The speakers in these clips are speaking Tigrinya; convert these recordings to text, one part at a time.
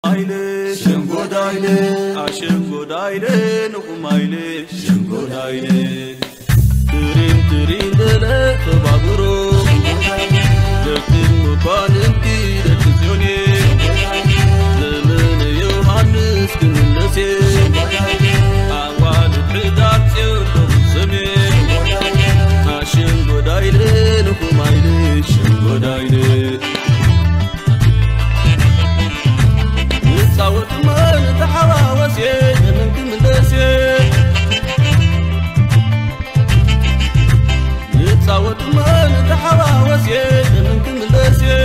ኣይለ ሸንጎዳይለ ኣሸንጎዳይለ ንቑማይለ ሸንጎዳይለ ትሪን ትሪን በለ ተባብሮ ደቂ መኳንንቲ ደቂ ጽዮኔ ዘመነ ዮሃንስ ክምለሴ ኣዋልድ ሕዳር ጽዮን ደቡብ ሰሜን ኣሸንጎዳይለ ንቑማይለ ሸንጎዳይለ ንጻወት እሞ ንተሓዋወስ እየ፣ ደመን ክምለስ እየ። ንጻወት እሞ ንተሓዋወስ እየ፣ ደመን ክምለስ እየ።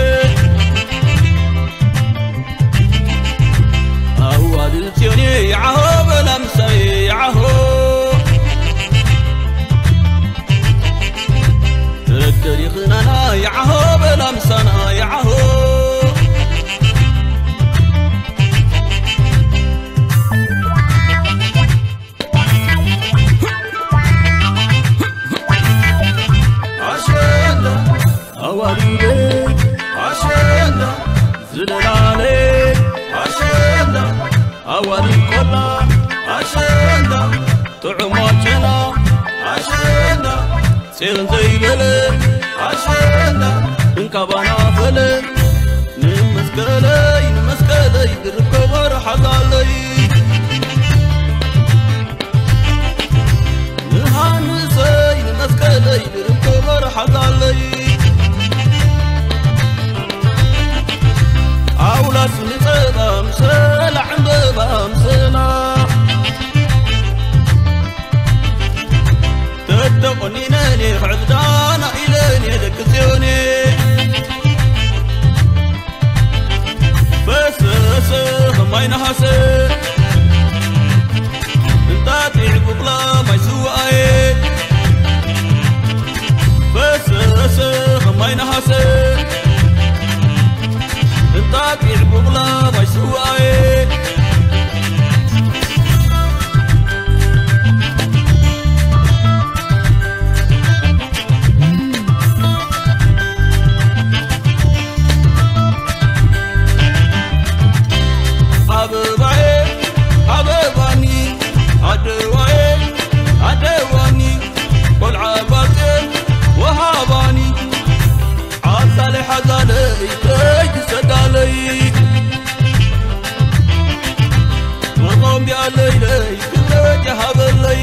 ኣዋልድ ጽዮን እየ፣ ይዓሆ በላ ምሳይ፣ ይዓሆ። ተደሪኽናና፣ ይዓሆ በላ ምሳና፣ ይዓሆ። ኣሸንዳ ኣዋልደ ኣሸንዳ ዝለላለ ኣሸንዳ ኣዋልድ ቆላ ኣሸንዳ ጥዑም ጨና ኣሸንዳ ጼርን ዘይበለ ኣሸንዳ እንካባና ፈለ ንመስቀለይ ንመስቀለይ ድርብ ከበሮ ሓዛለይ ንሃንሰይ ንመስቀለይ ድርብ ከበሮ ሓዛለይ ኣውላስ ንጸባ ምሰላ ዕምበባ ምሰላ ተተቆኒነኔ ክዕብዳና ኢለኔ ደቂ ጽዮኔ ፈሰሰ ከማይ ነሃሰ እንጣጢዕ ቡቕላ ማይ ስዋኣየ ፈሰሰ ከማይ ነሃሰ እንጣጢዕ ቡቕላ ማይ ስዋኣየ ኣበባየ ኣበባኒ ኣደዋየ ኣደዋኒ ቆልዓ ባጤ ወሃባኒ ዓሳለ ሓዛለይ ከይትሰዳለይ መኾምቢያ ለይለይ ክብረት ይሃበለይ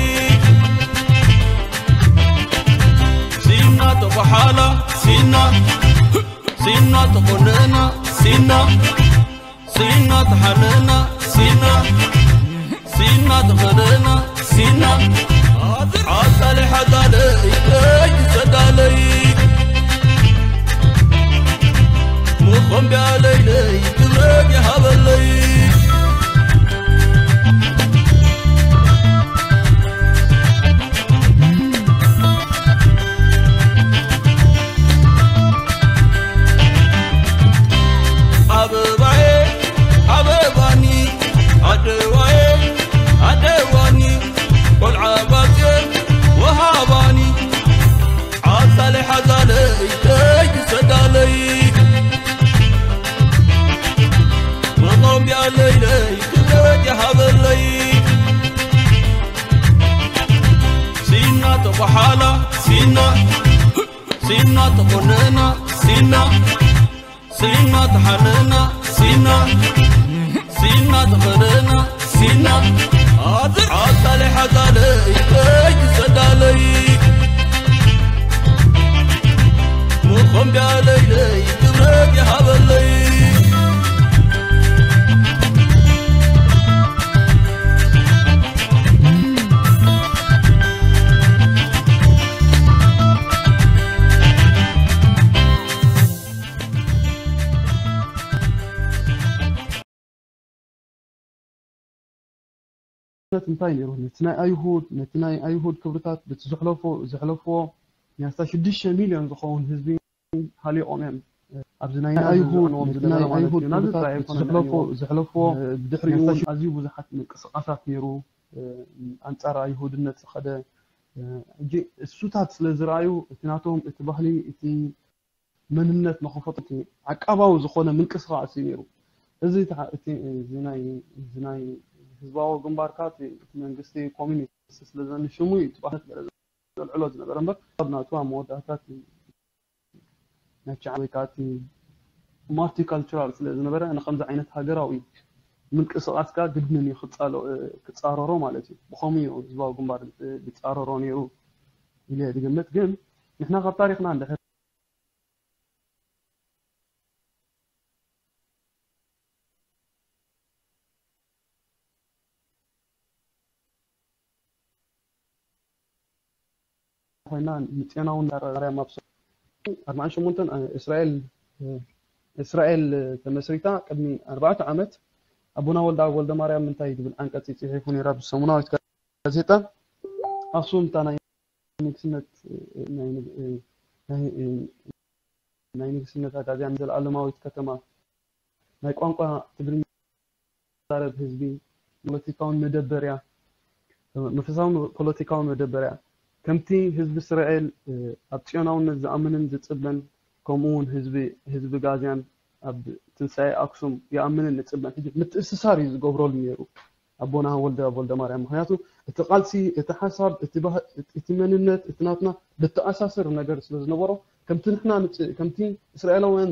ሲና ተኳሓላ ሲና ሲና ተኾነና ሲና ሲና ተሓነና ሲና ሲና ተኸደና ሲና ዓሳለ ሓዛለይ ከይትሰዳለይ መኾምቢያ ለይለይ ክብረት ይሃበለይ ኣበባየ ኣበባኒ ኣደዋየ ኣደዋኒ ቆልዓ ባጽዮን ወሃባኒ ዓሳለ ሓዛለይ ከይትሰዳለይ መኾምቢያ ለይለይ ክብረት ይሃበለይ ሲና ተኳሓላ ሲና ሲና ተኾነና ሲና ሲና ተሓነና ሲና ሲና ተኸደና ሲና ዓሳለ ሓዛለይ ከይትሰዳለይ መኾምቢያ ለይለይ ክብረት ይሃበለይ እንታይ ነይሩ ነቲ ናይ ኣይሁድ ነቲ ናይ ኣይሁድ ክብርታት በቲ ዘሕለፎ ዘሕለፍዎ ናይ ኣስታ ሽዱሽተ ሚልዮን ዝኸውን ህዝቢ ሃሊቖም እዮም ኣብዚ ናይ ኣይሁድ ነቲ ናይ ኣይሁድ ክብርታት በቲ ዘሕለፎ ዘሕለፍዎ ብድሕሪኡ እውን ኣዝዩ ብዙሓት ምንቅስቃሳት ነይሩ ኣንጻር ኣይሁድነት ዝኸደ ሕጂ እሱታት ስለ ዝረኣዩ እቲ ናቶም እቲ ባህሊ እቲ መንነት ንኽፈጥሩ ዓቃባዊ ዝኾነ ምንቅስቃስ እዩ ነይሩ እዚ ተሓ- እቲ እዚ ናይ እዚ ናይ ህዝባዊ ግንባርካ እቲ እቲ መንግስቲ ኮሚኒስት ስለ ዘንሽሙ እዩ ጥባነት ገለ ዘልዕሎ ዝነበረ እምበር ኣብ ናቱ ኣብ መወዳእታ እቲ ናይ ቻዕብ ወይ ከዓ እቲ ማልቲካልቸራል ስለ ዝነበረ ንከምዚ ዓይነት ሃገራዊ ምንቅስቃስካ ግድን እዩ ክፃሎ- ክፃረሮ ማለት እዩ። ብኸምኡ እዩ ህዝባዊ ግንባር ዝፃረሮ ነይሩ ኢለ ዝግምት። ግን ንሕና ካብ ታሪክና እንድሕር ኮይና ንጽዮናውን ማርያም ኣብ ኣርባዓን ሸሞንተን እስራኤል እስራኤል ተመስሪታ ቅድሚ ኣርባዕተ ዓመት ኣቦና ወልደ ኣብ ወልደ ማርያም እንታይ ዝብል ዓንቀጽ ጽሒፉ ነይራ ብሰሙናዊት ጋዜጣ ኣክሱም እታ ናይ ንግስነት ናይ ንግ- ናይ ናይ ንግስነት ኣጋዚያን ዘለኣለማዊት ከተማ ናይ ቋንቋ ትግርኛ ዝዛረብ ህዝቢ ፖለቲካውን መደበርያ መንፈሳውን ፖለቲካውን መደበርያ ከምቲ ህዝቢ እስራኤል ኣብ ጽዮናውነት ዝኣምንን ዝጽበን ከምኡ እውን ህዝቢ ህዝቢ ጋዝያን ኣብ ትንሳኤ ኣክሱም ይኣምንን ይጽበን ሕጂ ምትእስሳር እዩ ዝገብረሉ ነይሩ ኣቦና ወልደ ወልደ ማርያም ምክንያቱ እቲ ቃልሲ እቲ ሓሳብ እቲ መንነት እቲ ናትና ብተኣሳስር ነገር ስለ ዝነበሮ ከምቲ ንሕና ከምቲ እስራኤላውያን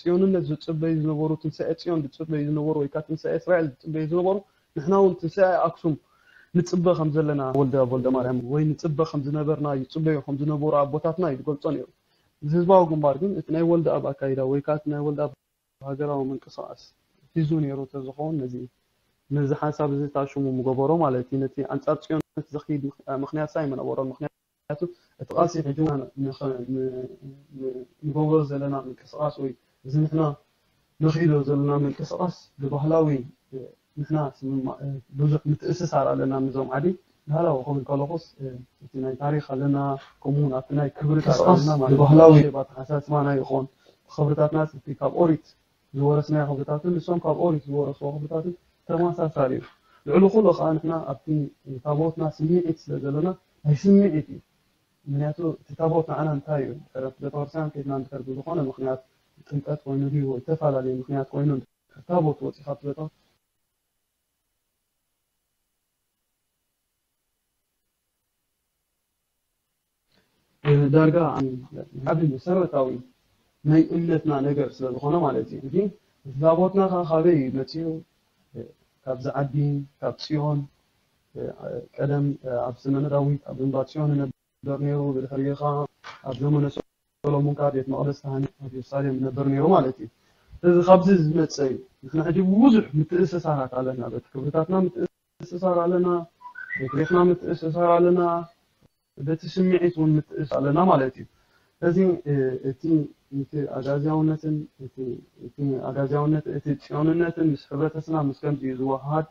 ጽዮንነት ዝጽበዩ ዝነበሩ ትንሳኤ ጽዮን ዝጽበዩ ዝነበሩ ወይ ከዓ ትንሳኤ እስራኤል ዝጽበዩ ዝነበሩ ንሕና እውን ትንሳኤ ኣክሱም ንጽበ ከም ዘለና ወልደ ወልደ ማርያም ወይ ንጽበ ከም ዝነበርና ይጽበዩ ከም ዝነበሩ ኣቦታትና እዩ ዝገልጾ ነይሩ። እዚ ህዝባዊ ግንባር ግን እቲ ናይ ወልደ ኣብ ኣካይዳ ወይ ከዓ እቲ ናይ ወልደ ኣብ ሃገራዊ ምንቅስቃስ ሒዙ ነይሩ ተዝኸውን ነዚ ነዚ ሓሳብ እዚ ታሽሙ ምገበሮ ማለት እዩ ነቲ ኣንጻር ጽዮን ዘኽይድ ምክንያት ሳ ኣይመነበሮን ምክንያቱ እቲ ቃልሲ ሕጂ ንገብሮ ዘለና ምንቅስቃስ ወይ እዚ ንሕና ንኽይዶ ዘለና ምንቅስቃስ ብባህላዊ ንሕና ብዙሕ ምትእስሳር ኣለና ምዞም ዓዲ ባህላዊ ክብል ከለኹስ እቲ ናይ ታሪክ ኣለና ከምኡውን ኣብቲ ናይ ክብርታት ኣለና ማለት ባህላዊ ኣተሓሳስባና ይኾን ክብርታትና እቲ ካብ ኦሪት ዝወረስናዮ ክብርታትን ንሶም ካብ ኦሪት ዝወረስዎ ክብርታትን ተመሳሳሊ እዩ። ልዕሊ ኩሉ ከዓ ንሕና ኣብቲ ታቦትና ስምዒት ስለ ዘለና ናይ ስምዒት እዩ። ምክንያቱ እቲ ታቦት ንዓና እንታይ እዩ? ድሕሪ ቤተክርስትያን ከይድና እንድሕር ብዝኾነ ምክንያት ጥምቀት ኮይኑ ድዩ ወይ ዝተፈላለዩ ምክንያት ኮይኑ እንድሕር ታቦት ወፂ ካብቲ ቤተ ዳርጋ ዓብዪ መሰረታዊ ናይ እምነትና ነገር ስለ ዝኾነ ማለት እዩ። ሕጂ እቲ ታቦትና ከዓ ካበይ እዩ መፂኡ? ካብዚ ዓዲ ካብ ፅዮን ቀደም ኣብ ዘመነ ዳዊት ኣብ እምባ ፅዮን ነበር ነይሩ። ብድሕሪኡ ከዓ ኣብ ዘመነ ሰሎሞን ከዓ ቤት መቕደስ ተሃኒፁ ኣብ ኢየሩሳሌም ነበር ነይሩ ማለት እዩ። ስለዚ ካብዚ ዝመፀ እዩ። ንሕና ሕጂ ብዙሕ ምትእስሳራት ኣለና። በቲ ክብርታትና ምትእስሳር ኣለና፣ በቲ ሬሕና ምትእስሳር ኣለና፣ በቲ ስምዒት እውን ምትእስ ኣለና ማለት እዩ። ስለዚ እቲ እቲ ኣጋዝያውነትን እቲ ኣጋዝያውነት እቲ ፅዮንነትን ምስ ሕብረተስና ምስ ከምዚ እዩ ዝወሃሃድ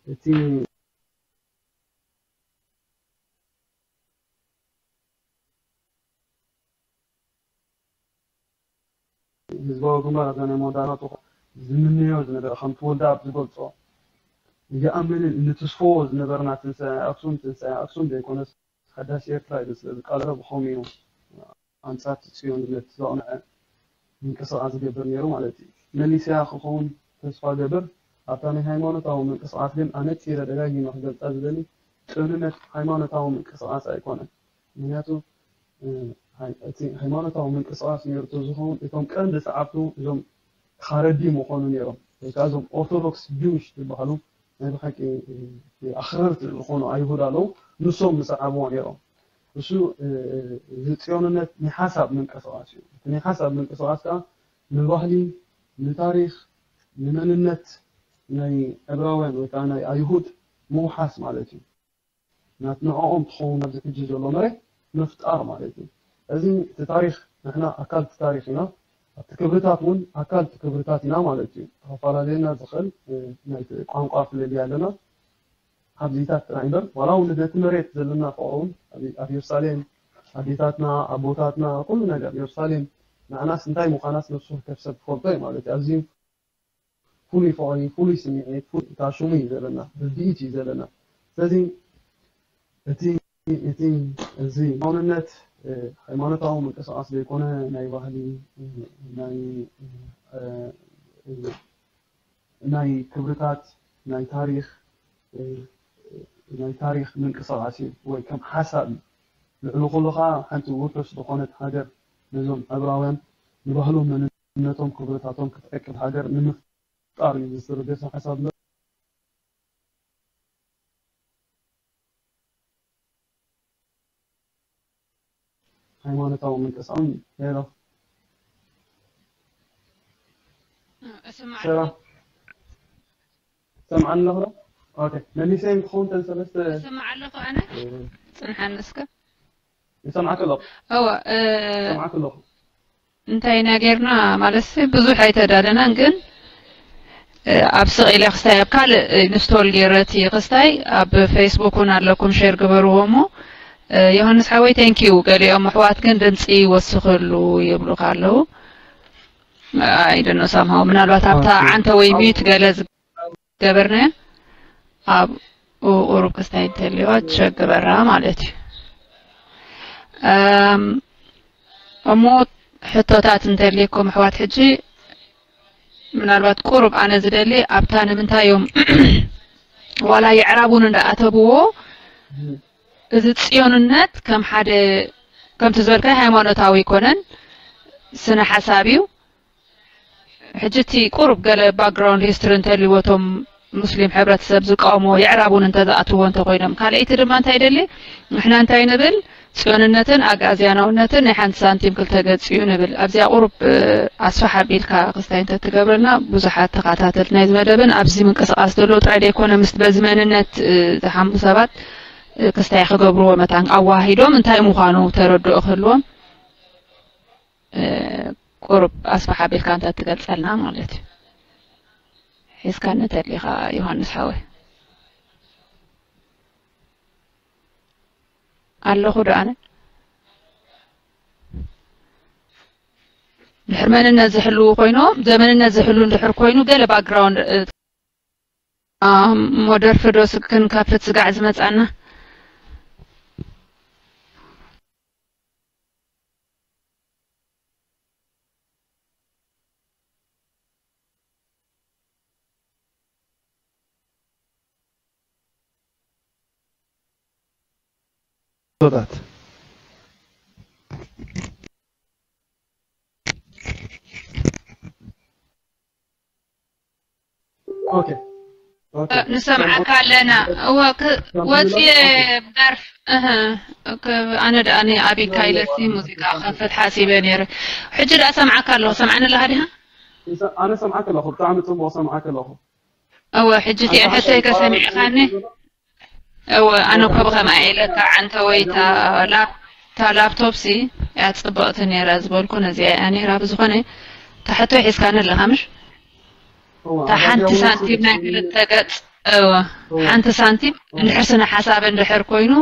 እቲ ህዝባዊ ግንባር ኣብዛ ናይ መወዳእታቱ ዝምንዮ ዝነበረ ከም ተወልደ ኣብ ዝገልፆ ይኣምንን ንትስፈዎ ዝነበርና ትንሳኤ ኣክሱም ትንሳኤ ኣክሱም ዘይኮነስ ሓዳስ ኤርትራ ኢሉ ስለ ዝቃለረ ብኸምኡ እዩ ኣንጻር እቲ ጽዮንነት ዘቕንዐ ምንቅስቓስ ዝገብር ነይሩ ማለት እዩ። መሊሰያ ክኸውን ተስፋ ገብር ኣብታ ናይ ሃይማኖታዊ ምንቅስቓስ ግን ኣነጺረ ደጋጊመ ክገልጻ ዝደሊ ጽዮንነት ሃይማኖታዊ ምንቅስቓስ ኣይኮነን። ምክንያቱ እቲ ሃይማኖታዊ ምንቅስቓስ ነይሩ ዝኸውን እቶም ቀንዲ ሰዓብቱ እዞም ኻረዲ ምኾኑ ነይሮም ወይ ከዓ እዞም ኦርቶዶክስ ጅዊሽ ዝበሃሉ ናይ ብሓቂ ኣኽረርቲ ዝኾኑ ኣይሁድ ኣለዉ። ንሶም ዝሰዓብዎ ነይሮም። እሱ እዚ ጽዮንነት ናይ ሓሳብ ምንቅስቓስ እዩ። እቲ ናይ ሓሳብ ምንቅስቓስ ከዓ ንባህሊ፣ ንታሪኽ፣ ንመንነት ናይ ዕብራውያን ወይ ከዓ ናይ ኣይሁድ ምውሓስ ማለት እዩ። ናት ንዕኦም ትኸውን ኣብዚ ሕጂ ዘሎ መሬት ምፍጣር ማለት እዩ። እዚ እቲ ታሪኽ ንሕና ኣካል እቲ ታሪኽ ኢና። ኣብቲ ክብርታት እውን ኣካል እቲ ክብርታት ኢና ማለት እዩ። ተፈላለየና ዝኽእል ናይቲ ቋንቋ ፍልልይ ኣለና። ኣብዚታት ጥራይ እምበር ዋላ እውን ነቲ መሬት ዘለና ፍቕሪ እውን ኣብ ኢየሩሳሌም ኣዴታትና ኣቦታትና ኩሉ ነገር ኢየሩሳሌም ንዓናስ እንታይ ምዃናስ ነብሱ ከብ ሰብ ክፈልጦ እዩ ማለት እዩ። ኣዝዩ ፍሉይ ፍቕሪ ፍሉይ ስምዒት ፍሉይ እታ ሽሙ እዩ ዘለና ርድኢት እዩ ዘለና። ስለዚ እቲ እቲ እዚ ሃይማኖነት ሃይማኖታዊ ምንቅስቃስ ዘይኮነ ናይ ባህሊ ናይ ናይ ክብርታት ናይ ታሪኽ ናይ ታሪኽ ምንቅስቃስ እዩ ወይ ከም ሓሳብ እዩ። ልዕሊ ኩሉ ከዓ ሓንቲ ውሑስ ዝኾነት ሃገር ነዞም ዕብራውያን ንባህሎም መንነቶም ክብርታቶም ክትዕቅብ ሃገር ንምፍጣር እዩ ዝስርገሰ ሓሳብ። ሃይማኖታዊ ምንቅስቃስ ሄሎ እስማዕ ሰራ ሰምዓኒ ኣለኹ ዶ? ኦኬ መሊሰ ክኸውን ተን ሰለስተ እስማዕ ኣለኹ ኣነ ጽንሓኒ እስከ ይሰምዓክ ኣለኹ እወ እ፣ ይሰምዓክ ኣለኹ እንታይ ኢና ጌርና ማለት ብዙሕ ኣይተዳለናን ግን እ፣ ኣብ ስቕ ኢለ ክስታይ ኣብ ካልእ ኢንስቶል ገይረ እቲ ክስታይ ኣብ ፌስቡክ እውን ኣለኩም ሼር ግበርዎ እሞ እ፣ ዮሃንስ ሓወይ ቴንኪዩ ገሊኦም ኣሕዋት ግን ድምፂ ይወስኽሉ ይብሉካ ኣለዉ ኣይደኖ ሳምሃው ምናልባት ኣብታ ኦኬ። ዓንተ ወይ ሚዩት ገለ ዝገበርናዮ ኣብ ቁሩብ ክስታይ እንተልዋ ትሸግበራ ማለት እዩ እም፣ እሞ ሕቶታት እንተልየኩም ኣሕዋት ሕጂ ምናልባት ቁሩብ ኣነ ዝደሊ ኣብታ ንምንታይ እዮም ዋላ የዕራብ እውን እንዳኣተብዎ እዚ ፅዮንነት ከም ሓደ ከምቲ ዝበልካይ ሃይማኖታዊ ኣይኮነን ስነ ሓሳብ እዩ ሕጂ እቲ ቁሩብ ገለ ባክግራውንድ ሂስትሪ እንተልዎ እቶም ሙስሊም ሕብረተሰብ ዝቃወምዎ የዕራብ እውን እንተዝኣትዎ እንተኮይኖም ካልኣይቲ ድማ እንታይ ይደሊ ንሕና እንታይ ንብል ፅዮንነትን ኣግኣዝያናውነትን ናይ ሓንቲ ሳንቲም ክልተ ገፅ እዩ ንብል ኣብዚኣ ቁሩብ ኣስፋሕ ኣቢልካ ክስታይ እንተትገብረልና ብዙሓት ተኸታተልቲ ናይዚ መደብን ኣብዚ ምንቅስቃስ ዘለዉ ጥራይ ዘይኮነ ምስ በዚ መንነት ዝሓሙ ሰባት ክስታይ ክገብርዎ መታን ኣዋሂዶም እንታይ ምዃኑ ተረድኦ ክህልዎም ቁሩብ ኣስፋሕ ኣቢልካ እንተትገልፀልና ማለት እዩ ሒዝካኒ ተሊኻ ዮሃንስ ሓወይ ኣለኹ ዶ ኣነ ድሕር መንነት ዝሕልው ኮይኖም ዘመንነት ዝሕሉ እንድሕር ኮይኑ ገለ ባክግራውንድ እሞ ደርፊ ዶ ክንከፍት ስጋዕ ዝመጻና ቶታት ኦኬ ኦኬ ንሰምዓካ ኣለና እወ ክ- ወፅየ ደርፍ እህ፣ ክ- ኣነ ደኣ ኣቢካ ኢለሲ ሙዚቃ ከፍት ሓሲበ ነይረ ሕጂ ደኣ ሰምዓካ ኣለኹ ሰምዓኒ ኣለኻ ዲኻ ኣነ ሰምዓክ ኣለኹ ብጣዕሚ ፅቡቅ ሰምዓክ ኣለኹ እወ ሕጂ እቲአን ሕቶይ ከሰሚዕኻኒ እወ ኣነ እኮ ብኸምኣ ኢለካ ዓንተ ወይ እታ ላፕቶፕ ሲ እያ ፅብቕቲ ነይራ ዝበልኩ ነዚኣ እያ ነይራ ብዝኾነ እታ ሕቶይ ሒዝካኒ ኣለኻ ምሽ እታ ሓንቲ ሳንቲም ናይ ክልተ ገፅ እወ ሓንቲ ሳንቲም እንድሕር ስነ ሓሳብ እንድሕር ኮይኑ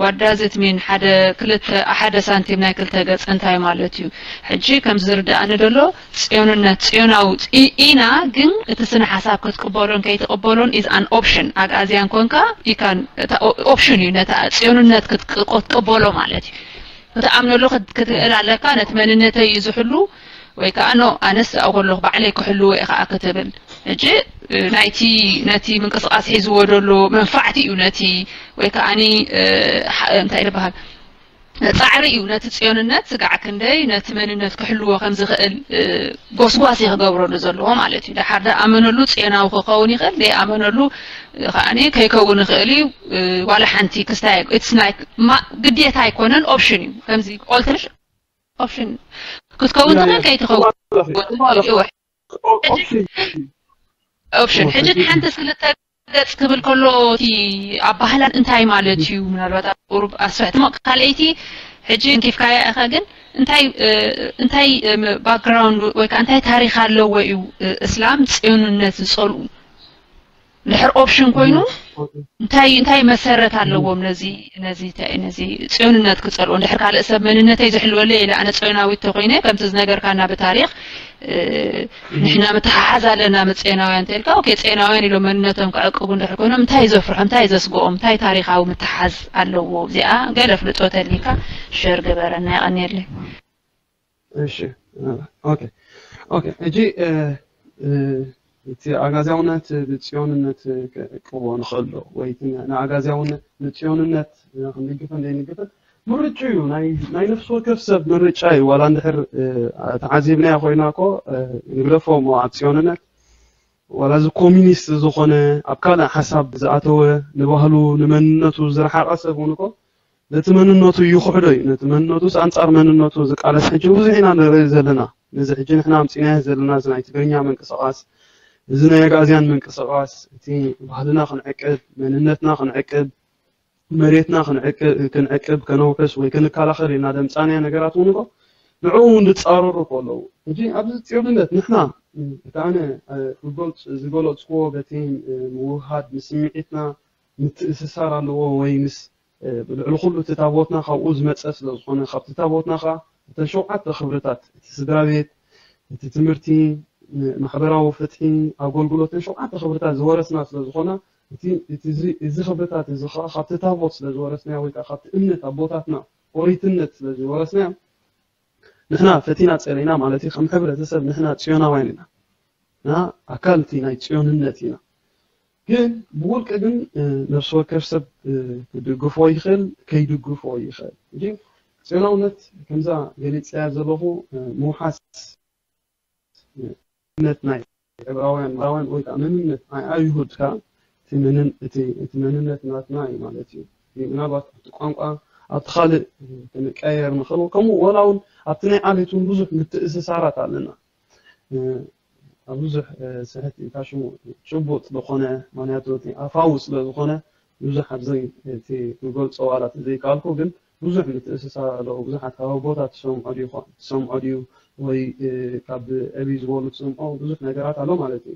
ዋዳዝት ሚን ሓደ ክልተ ሓደ ሳንቲም ናይ ክልተ ገፅ እንታይ ማለት እዩ ሕጂ ከም ዝርዳእኒ ደሎ ፅዮንነት ፅዮናዊ ኢና ግን እቲ ስነ ሓሳብ ክትቅበሎን ከይትቅበሎን is an option ኣግኣዝያን ኮንካ you can option እዩ ነታ ፅዮንነት ክትቅበሎ ማለት እዩ ክትኣምነሉ ክትክእል ኣለካ ነቲ መንነተይ እዩ ዝሕሉ ወይ ከዓ ኖ ኣነስ ኣብኡ ከለኹ ባዕለይ ክሕልዎ እየ ከዓ ክትብል ሕጂ ናይቲ ነቲ ምንቅስቃስ ሒዝዎ ደሎ መንፋዕቲ እዩ ነቲ ወይ ከዓ እንታይ ዝበሃል ፃዕሪ እዩ ነቲ ፅዮንነት ስጋዕ ክንደይ ነቲ መንነት ክሕልዎ ከም ዝኽእል ጎስጓስ እዩ ክገብረሉ ዘለዎ ማለት እዩ። ደሓር ደኣመነሉ ፅዮናዊ ክኸውን ይኽእል፣ ደይኣመነሉ ከዓኒ ከይከውን ይኽእል እዩ። ዋላ ሓንቲ ክስታይ it's like ግዴታ ኣይኮነን፣ ኦፕሽን እዩ። ከምዚ ኦልትርሽ ኦፕሽን ክትከውን ትኽእል ከይትኸውን ኦፕሽን ሕጂ ሓንቲ ክልተ ገጽ ክብል ከሎ እቲ ኣባህላን እንታይ ማለት እዩ ምናልባት ኣብ ቁሩብ ኣስፍሕቲ ሞ ካልኣይቲ ሕጂ እንኪፍካያ ኢኻ ግን እንታይ እንታይ ባክግራውንድ ወይ ከዓ እንታይ ታሪክ ኣለዎ እዩ እስላም ፅዮንነት ዝፀልኡ ድሕር ኦፕሽን ኮይኑ እንታይ እንታይ መሰረት ኣለዎም ነዚ ነዚ ነዚ ፅዮንነት ክፀልኦ እንድሕር ካልእ ሰብ መንነተይ ዝሕልወለይ ኢለ ኣነ ፅዮናዊት ተኮይነ ከምቲ ዝነገርካና ብታሪክ ንሕና ምትሓሓዝ ኣለና ምስ ጼናውያን ተልካ ኦኬ ጼናውያን ኢሎም መንነቶም ክዕቅቡ እንድሕር ኮይኖም እንታይ ዘፍርሖም እንታይ ዘስግኦም እንታይ ታሪካዊ ምትሓዝ ኣለዎ እዚኣ ገለ ፍልጦ ተሊካ ሸር ግበረና የቀንየለይ እሺ ኦኬ ኦኬ እጂ እቲ ኣጋዝያውነት ብጽዮንነት ክዕቅቦ ንኽእል ዶ? ወይ እቲ ንኣጋዝያውነት ንጽዮንነት ክንድግፍን ዘይንግፍን ምርጫ እዩ። ናይ ናይ ነፍሲ ወከፍ ሰብ ምርጫ እዩ። ዋላ እንድሕር ተዓዚብናዮ ኮይና እኮ ንግደፎ እሞ ኣብ ጽዮንነት ዋላ እዚ ኮሚኒስት ዝኾነ ኣብ ካልእ ሓሳብ ዝኣተወ ንባህሉ ንመንነቱ ዝረሓቐ ሰብ እውን እኮ ነቲ መንነቱ ይኽሕዶ እዩ። ነቲ መንነቱስ ኣንጻር መንነቱ ዝቃለስ ሕጂ ብዙሕ ኢና ንርኢ ዘለና። ነዚ ሕጂ ንሕና ኣምጺናዮ ዘለና እዚ ናይ ትግርኛ ምንቅስቓስ፣ እዚ ናይ ኣግኣዝያን ምንቅስቓስ፣ እቲ ባህልና ክንዕቅብ፣ መንነትና ክንዕቅብ፣ መሬትና ክንዕቅብ፣ ክንዕቅብ፣ ከነውሕስ ወይ ክንከላኸል ኢልና ደምጻናዮ ነገራት እውን እኮ ንዕኡ እውን ዝጻረሩ እኮ ኣለዉ። ሕጂ ኣብዚ ጽዮንነት ንሕና እቲ ኣነ ክገልጽ ዝገለጽክዎ በቲ ምውህሃድ ንስምዒትና ምትእስሳር ኣለዎ ወይ ምስ ልዕሊ ኩሉ እቲ ታቦትና ካብኡ ዝመጸ ስለ ዝኾነ ካብቲ ታቦትና ከዓ እተን ሸውዓተ ክብርታት እቲ ስድራ ቤት፣ እቲ ትምህርቲ፣ ማሕበራዊ ፍትሒ፣ ኣገልግሎትን ሸውዓተ ክብርታት ዝወረስና ስለ ዝኾና እቲ እዚ ክብርታት እዚ ከዓ ካብቲ ታቦት ስለ ዝወረስናዮ ወይ ከዓ ካብቲ እምነት ኣቦታትና ኦሪትነት ስለ ዝወረስናዮ ንሕና ፈቲና ጸለይና ማለት እዩ። ከም ሕብረተሰብ ንሕና ጽዮናውያን ኢና። ንሕና ኣካል እቲ ናይ ጽዮንነት ኢና። ግን ብውልቂ ግን ነፍሲ ወከፍ ሰብ ክድግፎ ይኽእል፣ ከይድግፎ ይኽእል። እንጂ ጽዮናውነት ከምዛ ገሊጸያ ዘለኹ ምውሓስ እምነት ናይ ዕብራውያን ዕብራውያን ወይ ከዓ መንነት ናይ ኣይሁድ ከዓ እቲ መንን- እቲ እቲ መንነት ናትና እዩ ማለት እዩ። እቲ ምናልባት ኣብቲ ቋንቋ ኣብቲ ካልእ ክንቀየር ንኽእል ከምኡ ወላ እውን ኣብቲ ናይ ዓሌት እውን ብዙሕ ምትእስሳራት ኣለና። ኣብ ብዙሕ ስሕት ኢልካ ሽሙ ጭቡጥ ዝኾነ ምክንያቱ እቲ ኣፋዊ ስለ ዝኾነ ብዙሕ ኣብዚ እቲ ክገልጾ ዋላ ዘይከኣልኩ ግን ብዙሕ ምትእስሳር ኣለዎ። ብዙሓት ካብ ኣቦታት ትሰምዖ ድዩ ትሰምዖ ድዩ ወይ ካብ ዕብይ ዝበሉ ትሰምዖ ብዙሕ ነገራት ኣሎ ማለት እዩ።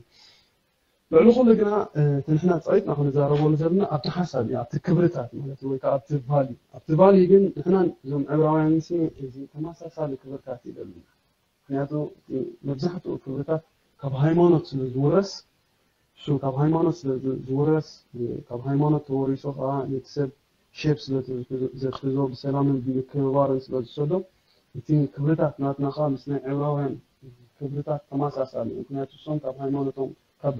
ልዕሊ ኩሉ ግና እቲ ንሕና ጸቂጥና ክንዛረበሉ ዘለና ኣብቲ ሓሳብ እዩ ኣብቲ ክብርታት ማለት ወይ ከዓ ኣብቲ ቫልዩ ኣብቲ ቫልዩ ግን ንሕናን እዞም ዕብራውያን ሲ እዚ ተመሳሳሊ ክብርታት እዩ ዘለና። ምክንያቱ መብዛሕትኡ ክብርታት ካብ ሃይማኖት ስለ ዝውረስ እሱ ካብ ሃይማኖት ስለ ዝውረስ ካብ ሃይማኖት ተወሪሶ ከዓ ነቲ ሰብ ሼፕ ስለ ዘትሕዞ ብሰላምን ብምክብባርን ስለ ዝሰዶ እቲ ክብርታት ናትና ከዓ ምስ ናይ ዕብራውያን ክብርታት ተመሳሳሊ እዩ። ምክንያቱ እሶም ካብ ሃይማኖቶም ካብ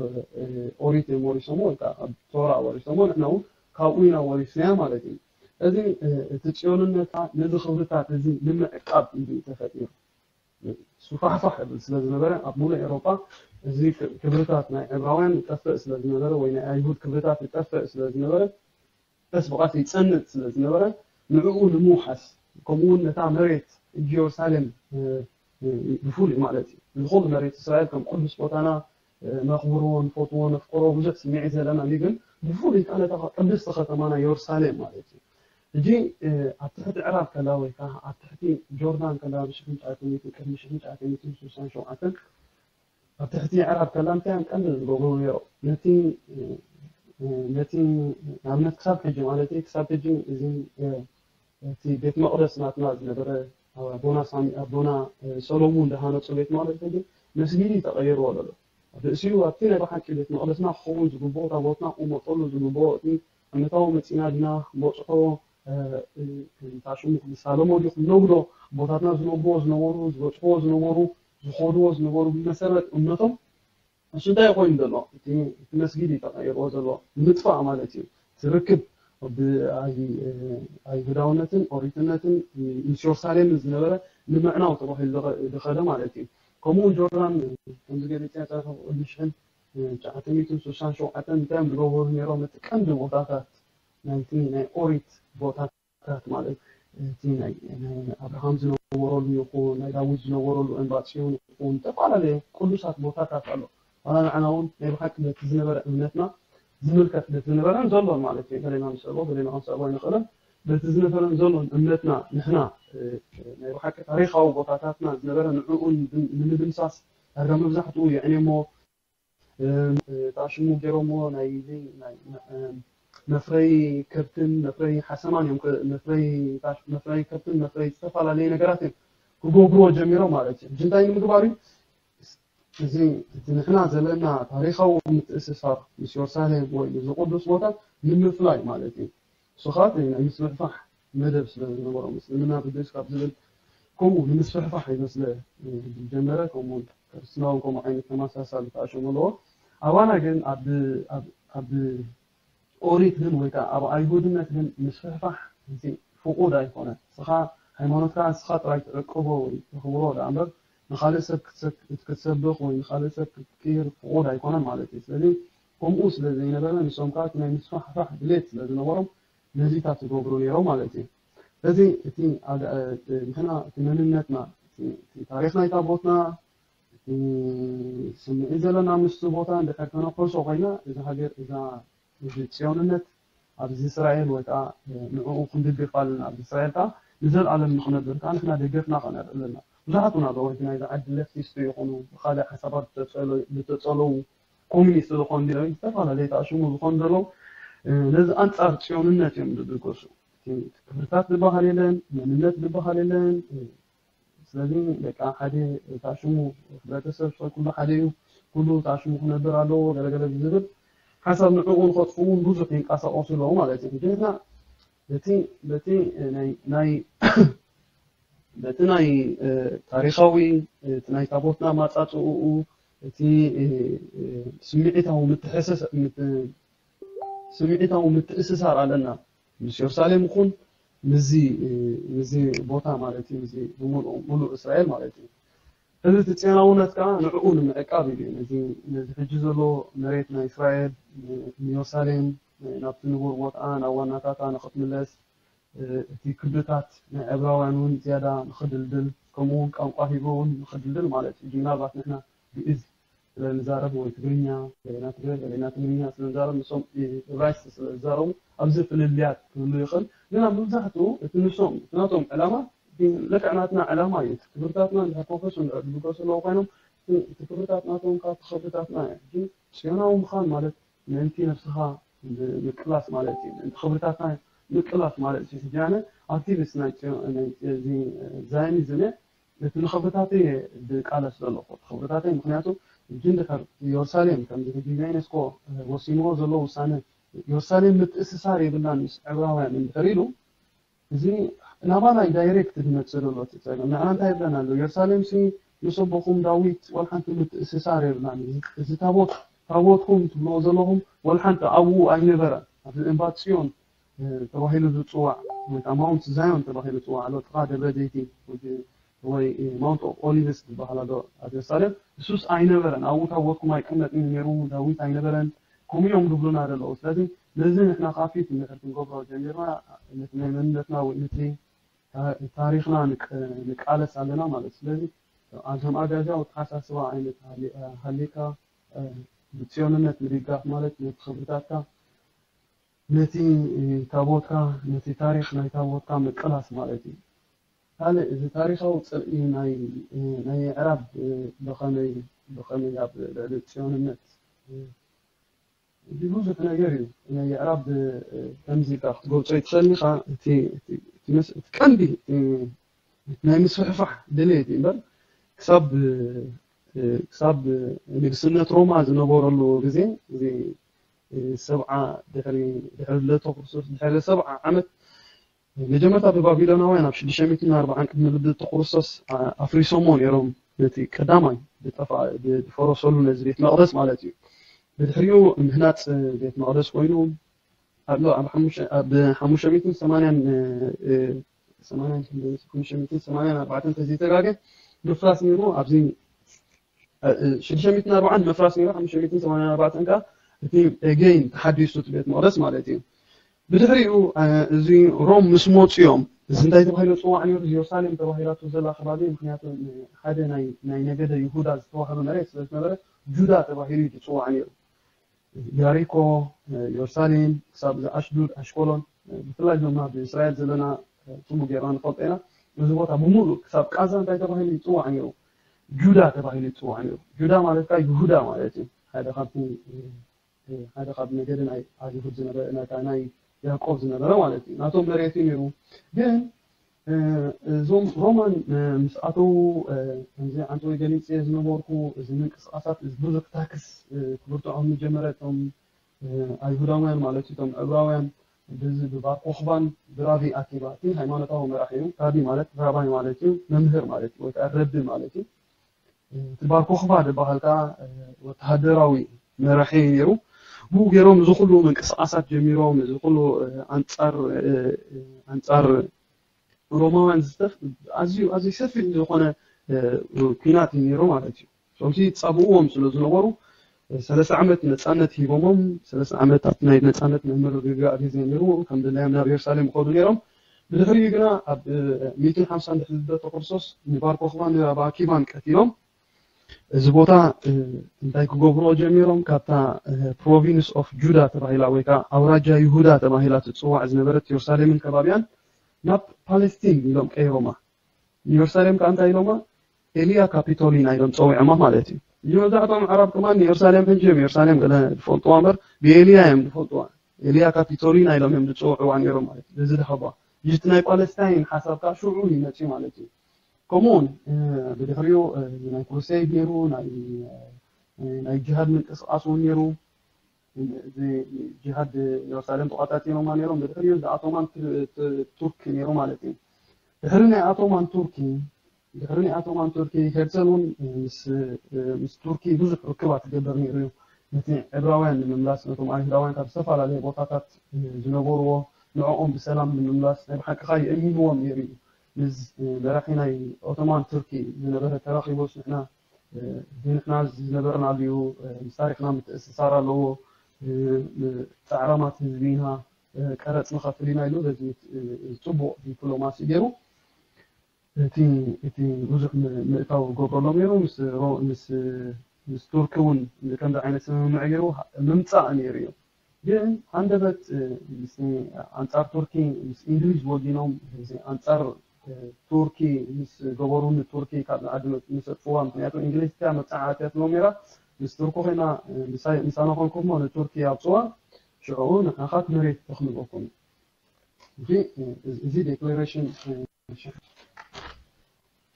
ኦሪት እዮም ወሪሶሞ ወይ ከዓ ካብ ቶራ ወሪሶሞ ንሕና እውን ካብኡ ኢና ወሪስናያ ማለት እዩ። እዚ እቲ ፅዮንነታ ነዚ ክብርታት እዚ ንምዕቃብ እዩ ተፈጢሩ። ሱፋሕፋሕ ይብል ስለ ዝነበረ ኣብ ሙሉእ ኤሮጳ እዚ ክብርታት ናይ ዕብራውያን ይጠፍእ ስለ ዝነበረ ወይ ናይ ኣይሁድ ክብርታት ይጠፍእ ስለ ዝነበረ ቀስ ብቐስ ይጸንጥ ስለ ዝነበረ ንዕኡ ንምውሓስ ከምኡ እውን ነታ መሬት ኢየሩሳሌም ብፍሉይ ማለት እዩ ንኹሉ መሬት እስራኤል ከም ቅዱስ ቦታና ነኽብሮ ንፈትዎ ነፍቅሮ ብዙሕ ስምዒት ዘለና እዩ ግን ብፍሉይ ከዓ ነታ ቅድስቲ ከተማና ኢየሩሳሌም ማለት እዩ ሕጂ ኣብ ትሕቲ ዕራብ ከላ ወይ ከዓ ኣብ ትሕቲ ጆርዳን ከላ ብሽሕን ጫትን ቅድሚ ሽሕን ጫትን ስሳን ሸውዓተን ኣብ ትሕቲ ዕራብ ከላ እንታይ እዮም ቀንዲ ዝገብሩ ነይሮም ነቲ ነቲ ንኣብነት ክሳብ ሕጂ ማለት ክሳብ ሕጂ እዚ እቲ ቤት መቕደስ ናትና ዝነበረ ኣቦና ሳሚ ኣቦና ሰሎሙን ዝሃነፁ ቤት መቕደስ ሕጂ መስጊድ እዩ ተቐይርዎ ዘሎ ርእሲኡ ኣብቲ ናይ ብሓቂ ቤት መቕደስና ክኸውን ዝግብኦ ታቦትና ክቕመጠሉ ዝግብኦ እቲ ዓመታዊ መፂና ድና ክበፅሖ እንታይ ሽሙ ክንሳለሞ ድዩ ክንነግዶ ኣቦታትና ዝነግድዎ ዝነበሩ ዝበፅሕዎ ዝነበሩ ዝኸድዎ ዝነበሩ ብመሰረት እምነቶም እሱ እንታይ ኮይኑ ዘሎ እቲ መስጊድ እዩ ተቐይርዎ ዘሎ ንምጥፋእ ማለት እዩ ትርክብ ኣይሁዳውነትን ኦሪትነትን ምስ ዮርሳሌም ዝነበረ ንምዕናው ተባሂሉ ዝኸደ ማለት እዩ ከምኡ ጆርዳን ከምዚ ገሊፅያ ፀረፈ ቅድሚ ሽሕን ትሽዓተ ሚእትን ስሳን ሸውዓተን እንታይ እዮም ዝገብሩ ነይሮም እቲ ቀንዲ ቦታታት ናይቲ ናይ ኦሪት ቦታታት ማለት እቲ ናይ ኣብርሃም ዝነበረሉ ይኹን ናይ ዳዊት ዝነበረሉ እንባፅዮን ይኹን ዝተፈላለየ ቅዱሳት ቦታታት ኣሎ ዋላ ንዓና እውን ናይ ብሓቂ ነቲ ዝነበረ እምነትና ዝምልከት ነቲ ዝነበረን ዘሎን ማለት እዩ ገሌና ንስዕቦ ገሌና ክንስዕቦ ኣይንኽእልን በቲ ዝነበረን ዘሎን እምነትና ንሕና ናይ ብሓቂ ታሪካዊ ቦታታትና ዝነበረ ንዕኡ ንምድምሳስ ዳርጋ መብዛሕትኡ የዕኔሞ እታ ሽሙ ገይሮሞ ናይ መፍረይ ከብትን መፍረይ ሓሰማን እዮም መፍረይ ከብትን መፍረይ ዝተፈላለዩ ነገራት እዮም ክገብርዎ ጀሚሮም ማለት እዩ ሕጂ እንታይ ንምግባር እዩ እዚ እቲ ንሕና ዘለና ታሪካዊ ምትእስሳር ምስ ዮርሳሌም ወይ እዚ ቅዱስ ቦታ ንምፍላይ ማለት እዩ እሱ ከዓ ናይ ምስፍሕፋሕ መደብ ስለ ዝነበሮ ምስልምና ብግእዝ ካብ ዝብል ከምኡ ንምስፍሕፋሕ ይመስለ ዝጀመረ ከምኡ ክርስትና እውን ከምኡ ዓይነት ተመሳሳሊ ተኣሸሙ ኣለዎ ኣባና ግን ኣብ ኣብ ኣብ ኦሪት ግን ወይ ከዓ ኣብ ኣይሁድነት ግን ምስፍሕፋሕ እዚ ፍቑድ ኣይኮነን። ንስኻ ሃይማኖትካ ንስኻ ጥራይ ትዕቅቦ ወይ ተኽብሮ ደኣ እምበር ንኻልእ ሰብ ክትሰክ- ክትሰብኽ ወይ ንኻልእ ሰብ ክትቅይር ፍቑድ ኣይኮነን ማለት እዩ። ስለዚ ከምኡ ስለ ዘይነበረ ንሶም ከዓ እቲ ናይ ምስፍሕፋሕ ድሌት ስለ ዝነበሮም ነዚታት ይገብሩ ነይሮም ማለት እዩ። ስለዚ እቲ ኣድ- ንሕና እቲ መንነትና እቲ እቲ ታሪኽ ናይ ታቦትና እቲ ስምዒት ዘለና ምስቲ ቦታ እንድሕር ተነኮሶ ኮይና እዛ ሃገር እዛ እዚ ፅዮንነት ኣብዚ እስራኤል ወይ ከዓ ንዕኡ ክንድግፍ ኣለና ኣብዚ እስራኤል ከዓ ንዘለኣለም ንክነብር ከዓ ንሕና ደገፍና ከነርኢ ኣለና። ብዙሓት እውን ኣለዉ እቲ ናይዚ ዓዲ ሌፍቲስት ይኹኑ ብካልእ ሓሳባት ዝተፀለ- ዝተፀለዉ ኮሚኒስት ዝኾኑ ዲኦም ዝተፈላለዩ ተኣሽሙ ዝኾኑ ዘለዉ ነዚ ኣንፃር ፅዮንነት እዮም ዝድገሱ። እቲ ክብርታት ዝበሃል የለን፣ መንነት ዝበሃል የለን። ስለዚ በቃ ሓደ ተኣሽሙ ሕብረተሰብ ሰብ ኩሉ ሓደ እዩ፣ ኩሉ ተኣሽሙ ክነብር ኣለዎ ገለገለ ብዝብል ሓሳብ ንዕኡ ንኸጥፍኡ እውን ብዙሕ ይንቀሳቐሱ ኣለዉ ማለት እዩ። ግን ንሕና በቲ በቲ ናይ ናይ በቲ ናይ ታሪኻዊ እቲ ናይ ታቦትና ማፃፅኡ እቲ ስምዒታዊ ምትሕስስ ምት- ስምዒታዊ ምትእስሳር ኣለና ምስ የሩሳሌም ይኹን ምስዚ ምስዚ ቦታ ማለት እዩ ምስዚ ብምሉእ ሙሉእ እስራኤል ማለት እዩ። እዚ እቲ ፅዮናውነት ከዓ ንዕኡ ንምዕቃብ እዩ ነዚ ነዚ ሕጂ ዘሎ መሬት ናይ እስራኤል ንየሩሳሌም ናብቲ ንቡር ቦትኣ ናብ ዋናታታ ንክትምለስ እቲ ክብርታት ናይ ዕብራውያን እውን ዝያዳ ንክድልድል ከምኡ እውን ቋንቋ ሂብሩ እውን ንክድልድል ማለት እዩ። ምናልባት ንሕና ግእዝ ስለ ንዛረብ ወይ ትግርኛ ገሌና ትግረ ገሌና ትግርኛ ስለ ንዛረብ ንሶም እብራይስጥ ስለ ዝዛረቡ ኣብዚ ፍልልያት ክህሉ ይኽእል። ግና መብዛሕትኡ እቲ ንሶም እቲ ናቶም ዕላማ ልክዕ ናትና ዕላማ እዩ። እቲ ክብርታትና እንድሕር ፎከስ እንድሕር ዝብገሱ ኣለዉ ኮይኖም እቲ ክብርታት ናቶም ካብ ክብርታትና እዩ። ግን ፅዮናዊ ምዃን ማለት ምእንቲ ነብስኻ ምቅላስ ማለት እዩ። ምእንቲ ክብርታትና ምቅላስ ማለት እዩ። ሕጂ ኣነ ኣክቲቪስት ናይ ዛዮኒዝም እየ። ነቲ ንኽብርታተይ እየ ዝቃለስ ዘለኹ። እቲ ክብርታተይ ምኽንያቱ ሕጂ እንድሕር ኢየሩሳሌም ከምዚ ሕጂ ዩኔስኮ ወሲንዎ ዘሎ ውሳነ ኢየሩሳሌም ምትእስሳር የብላን ምስ ዕብራውያን እንድሕር ኢሉ እዚ ናባና እዩ ዳይሬክት ዝመፅእ ዘሎ እቲ ፀገም። ንዓና እንታይ ይብለና ኣሎ? ኢየሩሳሌም ሲ ምስ ኣቦኹም ዳዊት ዋላ ሓንቲ ምትእስሳር የብላን። እዚ ታቦት ታቦትኩም ትብልዎ ዘለኹም ዋላ ሓንቲ ኣብኡ ኣይነበረን። ኣብዚ እምባ ፅዮን ተባሂሉ ዝፅዋዕ ወይ ከዓ ማውንት ዛዮን ተባሂሉ ዝፅዋዕ ኣሎ ጥቓ ደብረ ዘይቲ ወይ ማውንት ኦፍ ኦሊቭስ ዝበሃል ኣሎ ኣብ ኢየሩሳሌም። እሱስ ኣይነበረን። ኣብኡ ታቦትኩም ኣይቅመጥን ነይሩ፣ ዳዊት ኣይነበረን። ከምኡ እዮም ዝብሉና ዘለዉ። ስለዚ ነዚ ንሕና ካብ ፊት እንድሕር ክንገብሮ ጀሚርና ነቲ ናይ መንነትና ወይ ነቲ ታሪኽና ንቃለስ ኣለና ማለት እዩ። ስለዚ ኣዞም ኣጋዛዊ ኣተሓሳስባ ዓይነት ሃሊካ ብፅዮንነት ምድጋፍ ማለት ነቲ ክብርታትካ ነቲ ታቦትካ ነቲ ታሪኽ ናይ ታቦትካ ምቅላስ ማለት እዩ። ካልእ እዚ ታሪኻዊ ፅልኢ ናይ ናይ ኣዕራብ ብኸመይ ብኸመይ ኣብ ልዕሊ ፅዮንነት እዚ ብዙሕ ነገር እዩ። ናይ ኣዕራብ ከምዚ ኢልካ ክትገልፆ ይትኽእል ኢኻ። እቲ ቀንዲ ናይ ምስፍሕፋሕ ድሌት እዩ እምበር ክሳብ ክሳብ ንግስነት ሮማ ዝነበረሉ ግዜ እዚ ሰብዓ ድሕሪ ድሕሪ ልደተ ክርስቶስ ድሕሪ ሰብዓ ዓመት መጀመርታ ብባቢሎናውያን ኣብ ሽዱሽተ ሚእትን ኣርባዓን ቅድሚ ልደተ ክርስቶስ ኣፍሪሶሞ ነይሮም። ነቲ ቀዳማይ ዝጠፍኣ ዝፈረሰሉ ነዚ ቤት መቕደስ ማለት እዩ። ብድሕሪኡ ምህናፅ ቤት መቕደስ ኮይኑ ኣሎ ኣብ ሓሙሽተ ሚእትን ሰማንያን ሰማንያን ሓሙሽተ ሚእትን ሰማንያን ኣርባዕተን ተዘይተጋገ ምፍራስ ነይሩ። ኣብዚ ሽዱሽተ ሚእትን ኣርባዓን ምፍራስ ነይሩ ሓሙሽተ ሚእትን ሰማንያን ኣርባዕተን ከዓ እቲ ኤጌይን ተሓዲሱ እቲ ቤት መቕደስ ማለት እዩ። ብድሕሪኡ እዚ ሮም ምስ መፁ እዮም እዚ እንታይ ተባሂሉ ፅዋዕ ነይሩ ኢየሩሳሌም ተባሂላቱ ዘላ ከባቢ ምክንያቱ ሓደ ናይ ነገደ ይሁዳ ዝተዋህበ መሬት ስለዝነበረ ጁዳ ተባሂሉ እዩ ዝፅዋዕ ነይሩ። ያሪኮ፣ ኢየሩሳሌም ክሳብ እዚ ኣሽዱድ ኣሽኮሎን ብፍላይ ድማ ብእስራኤል ዘለና ፅቡቅ ጌርና ንፈልጦ ኢና። እዚ ቦታ ብምሉእ ክሳብ ቃዛ እንታይ ተባሂሉ ይፅዋዕ ነይሩ? ጁዳ ተባሂሉ ይፅዋዕ ነይሩ። ጁዳ ማለት ከዓ ይሁዳ ማለት እዩ። ሓደ ካብቲ ሓደ ካብ ነገደ ናይ ኣይሁድ ዝነበረ ናይ ያዕቆብ ዝነበረ ማለት እዩ። ናቶም መሬት እዩ ነይሩ። ግን እዞም ሮማን ምስ ኣተዉ ከምዚ ዓንተወይ ገሊፀ ዝነበርኩ እዚ ምንቅስቃሳት ብዙሕ ታክስ ክብርትዖም ጀመረ። እቶም ኣይሁዳውያን ማለት እዩ እቶም ዕብራውያን ብዚ ብባር ኮኽባን ብራቢ ኣኪባ እቲ ሃይማኖታዊ መራሒ እዩ። ራቢ ማለት ራባይ ማለት እዩ መምህር ማለት እዩ ወይ ከዓ ረቢ ማለት እዩ። እቲ ባር ኮኽባ ዝበሃል ከዓ ወተሃደራዊ መራሒ ነይሩ። ብኡ ገይሮም እዚ ኩሉ ምንቅስቃሳት ጀሚሮም፣ እዚ ኩሉ ኣንፃር ኣንፃር ሮማውያን ዝተፍ ኣዝዩ ኣዝዩ ሰፊሕ ዝኾነ ኩናት እዩ ነይሩ ማለት እዩ። እሶምሲ ፃብእዎም ስለ ዝነበሩ ሰለስተ ዓመት ነፃነት ሂቦሞም። ሰለስተ ዓመት ኣብቲ ናይ ነፃነት ናይ ምርግጋእ ግዜ ነይሩ። ከም ድላዮም ናብ የሩሳሌም ይኸዱ ነይሮም። ብድሕሪኡ ግና ኣብ ሚእትን ሓምሳን ድሕሪ ልደተ ክርስቶስ ንባር ኮኽባን ንራብ ኣኪባን ቀቲሎም። እዚ ቦታ እንታይ ክገብርዎ ጀሚሮም? ካብታ ፕሮቪንስ ኦፍ ጁዳ ተባሂላ ወይ ከዓ ኣውራጃ ይሁዳ ተባሂላ ትፅዋዕ ዝነበረት የሩሳሌምን ከባቢያን ናብ ፓለስቲን ኢሎም ቀይሮማ። ንየሩሳሌም ከዓ እንታይ ኢሎማ? ኤልያ ካፒቶሊና ኢሎም ፀዊዖማ ማለት እዩ። እዚ መብዛሕትኦም ኣዕራብ ከማን ንየሩሳሌም ሕጂ እዮም የሩሳሌም ገለ ዝፈልጥዋ እምበር ብኤልያ እዮም ዝፈልጥዋ። ኤልያ ካፒቶሊና ኢሎም እዮም ዝፅውዕዋ ነይሮም ማለት እዩ። እዚ ድሃባ ጅት ናይ ፓለስታይን ሓሳብ ከዓ ሽዑ ይመፅዩ ማለት እዩ። ከምኡውን ብድሕሪኡ ናይ ክሩሴድ ነይሩ፣ ናይ ጅሃድ ምንቅስቃስ እውን ነይሩ። እዚ ጅሃድ የሩሳሌም ተቋፃፂሮማ ነይሮም። ብድሕሪኡ እዚ ኣቶማን ቱርኪ ነይሩ ማለት እዩ። ድሕሪ ናይ ኣቶማን ቱርኪ ድሕሪ ናይ ኣቶማን ቱርኪ ሄርሰል እውን ምስ ቱርኪ ብዙሕ ርክባት ክገብር ነይሩ እዩ። ነቲ ዕብራውያን ንምምላስ ነቶም ኣይሁዳውያን ካብ ዝተፈላለየ ቦታታት ዝነበርዎ ንዕኦም ብሰላም ንምምላስ ናይ ብሓቂ ከዓ የእሚንዎም ነይሩ እዩ። ምስ መራሒ ናይ ኦቶማን ቱርኪ ዝነበረ ተራኺቦስ ንሕና ንሕና ዝነበርናሉ እዩ፣ ምስ ታሪክና ምትእስሳር ኣለዎ፣ ፃዕራማት ህዝቢ ኢና፣ ቀረፅ ንኸፍል ኢና ኢሉ በዚ ፅቡቅ ዲፕሎማሲ ገይሩ እቲ እቲ ብዙሕ ምእታው ገብረሎም ነይሩ። ምስ ሮ- ምስ ምስ ቱርኪ እውን ከምዚ ዓይነት ስምምዕ ገይሩ ምምፃእ ነይሩ እዩ። ግን ሃንደበት ምስ ኣንፃር ቱርኪ ምስ እንግሊዝ ወጊኖም እዚ ኣንፃር ቱርኪ ምስ ገበሩ ንቱርኪ ካብ ዓዲ ምስ ኣጥፍዋ። ምክንያቱ እንግሊዝ እቲያ መብፃዓ ኣትያትሎም ነይራ። ምስ ቱርኪ ኮይና ምሳና ኮንኩም ንቱርኪ ኣውፅዋ፣ ሽዑ ንዓኻት መሬት ተኽልበኩም። እዚ ዴክሌሬሽን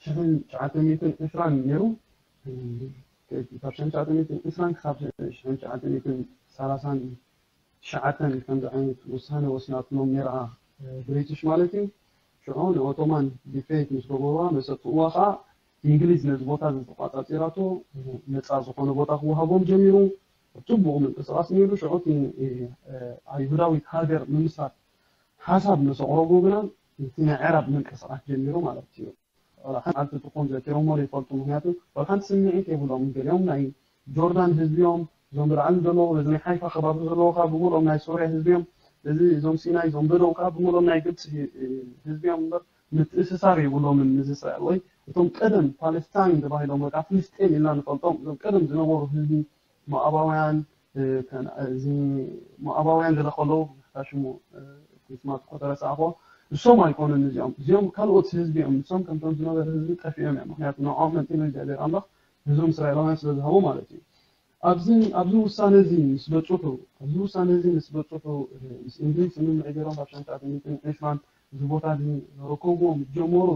ሽሕን ትሽዓተ ሚእትን ዕስራን ነይሩ። ካብ ሽሕን ትሽዓተ ሚእትን ዕስራን ክሳብ ሽሕን ትሽዓተ ሚእትን ሰላሳን ትሽዓተን ከምዚ ዓይነት ውሳነ ወሲናትሎም ነይራ፣ ብሪቲሽ ማለት እዩ። ሽዑ ንኦቶማን ዲፌት ምስ ገበሩዋ መሰጥእዋ ከዓ እንግሊዝ ነዚ ቦታ ዝተቋፃፂራቶ ነፃ ዝኾነ ቦታ ክወሃቦም ጀሚሩ። ፅቡቕ ምንቅስቃስ ነይሩ። ሽዑ እቲ ኣይሁዳዊት ሃገር ምምስራት ሓሳብ ምስ ኣቕረቡ ግና እቲ ናይ ዕራብ ምንቅስቃስ ጀሚሩ ማለት እዩ። ዋላ ሓንቲ ትኾን ዘኪሮሞ ዘይፈልጡ፣ ምክንያቱ ዋላ ሓንቲ ስምዒት የብሎም። ገሊኦም ናይ ጆርዳን ህዝቢ እዮም፣ እዞም ብላዕሊ ዘለዉ በዚ ናይ ሓይፋ ከባቢ ዘለዉ ከዓ ብምልኦም ናይ ሶርያ ህዝቢ እዮም። እዚ እዞም ሲናይ እዞም በደው ከዓ ብምልኦም ናይ ግብፂ ህዝቢ እዮም እምበር ምትእስሳር የብሎምን ምስ እስራኤል። ወይ እቶም ቀደም ፓለስታይን ተባሂሎም ወይ ከዓ ፍልስጤም ኢልና ንፈልጦም እዞም ቀደም ዝነበሩ ህዝቢ ሞኣባውያን እዚ ሞኣባውያን ገለ ከለዉ ሽሙ ስማት እኮ ተረሳዕኮ። እሶም ኣይኮኑን እዚኦም፣ እዚኦም ካልኦት ህዝቢ እዮም። እሶም ከምቶም ዝነበረ ህዝቢ ጠፊኦም እዮም። ምክንያቱ ንዕኦም መንጢሉ እግዚኣብሔር ኣምላኽ ህዝቦም እስራኤላውያን ስለ ዝሃቦ ማለት እዩ። ኣብዚ ኣብዚ ውሳነ እዚ ምስ በፅሑ ኣብዚ ውሳነ እዚ ምስ በፅሑ ምስ እንግሊዝ ስምምዕ ገይሮም ኣብ ሸንተ ሚእትን ዕስራን እዚ ቦታ እዚ ርከብዎም ጀመሩ።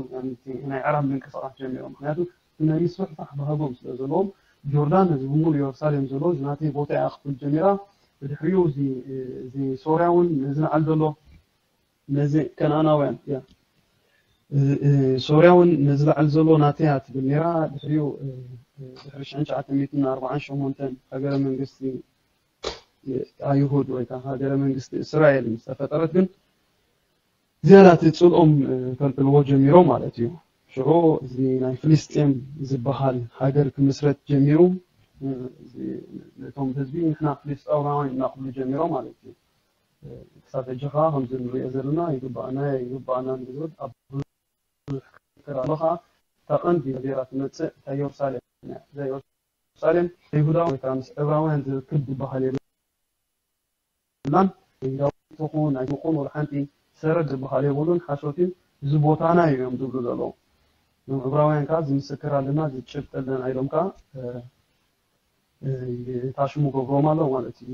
ናይ ዕራብ ምንቅስቃስ ጀሚሮም። ምክንያቱ ናይ ምስፍሕፋሕ ባህጎም ስለ ዘለዎም ጆርዳን እዚ ብምሉእ የሩሳሌም ዘሎ እዚ ናተይ ቦታ እያ ክብል ጀሚራ። ብድሕሪኡ እዚ ሶርያ እውን ነዚ ንዓል ዘሎ ነዚ ከነኣናውያን ያ ሶርያ እውን ነዚ ላዕሊ ዘሎ ናተይ እያ ትብል ነይራ። ድሕሪኡ ድሕሪ ሽሕን ትሽዓተ ሚእትን ኣርባዓን ሸሞንተን ሃገረ መንግስቲ ኣይሁድ ወይ ከዓ ሃገረ መንግስቲ እስራኤል ምስ ተፈጠረት ግን ዝያዳ እቲ ፅልኦም ከልዕልዎ ጀሚሮም ማለት እዩ። ሽዑ እዚ ናይ ፍልስጤም ዝበሃል ሃገር ክምስረት ጀሚሩ። ነቶም ህዝቢ ንሕና ፍልስጤማውያን እናክብሉ ጀሚሮም ማለት እዩ። ክሳብ ሕጂ ከዓ ከምዚ ንሪኦ ዘለና ይግባኣና ይግባኣና ንዝብል ኣብ ብዙሕ ክርክር ኣሎ። ከዓ እታ ቀንዲ ገይራ ትመፅእ እታ የሩሳሌም እያ። እዛ የሩሳሌም ይሁዳ ወይ ከዓ ምስ ዕብራውያን ዝርክብ ዝበሃል የብላን። ይሁዳዊ ትኹን ኣይትኹን ወላ ሓንቲ ሰረድ ዝበሃል የብሉን፣ ሓሶት እዩ። እዚ ቦታና እዩ እዮም ዝብሉ ዘለዉ። እዞም ዕብራውያን ከዓ እዚ ምስክር ኣለና፣ እዚ ጭብጢ ኣለና ኢሎም ከዓ ታሽሙ ገብሮም ኣለዉ ማለት እዩ።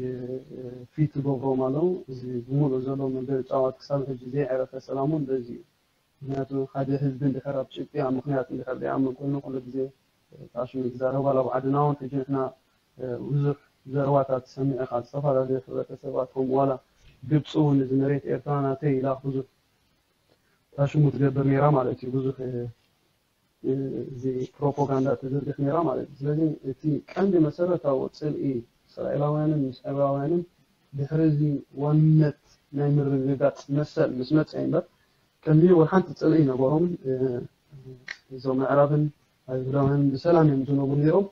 ፊት ገብሮም ኣለዉ። እዚ ብምሉእ ዘሎ መበል ጫዋት ክሳብ ሕጂ ዘይዕረፈ ሰላም እውን በዚ እዩ። ምክንያቱ ሓደ ህዝቢ እንድሕር ኣብ ጭብጢ ኣብ ምክንያት እንድሕር ዘይኣምን ኮይኑ ኩሉ ግዜ ታሽሙ ይዛረብ ኣሎ። ኣብ ዓድና እውን ሕጂ ንሕና ብዙሕ ዘረባታት ትሰምዕ ኢኻ። ዝተፈላለዩ ሕብረተሰባት ከምኡ ዋላ ግብፂ እውን እዚ መሬት ኤርትራ ናተይ ኢላ ብዙሕ ታሽሙ ትገብር ነይራ ማለት እዩ። ብዙሕ እዚ ፕሮፓጋንዳ ትዝርግሕ ነይራ ማለት እዩ። ስለዚ እቲ ቀንዲ መሰረታዊ ፅልኢ እስራኤላውያንን ምስ ዕብራውያንን ድሕሪ እዚ ዋንነት ናይ ምርግጋጽ መሰል ምስ መጸ እምበር፣ ቀንዲ ወላ ሓንቲ ጽልኢ ነበሮምን እዞም ኣዕራብን ኣይሁዳውያንን ብሰላም እዮም ዝነብሩ ነይሮም።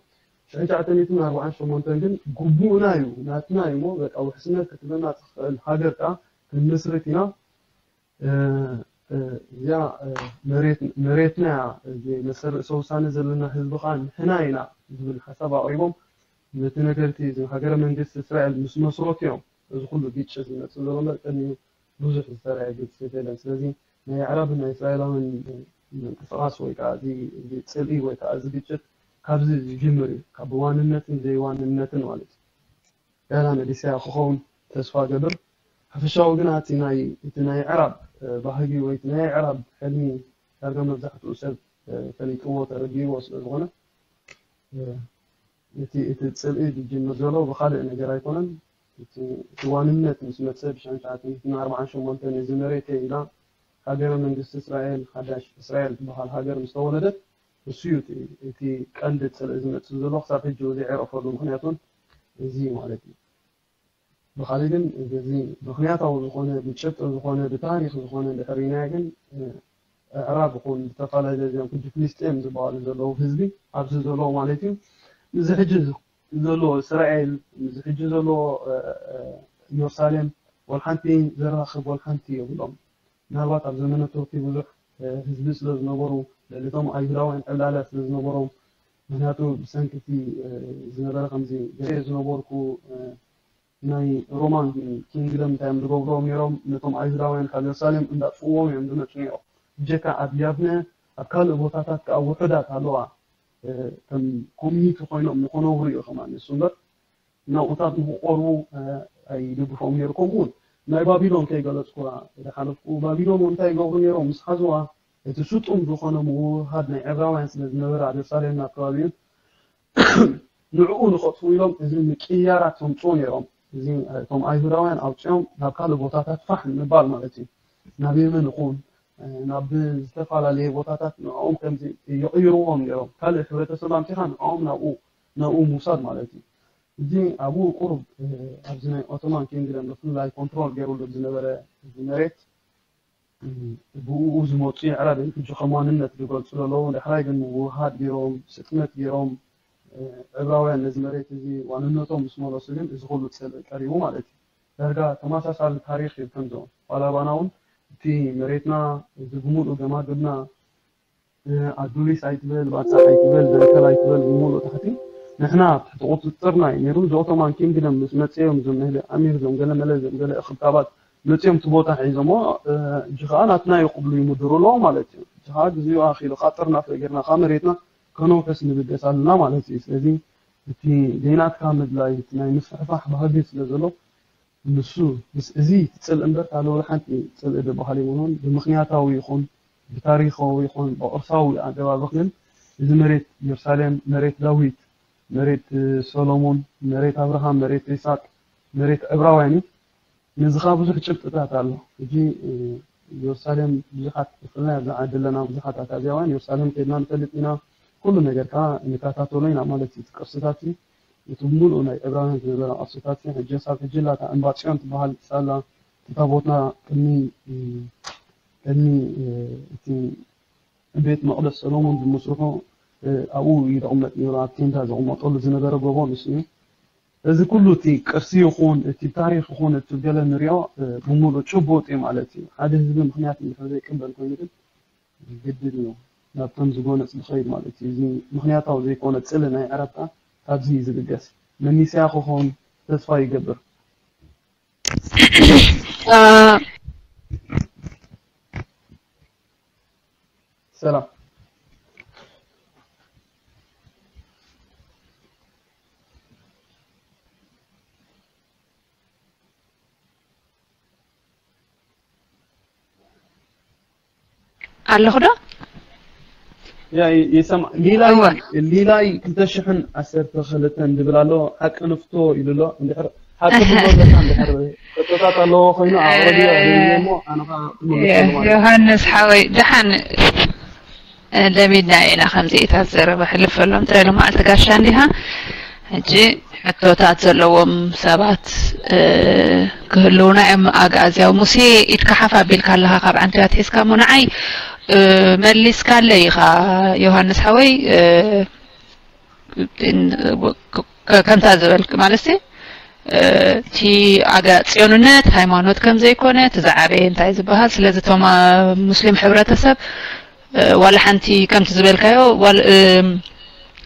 ሽሕን ትሽዓተ ሚእትን ኣርባዓን ሸሞንተን ግን ግቡእና እዩ፣ ናትና እዩ እሞ በቃ ውሕስነት ክትህበና ትኽእል ሃገር ከኣ ክንምስርት ኢና። እዚኣ መሬትና እያ፣ መሰል ርእሰ ውሳነ ዘለና ህዝቢ ከዓ ንሕና ኢና ዝብል ሓሳብ ኣቕሪቦም። ነቲ ነገርቲ እዚ ሃገረ መንግስቲ እስራኤል ምስ መስረቱ እዮም እዚ ኩሉ ግጭት ዝመፅእ ዘሎ እምበር ቅድሚኡ ብዙሕ ዝተረኣየ ግጭት የለን። ስለዚ ናይ ኣዕራብን ናይ እስራኤላውያን ምንቅስቃስ ወይ ከዓ እዚ ጽልኢ ወይ ከዓ እዚ ግጭት ካብዚ ዝጅምር እዩ፣ ካብ ዋንነትን ዘይዋንነትን ማለት እዩ። ያላ መሊሰያ ክኸውን ተስፋ ገብር። ሓፈሻዊ ግና እቲ ናይ እቲ ናይ ዕራብ ባህጊ ወይ እቲ ናይ ዕራብ ሕልሚ ዳርጋ መብዛሕትኡ ሰብ ፈሊጥዎ ተረዲእዎ ስለ ዝኾነ እቲ እቲ ጽልኢ ዝጅምር ዘሎ ብኻልእ ነገር ኣይኮነን። እቲ ዋንነት ምስ መጸ ብሽሕን ትሽዓተ ሚእትን ኣርባዓን ሸሞንተን እዚ መሬተይ ኢላ ሃገረ መንግስቲ እስራኤል ሓዳሽ እስራኤል ትበሃል ሃገር ምስ ተወለደት እሱ እዩ እቲ ቀንዲ ጽልኢ ዝመጽእ ዘሎ ክሳብ ሕጂ ዘይዕረፈሉ ምክንያቱን እዚ ማለት እዩ። ብኻልእ ግን እዚ ምኽንያታዊ ዝኾነ ብጭብጢ ዝኾነ ብታሪኽ ዝኾነ እንድሕር ርኢናዮ ግን ኣዕራብ ይኹን ዝተፈላለየ እዚኦም ሕጂ ፍልስጤም ዝበሃሉ ዘለዉ ህዝቢ ኣብዚ ዘለዉ ማለት እዩ እዚ ሕጂ ዘሎ እስራኤል እዚ ሕጂ ዘሎ ኢየሩሳሌም ወልሓንቲ ዘራኽብ ወልሓንቲ የብሎም። ምናልባት ኣብ ዘመነ ቱርኪ ብዙሕ ህዝቢ ስለ ዝነበሩ ልዕሊ እቶም ኣይሁዳውያን ዕብላለ ስለ ዝነበሮም ምክንያቱ ብሰንኪ እቲ ዝነበረ ከምዚ ገለ ዝነበርኩ ናይ ሮማን ኪንግደም እንታይ እዮም ዝገብርዎም ነይሮም ነቶም ኣይሁዳውያን ካብ የሩሳሌም እንዳጥፍዎም እዮም ዝመፁ ነይሮም። ብጀካ ኣብ ያብነ ኣብ ካልእ ቦታታት ከዓ ውሑዳት ኣለዋ ከም ኮሚኒቲ ኮይኖም ንክነብሩ እዩ ከማ ንሱ እምበር ናብኡታት ንክቆርቡ ኣይድግፎም ነይሩ። ከምኡ እውን ናይ ባቢሎን ከይገለፅኩዋ ዝሓለፍኩ ባቢሎን እውን እንታይ ይገብሩ ነይሮም ምስ ሓዝዋ እቲ ስጡም ዝኾነ ምውሃድ ናይ ዕብራውያን ስለ ዝነበረ ኣብ የሩሳሌም ናብ ከባቢኡን ንዕኡ ንኸጥፍኡ ኢሎም እዚ ምቅያራት ከምፅኡ ነይሮም። እዚ እቶም ኣይሁዳውያን ኣውፅኦም ናብ ካልእ ቦታታት ፋሕ ንምባል ማለት እዩ። ናብ የመን ይኹን ናብ ዝተፈላለየ ቦታታት ንዕኦም ከምዚ ይቕይርዎም ነይሮም። ካልእ ሕብረተሰብ ኣምፂኻ ንዕኦም ናብኡ ናብኡ ምውሳድ ማለት እዩ። እዚ ኣብኡ ቁሩብ ኣብዚ ናይ ኦቶማን ኪንግደም ብፍላይ ኮንትሮል ገይሩሉ ዝነበረ እዚ መሬት ብኡ ዝመፁ የዕራብ እዮም ሕጂ ከም ዋንነት ዝገልፁ ዘለዉ። ዳሕራይ ግን ምውህሃድ ገይሮም ስጥመት ገይሮም ዕብራውያን ነዚ መሬት እዚ ዋንነቶም ምስ መለሱ ግን እዚ ኩሉ ፅልኢ ቀሪቡ ማለት እዩ። ዳርጋ ተመሳሳሊ ታሪኽ እዩ ከምዞም ዋላ ባና እውን እቲ መሬትና እዚ ብምሉእ ገማግብና ኣዱሊስ ኣይትበል ባፃሕ ኣይትበል ደንከል ኣይትበል ብምሉእ ታሕቲ ንሕና ኣብ ትሕቲ ቁፅፅርና እዩ ነይሩ። እዚ ኦቶማን ኪንግደም ምስ መፅኦም እዞም መህሊ ኣሚር እዞም ገለ መለ እዞም ገለ እኽብካባት መፅኦም እቲ ቦታ ሒዞሞ ሕጂ ከዓ ናትና እዩ ክብሉ ይምድሩ ኣለዉ ማለት እዩ። ሕጂ ከዓ ግዜኡ ኣኺሉ ከዓ ጥርናፈ ጌርና ከዓ መሬትና ከነውሕስ ንብገስ ኣለና ማለት እዩ። ስለዚ እቲ ዘይናትካ ምድላይ እቲ ናይ ምስፍሕፋሕ ባህጊ ስለ ዘሎ ንሱ ምስ እዚ እቲ ጽልኢ እምበር ካልእ ወላ ሓንቲ ጽልኢ ዝበሃል የብሉን። ብምኽንያታዊ ይኹን ብታሪኻዊ ይኹን ብቕርሳዊ ኣገባብ ግን እዚ መሬት የሩሳሌም፣ መሬት ዳዊት፣ መሬት ሰሎሞን፣ መሬት ኣብርሃም፣ መሬት ይስሐቅ፣ መሬት ዕብራውያን እዩ። ነዚ ኸኣ ብዙሕ ጭብጥታት ኣሎ። ሕጂ የሩሳሌም ብዙሓት ብፍላይ ኣብዛ ዓዲ ኣለና ብዙሓት ኣታዝያውያን የሩሳሌም ከድና ንፈልጥ ኢና። ኩሉ ነገር ከኣ ንከታተሎ ኢና ማለት እዩ። እቲ ቅርስታት እቲ ብምሉኡ ናይ ዕብራውያን ዝነበረ ቅርስታት ሕጂ ሳብ ሕጂ ላታ እምባ ጽዮን ትበሃል ሳላ እቲ ታቦትና ቅድሚ ቅድሚ እቲ ቤት መቕደስ ሰሎሞን ብምስርሑ ኣብኡ እዩ ዝቕመጥ ነይሩ። ኣብ ቴንዳ ዝቕመጠሉ ዝነበረ ጎቦ ንሱ እዩ። እዚ ኩሉ እቲ ቅርሲ ይኹን እቲ ታሪኽ ይኹን እቲ ገለ ንሪኦ ብምሉእ ጭቡጥ እዩ ማለት እዩ። ሓደ ህዝቢ ምኽንያት እንድሕር ዘይቅበል ኮይኑ ግን ግድን እዩ ናብቶም ዝጎነፅ ዝኸይድ ማለት እዩ። እዚ ምኽንያታዊ ዘይኮነ ፅልኢ ናይ ዓረብታ ካብዚ እዩ ዝብገስ። መኒስያ ክኾን ተስፋ ይገብር። ሰላም ኣለኹ ዶ? ያ ይሰማ ሊላይ ሊላይ ክልተ ሽሕን ዓሰርተ ክልተን ዝብል ኣሎ ሓቂ ንፍቶ ኢሉ ኣሎ እንድሕር ሓቂ ትብሎ ኣለካ እንድሕር ሕቶታት ኣለዎ ኮይኑ ኣቕርብዮ እሞ ኣነ ከዓ ክምልሰሉ ማለት ዮሃንስ ሓወይ ደሓን ለሚድና ኢና ከምዚኢታት ዘረባ ሕልፈሎም ጥረ ልማዕቲ ጋሻ እንዲኻ ሕጂ ሕቶታት ዘለዎም ሰባት ክህልውና እዮም። ኣግኣዝያዊ ሙሴ፣ ኢድካ ሓፍ ኣቢልካ ኣለኻ፣ ካብ ዓንክያ ኣትሒዝካ እሞ ንዓይ መሊስካለይ ኢኻ። ዮሃንስ ሓወይ፣ ከምታ ዝበልክ ማለት እቲ ኣጋ ጽዮንነት ሃይማኖት ከም ዘይኮነ፣ እቲ ዝዓበየ እንታይ ዝበሃል። ስለዚ እቶም ሙስሊም ሕብረተሰብ ዋላ ሓንቲ ከምቲ ዝበልካዮ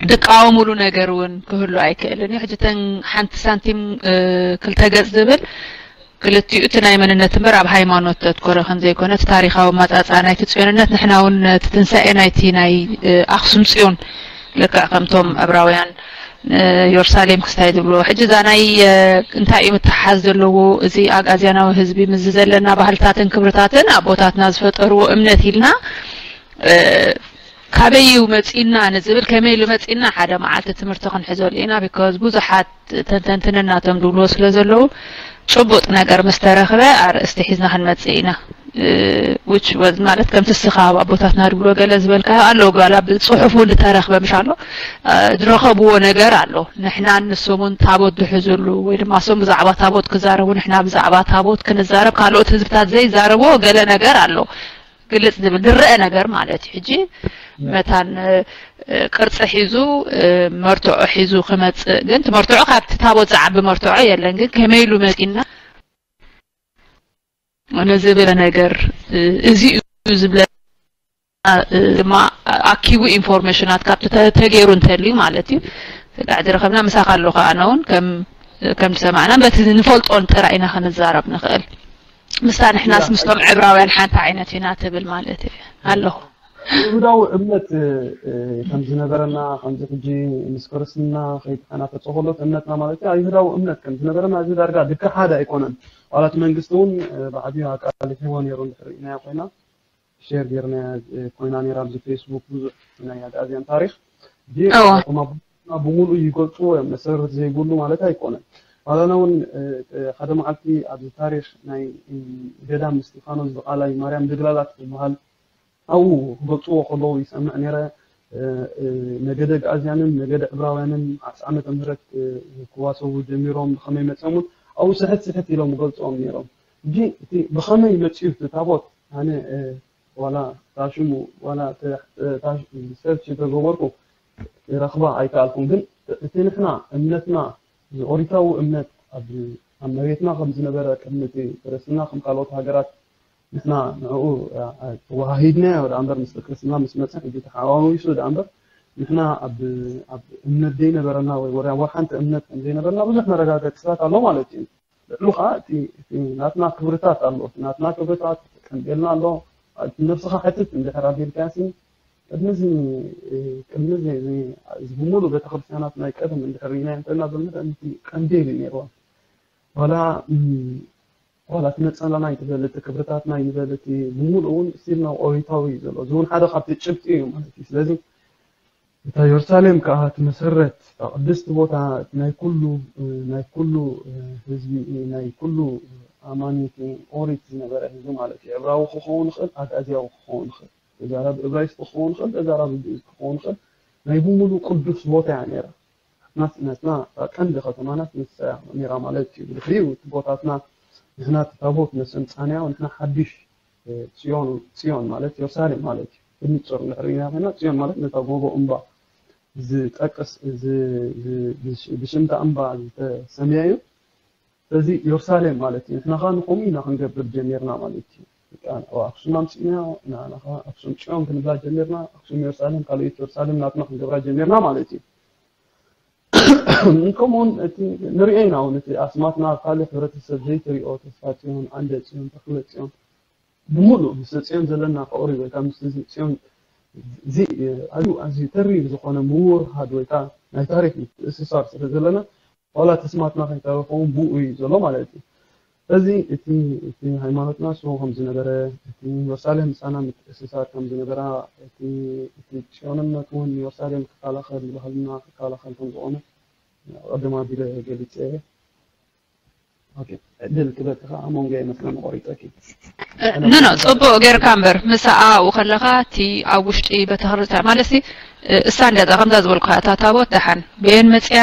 ድቃወሙሉ ነገር እውን ክህሉ ኣይክእልን እዩ። ሕጂ ተን ሓንቲ ሳንቲም ክልተ ገጽ ዝብል ክልቲኡ እቲ ናይ መንነት እምበር ኣብ ሃይማኖት ዘትኮረ ከም ዘይኮነ፣ እቲ ታሪኻዊ ኣመጻጽኣ ናይቲ ጽዮንነት፣ ንሕና እውን እቲ ትንሳኤ ናይቲ ናይ ኣኽሱም ጽዮን ልክዕ ከምቶም ዕብራውያን ዮርሳሌም ክስታይ ዝብልዎ። ሕጂ እዛ ናይ እንታይ እዩ ምትሓሓዝ ዘለዎ፣ እዚ ኣግኣዝያናዊ ህዝቢ ምስዚ ዘለና ባህልታትን ክብርታትን ኣቦታትና ዝፈጠርዎ እምነት ኢልና ካበይ እዩ መጺእና ንዝብል፣ ከመይ ኢሉ መጺእና ሓደ መዓልቲ ትምህርቲ ክንሕዘሉ ኢና። ቢኮዝ ብዙሓት ተንተንትንና እቶም ዝብልዎ ስለ ዘለዉ፣ ጭቡጥ ነገር ምስ ተረኽበ ኣርእስቲ ሒዝና ክንመጽእ ኢና። ዊች ወዝ ማለት ከምቲ እስኻ ኣብ ኣቦታትና ድብሎ ገለ ዝበልካዮ ኣሎ፣ ጓላ ብጽሑፍ እውን ዝተረኽበ ምሽ ኣሎ። ዝረኸብዎ ነገር ኣሎ። ንሕናን ንሶምን ታቦት ዝሕዝሉ ወይ ድማ እሶም ብዛዕባ ታቦት ክዛረቡ፣ ንሕና ብዛዕባ ታቦት ክንዛረብ፣ ካልኦት ህዝብታት ዘይዛረብዎ ገለ ነገር ኣሎ። ግልጽ ዝብል ዝረአ ነገር ማለት እዩ። ሕጂ መታን ቅርጺ ሒዙ መርትዖ ሒዙ ክመጽእ ግን፣ እቲ መርትዖ ካብቲ ታቦት ዝዓቢ መርትዖ የለን። ግን ከመይ ኢሉ መጺና ነዚ ብለ ነገር እዚ እዩ ዝብለ ድማ ኣኪቡ ኢንፎርሜሽናት ካብቲ ተገይሩ እንተልዩ ማለት እዩ። ስጋዕ ዝረኸብና ምሳኻ ኣለኹ። ኣነ እውን ከም ከም ዝሰማዕና በቲ ንፈልጦን ጥራይ ኢና ክንዛረብ ንኽእል። ምስታ ንሕናስ ምስቶም ዕብራውያን ሓንቲ ዓይነት ኢና ትብል ማለት እዩ ኣለኹ። ይሁዳዊ እምነት ከም ዝነበረና፣ ከምዚ ሕጂ ምስ ክርስትና ከይተሓናፈጸ ከሎ እቲ እምነትና ማለት እዩ፣ ይሁዳዊ እምነት ከም ዝነበረና እዚ ዳርጋ ድካ ሓደ ኣይኮነን። ዋላ እቲ መንግስቲ እውን ብዓብዩ ኣቃሊሕዎ ነይሩ እንድሕር ርኢናዮ ኮይና፣ ሸር ጌርናያ ኮይና ነይራ ኣብዚ ፌስቡክ ብዙሕ ናይ ኣግኣዝያን ታሪኽ። ግን እቶም ኣቦታትና ብምሉኡ ይገልጽዎ እዮም፣ መሰረት ዘይብሉ ማለት ኣይኮነን። ዋላና እውን ሓደ መዓልቲ ኣብዚ ታሪኽ ናይ ገዳም እስጢፋኖስ ዝቃላይ ማርያም ድግላላት ዝበሃል ኣብኡ ክገልጽዎ ከለዉ ይሰምዕ ነይረ። ነገደ ኣግኣዝያንን ነገደ ዕብራውያንን ዓሰርተ ዓመተ ምህረት ክዋሰቡ ጀሚሮም፣ ብኸመይ መጺኦም እውን ኣብኡ ስሕት ስሕት ኢሎም ይገልጽዎም ነይሮም። ሕጂ እቲ ብኸመይ መጺኡ እቲ ታቦት ኣነ ዋላ ታሽሙ ዋላ ሰርች ተገበርኩ ረኽባ ኣይከኣልኩም። ግን እቲ ንሕና እምነትና እዚ ኦሪታዊ እምነት ኣብ ኣብ መሬትና ከም ዝነበረ ቅድሚ እቲ ክርስትና ከም ካልኦት ሃገራት ንሕና ንዕኡ ተወሃሂድናዮ ደኣ እምበር ምስ ክርስትና ምስ መጸ ሕጂ ተሓዋዊሱ ደኣ እምበር ንሕና ኣብ ኣብ እምነት ዘይነበረና ወይ ወላ ሓንቲ እምነት ከም ዘይነበረና ብዙሕ መረጋገጽታት ኣሎ ማለት እዩ። ልዕሉ ኸዓ እቲ ናትና ክብርታት ኣሎ። እቲ ናትና ክብርታት ቀንዴልና ኣሎ። ነብስኻ ሕትት እንድሕር ኣቢልካሲ ቅድሚ እዚ ቅድሚ እዚ እዚ ብምሉእ ቤተክርስትያናት ናይ ቀደም እንድሕር ርኢናዮ እንተልና ብምልእ እቲ ቀንዴል እዩ ነይርዋ። ዋላ ዋላ እቲ ነጸላና ይትበል እቲ ክብርታትና ይበል እቲ ብምሉእ እውን ስቲል ናብ ኦሪታዊ እዩ ዘሎ። እዚ እውን ሓደ ካብቲ ጭብጢ እዩ ማለት እዩ። ስለዚ እታ የሩሳሌም ከኣ ትመሰረት፣ እታ ቅድስቲ ቦታ፣ እቲ ናይ ኩሉ ናይ ኩሉ ህዝቢ ናይ ኩሉ ኣማኒ እቲ ኦሪት ዝነበረ ህዝቢ ማለት እዩ። ዕብራዊ ክኸውን ይኽእል፣ ኣግኣዝያዊ ክኸውን ይኽእል፣ ተዛራቢ እብራይስጢ ክኸውን ይኽእል፣ ተዛራቢ ግእዝ ክኸውን ይኽእል፣ ናይ ብምሉ ቅዱስ ቦታ እያ ነይራ። ናትና ቀንዲ ከተማናስ ንሳ እያ ነይራ ማለት እዩ። ብድሕሪኡ እቲ ቦታትና ንሕና እቲ ታቦት ነሰምጻንያ ንሕና ሓድሽ ጽዮን ጽዮን ማለት የሩሳሌም ማለት እዩ። ብንጹር እንድሕር ርኢና ኮይና ጽዮን ማለት ነታ ጎቦ እምባ ዝጠቅስ ብሽምታ እምባ ዝተሰምያ እዩ። ስለዚ የሩሳሌም ማለት እዩ። ንሕና ኸዓ ንኸምኡ ኢና ክንገብር ጀሚርና ማለት እዩ። ኣክሱም ኣምሲእና ንዓና ኸዓ ኣክሱም ጽዮን ክንብላ ጀሚርና። ኣክሱም የሩሳሌም ካልኦት የሩሳሌም ናትና ክንገብራ ጀሚርና ማለት እዩ። ከምኡውን እቲ ንሪኦ ኢና እውን እቲ ኣስማትና ኣብ ካልእ ሕብረተሰብ ዘይትሪኦ ተስፋ ጽዮን፣ ዓንደ ጽዮን፣ ተኽለ ጽዮን ብምሉእ ምስ ጽዮን ዘለና ፍቕሪ ወይ ከዓ ምስ እዚ ጽዮን እዚ ኣዝዩ ኣዝዩ ተሪር ዝኾነ ምውርሃድ ወይ ከዓ ናይ ታሪክ ምትእስሳር ስለ ዘለና ዋላ ተስማትና ከይተረፈ እውን ብኡ እዩ ዘሎ ማለት እዩ። ስለዚ እቲ እቲ ሃይማኖትና ስሙ ከም ዝነበረ፣ እቲ የሩሳሌም ምሳና ምትእስሳር ከም ዝነበራ፣ እቲ እቲ ጽዮንነት እውን የሩሳሌም ክከላኸል፣ ባህልና ክከላኸል ከም ዝኾነ ቀደም ኣቢለ ገሊጸ እየ። ኦኬ፣ ዕድል ክበኪ ከዓ መንጎ ይመስለኒ ቆሪጸኪ። ኖ ኖ፣ ጽቡቅ ጌርካ እምበር ምስኣ ኣብኡ ከለኻ እቲ ኣብ ውሽጢ ቤተክርስትያን ማለት ሲ እሳ እንዲያ ከምዛ ዝበልኩ እታ ታቦት ደሓን በየን መጽያ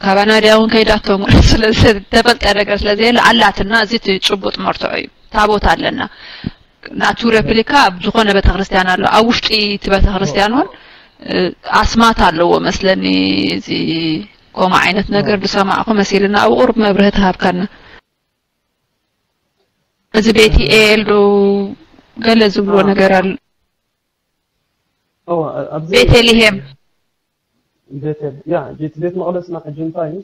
ካባና ድያ እውን ከይዳቶም ስለ ዝተፈልጠ ነገር ስለ ዘየለ ኣላትና። እዚ እቲ ጭቡጥ መርትዖ እዩ። ታቦት ኣለና። ናቱ ሬፕሊካ ኣብ ዝኾነ ቤተክርስትያን ኣሎ። ኣብ ውሽጢ እቲ ቤተክርስትያን እውን ኣስማት ኣለዎ መስለኒ። እዚ ኮማ ዓይነት ነገር ዝሰማዕኩ መሲልና ኣብ ቁርብ መብርህ ተሃብካና። እዚ ቤት ኤል ዶ ገለ ዝብሎ ነገር ኣሎ። ቤተልሄም ቤተል ያ ቤት ቤት መቕደስና ሕጂ እንታይ እዩ?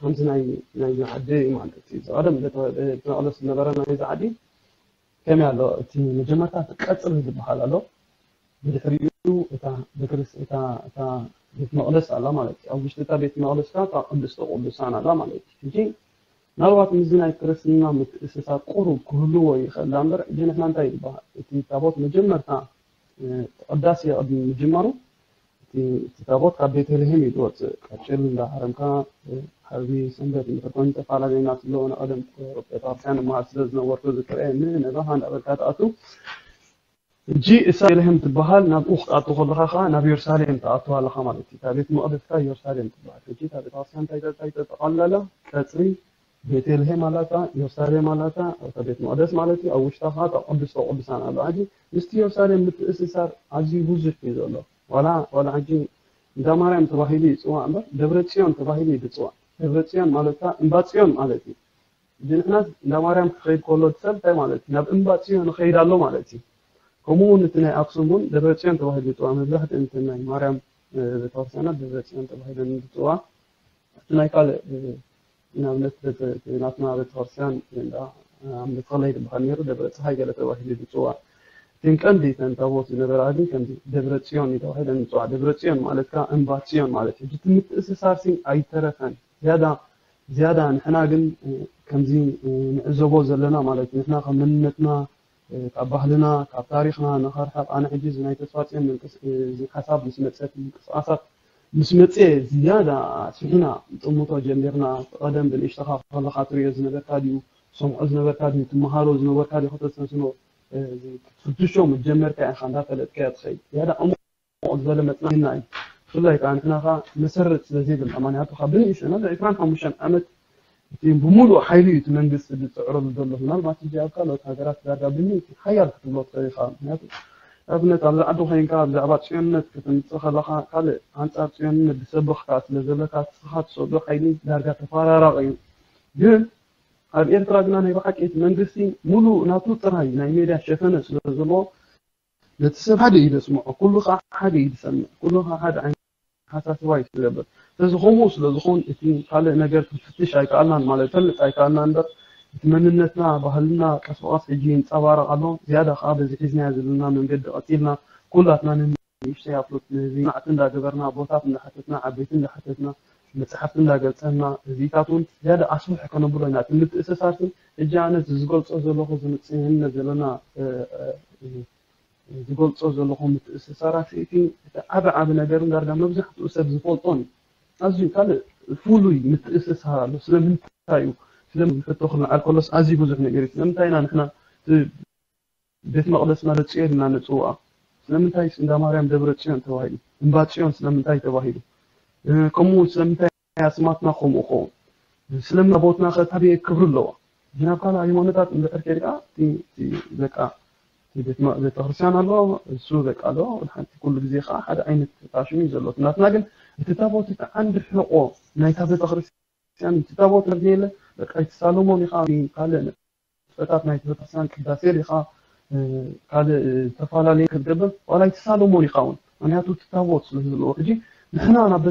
ከምዚ ናይ ናይ ዓዲ ማለት እዩ። ቀደም ቤት መቕደስ ዝነበረ ናይ ዓዲ ከመይ ኣሎ? እቲ መጀመርታ እቲ ቀጽሪ ዝበሃል ኣሎ። ብድሕሪኡ እታ ቤተክርስ እታ እታ ቤት መቕደስ ኣላ ማለት እዩ። ኣብ ውሽጢ እታ ቤት መቕደስ ከኣ እታ ቅድስተ ቅዱሳን ኣላ ማለት እዩ። ሕጂ ምናልባት ምስዚ ናይ ክርስትና ምትእስሳር ቁሩብ ክህልዎ ይኽእል እምበር፣ ሕጂ ንሕና እንታይ ይበሃል? እቲ ታቦት መጀመርታ ቅዳሴ ቅድሚ ምጅማሩ እቲ ታቦት ካብ ቤተልሔም እዩ ዝወፅእ። ቀጭል እንዳሃረምካ ዓርቢ ሰንበት እንተኮይኑ ተፈላለዩና ስለሆነ ቀደም ቤተክርስትያን እምሃር ስለ ዝነበርኩ ዝክርኤ ንነባኻ እንዳበልካ ትኣቱ። ሕጂ እሳ ቤተልሔም ትበሃል ናብኡ ክትኣቱ ከለኻ ከዓ ናብ ኢየሩሳሌም ትኣቱ ኣለኻ ማለት እዩ። እታ ቤት መቕደስካ ኢየሩሳሌም ትበሃል። ሕጂ እታ ቤተክርስትያን እንታይ እንታይ ተጠቓልላላ? ቀፅሪ ቤተልሔም ኣላታ፣ ኢየሩሳሌም ኣላታ፣ እታ ቤት መቕደስ ማለት እዩ። ኣብ ውሽጣ ከዓ እታ ቅድስተ ቅዱሳን ኣላ። ሕጂ ምስቲ ኢየሩሳሌም ምትእስሳር ኣዝዩ ብዙሕ እዩ ዘሎ። ዋላ ዋላ ሕጂ እንዳ ማርያም ተባሂሉ ይፅዋዕ እምበር ደብረ ፅዮን ተባሂሉ እዩ ዝፅዋዕ። ደብረ ፅዮን ማለት ከዓ እምባ ፅዮን ማለት እዩ። ሕጂ ንሕና እንዳ ማርያም ክኸይድ ከሎ እቲ ሰብ እንታይ ማለት እዩ? ናብ እምባ ፅዮን ይኸይድ ኣሎ ማለት እዩ። ከምኡ እውን እቲ ናይ ኣክሱም እውን ደብረ ፅዮን ተባሂሉ ይፅዋዕ። መብዛሕትኡ እቲ ናይ ማርያም ቤተክርስትያናት ደብረ ፅዮን ተባሂለን ዝፅዋዕ። እቲ ናይ ካልእ ንኣብነት ናትና ቤተክርስትያን እንዳ ኣምደ ተኽለ ይበሃል ነይሩ፣ ደብረ ፀሓይ ገለ ተባሂሉ ዝፅዋዕ። እተን ቀንዲ እተን ታቦት ዝነበራ ግን ከምዚ ደብረ ፅዮን እዩ ተባሂለን ዝፅዋዕ። ደብረ ፅዮን ማለት ከዓ እምባ ፅዮን ማለት እዩ። እቲ ምትእስሳር ሲ ኣይተረፈን። ዝያዳ ዝያዳ ንሕና ግን ከምዚ ንዕዘቦ ዘለና ማለት እዩ። ንሕና ካብ መንነትና ካብ ባህልና ካብ ታሪኽና ንኸርሕቕ ኣነ ሕጂ እዚ ናይ ተስፋፅዮን ሓሳብ ምስ መፀት ምንቅስቃሳት ምስ መፀ ዝያዳ ስሒና ጥምቶ ጀሚርና። ቀደም ብንእሽተኻ ከለኻ ትሪኦ ዝነበርካ ድዩ ሰምዖ ዝነበርካ ድዩ ትመሃሮ ዝነበርካ ድዩ ከተስተንስኖ ክትፍትሾ ምስ ጀመርካ ኢኻ እንዳፈለጥካዮ ትኸይድ። ዝያዳ ዕሙቕ ዝበለ መፅናዕትና እዩ። ብፍላይ ከዓ ንሕና ከዓ መሰረት ስለ ዘይብልና ማንያቱ ካብ ብንእሽተና ዕስራን ሓሙሽተን ዓመት እቲ ብምሉእ ሓይሊ እዩ እቲ መንግስቲ ዝፅዕረሉ ዘሎ። ምናልባት ሕጂ ኣብ ካልኦት ሃገራት ዳርጋ ብምእቲ ሓያል ክትብሎ ትኽእል ኢኻ። ምክንያቱ ኣብነት ኣብዚ ዓዲ ኮይንካ ብዛዕባ ፅዮንነት ከተምፅእ ከለኻ ካልእ ኣንፃር ፅዮንነት ዝሰብኽካ ስለ ዘለካ ንስኻ ትሰዶ ሓይሊ ዳርጋ ተፈራራቂ እዩ። ግን ኣብ ኤርትራ ግና ናይ ብሓቂ እቲ መንግስቲ ሙሉእ ናቱ ጥራይ ናይ ሜድያ ሸፈነ ስለ ዘለዎ ነቲ ሰብ ሓደ እዩ ዘስምዖ፣ ኩሉ ከዓ ሓደ እዩ ዝሰምዕ፣ ኩሉ ከዓ ሓደ ዓይነት ሓሳስባ እዩ ዝገብር። ስለዚ ከምኡ ስለ ዝኸውን እቲ ካልእ ነገር ክንፍትሽ ኣይከኣልናን ማለት ፈልጥ ኣይከኣልና እምበር እቲ መንነትና ባህልና ቀስ ብቐስ ሕጂ ይንፀባረቕ ኣሎ። ዝያዳ ከዓ በዚ ሒዝናዮ ዘለና መንገዲ ቀፂልና ኩላትና ንንእሽተይ ኣፍሉጥ ንህዝቢ ማዕቲ እንዳገበርና ኣቦታት እንዳሓተትና ዓበይቲ እንዳሓተትና መፅሓፍቲ እንዳገልፀልና እዚታት እውን ዝያዳ ኣስፍሕ ከነብሎ ኢና። እቲ ምትእስሳር ግን ሕጂ ኣነ እዚ ዝገልፆ ዘለኹ ዝምፅእነት ዘለና ዝገልፆ ዘለኹ ምትእስሳራት እቲ ዓቢ ዓቢ ነገርን ዳርጋ መብዛሕትኡ ሰብ ዝፈልጦን እዩ። ኣዝዩ ካልእ ፍሉይ ምትእስሳር ኣሎ። ስለምንታይ እዩ ስለምን ሕቶ ክልዓል ከሎስ ኣዝዩ ብዙሕ ነገር እዩ። ስለምንታይ ኢና ንሕና ቤት መቕደስና ደብረፅዮን ኢልና ንፅውዓ? ስለምንታይ እንዳ ማርያም ደብረ ፅዮን ተባሂሉ? እምባ ፅዮን ስለምንታይ ተባሂሉ? ከምኡ እውን ስለምንታይ ኣስማትና ከምኡ ኸውን? ስለምን ታቦትና ከ ታበየ ክብሪ ኣለዋ? ግን ኣብ ካልእ ሃይማኖታት እንድሕር ከይድካ በቃ ቤተክርስትያን ኣሎ እሱ በቃ ኣሎ ሓንቲ ኩሉ ግዜ ከዓ ሓደ ዓይነት ፋሽን እዩ ዘሎ ናትና ግን እቲ ታቦት እቲ ዓንዲ ሕቆ ናይታ ቤተክርስትያን እቲ ታቦት ዘየለ በቃ ኣይትሳለሞን ኢኻ ካልእ ንጥፈታት ናይቲ ቤተክርስትያን ቅዳሴ ዲኻ ካልእ ዝተፈላለየ ክትገብር ዋላ ኣይትሳለሞን ኢኻ እውን ምክንያቱ እቲ ታቦት ስለ ዘለዎ ሕጂ ንሕና ናብ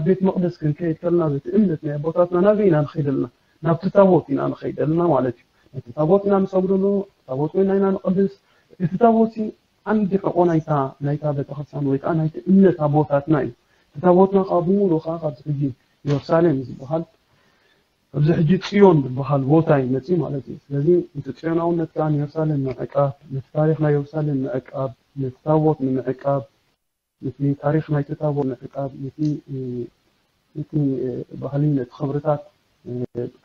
ቤት መቅደስ ክንከይድ ከለና በቲ እምነት ናይ ኣቦታትና ናበይ ኢና ንኸይድ ኣለና ናብቲ ታቦት ኢና ንኸይድ ኣለና ማለት እዩ ነቲ ታቦት ኢና ንሰግደሉ ታቦት ኮይና ኢና ንቅድስ እቲ ታቦት ዓንዲ ሕቆ ናይታ ናይታ ቤተክርስትያን ወይ ከዓ ናይቲ እምነት ኣቦታትና እዩ እቲ ታቦትና ከዓ ብምሉእ ከዓ ካብዚ ሕጂ ኢየሩሳሌም ዝበሃል ኣብዚ ሕጂ ፅዮን ዝበሃል ቦታ እዩ መፅኡ ማለት እዩ ስለዚ እቲ ፅዮናውነት ከዓ ንኢየሩሳሌም ምዕቃብ ነቲ ታሪክ ናይ ኢየሩሳሌም ምዕቃብ ነቲ ታቦት ንምዕቃብ ነቲ ታሪክ ናይቲ ታቦት ምዕቃብ ነቲ ነቲ ባህሊ ነቲ ክብርታት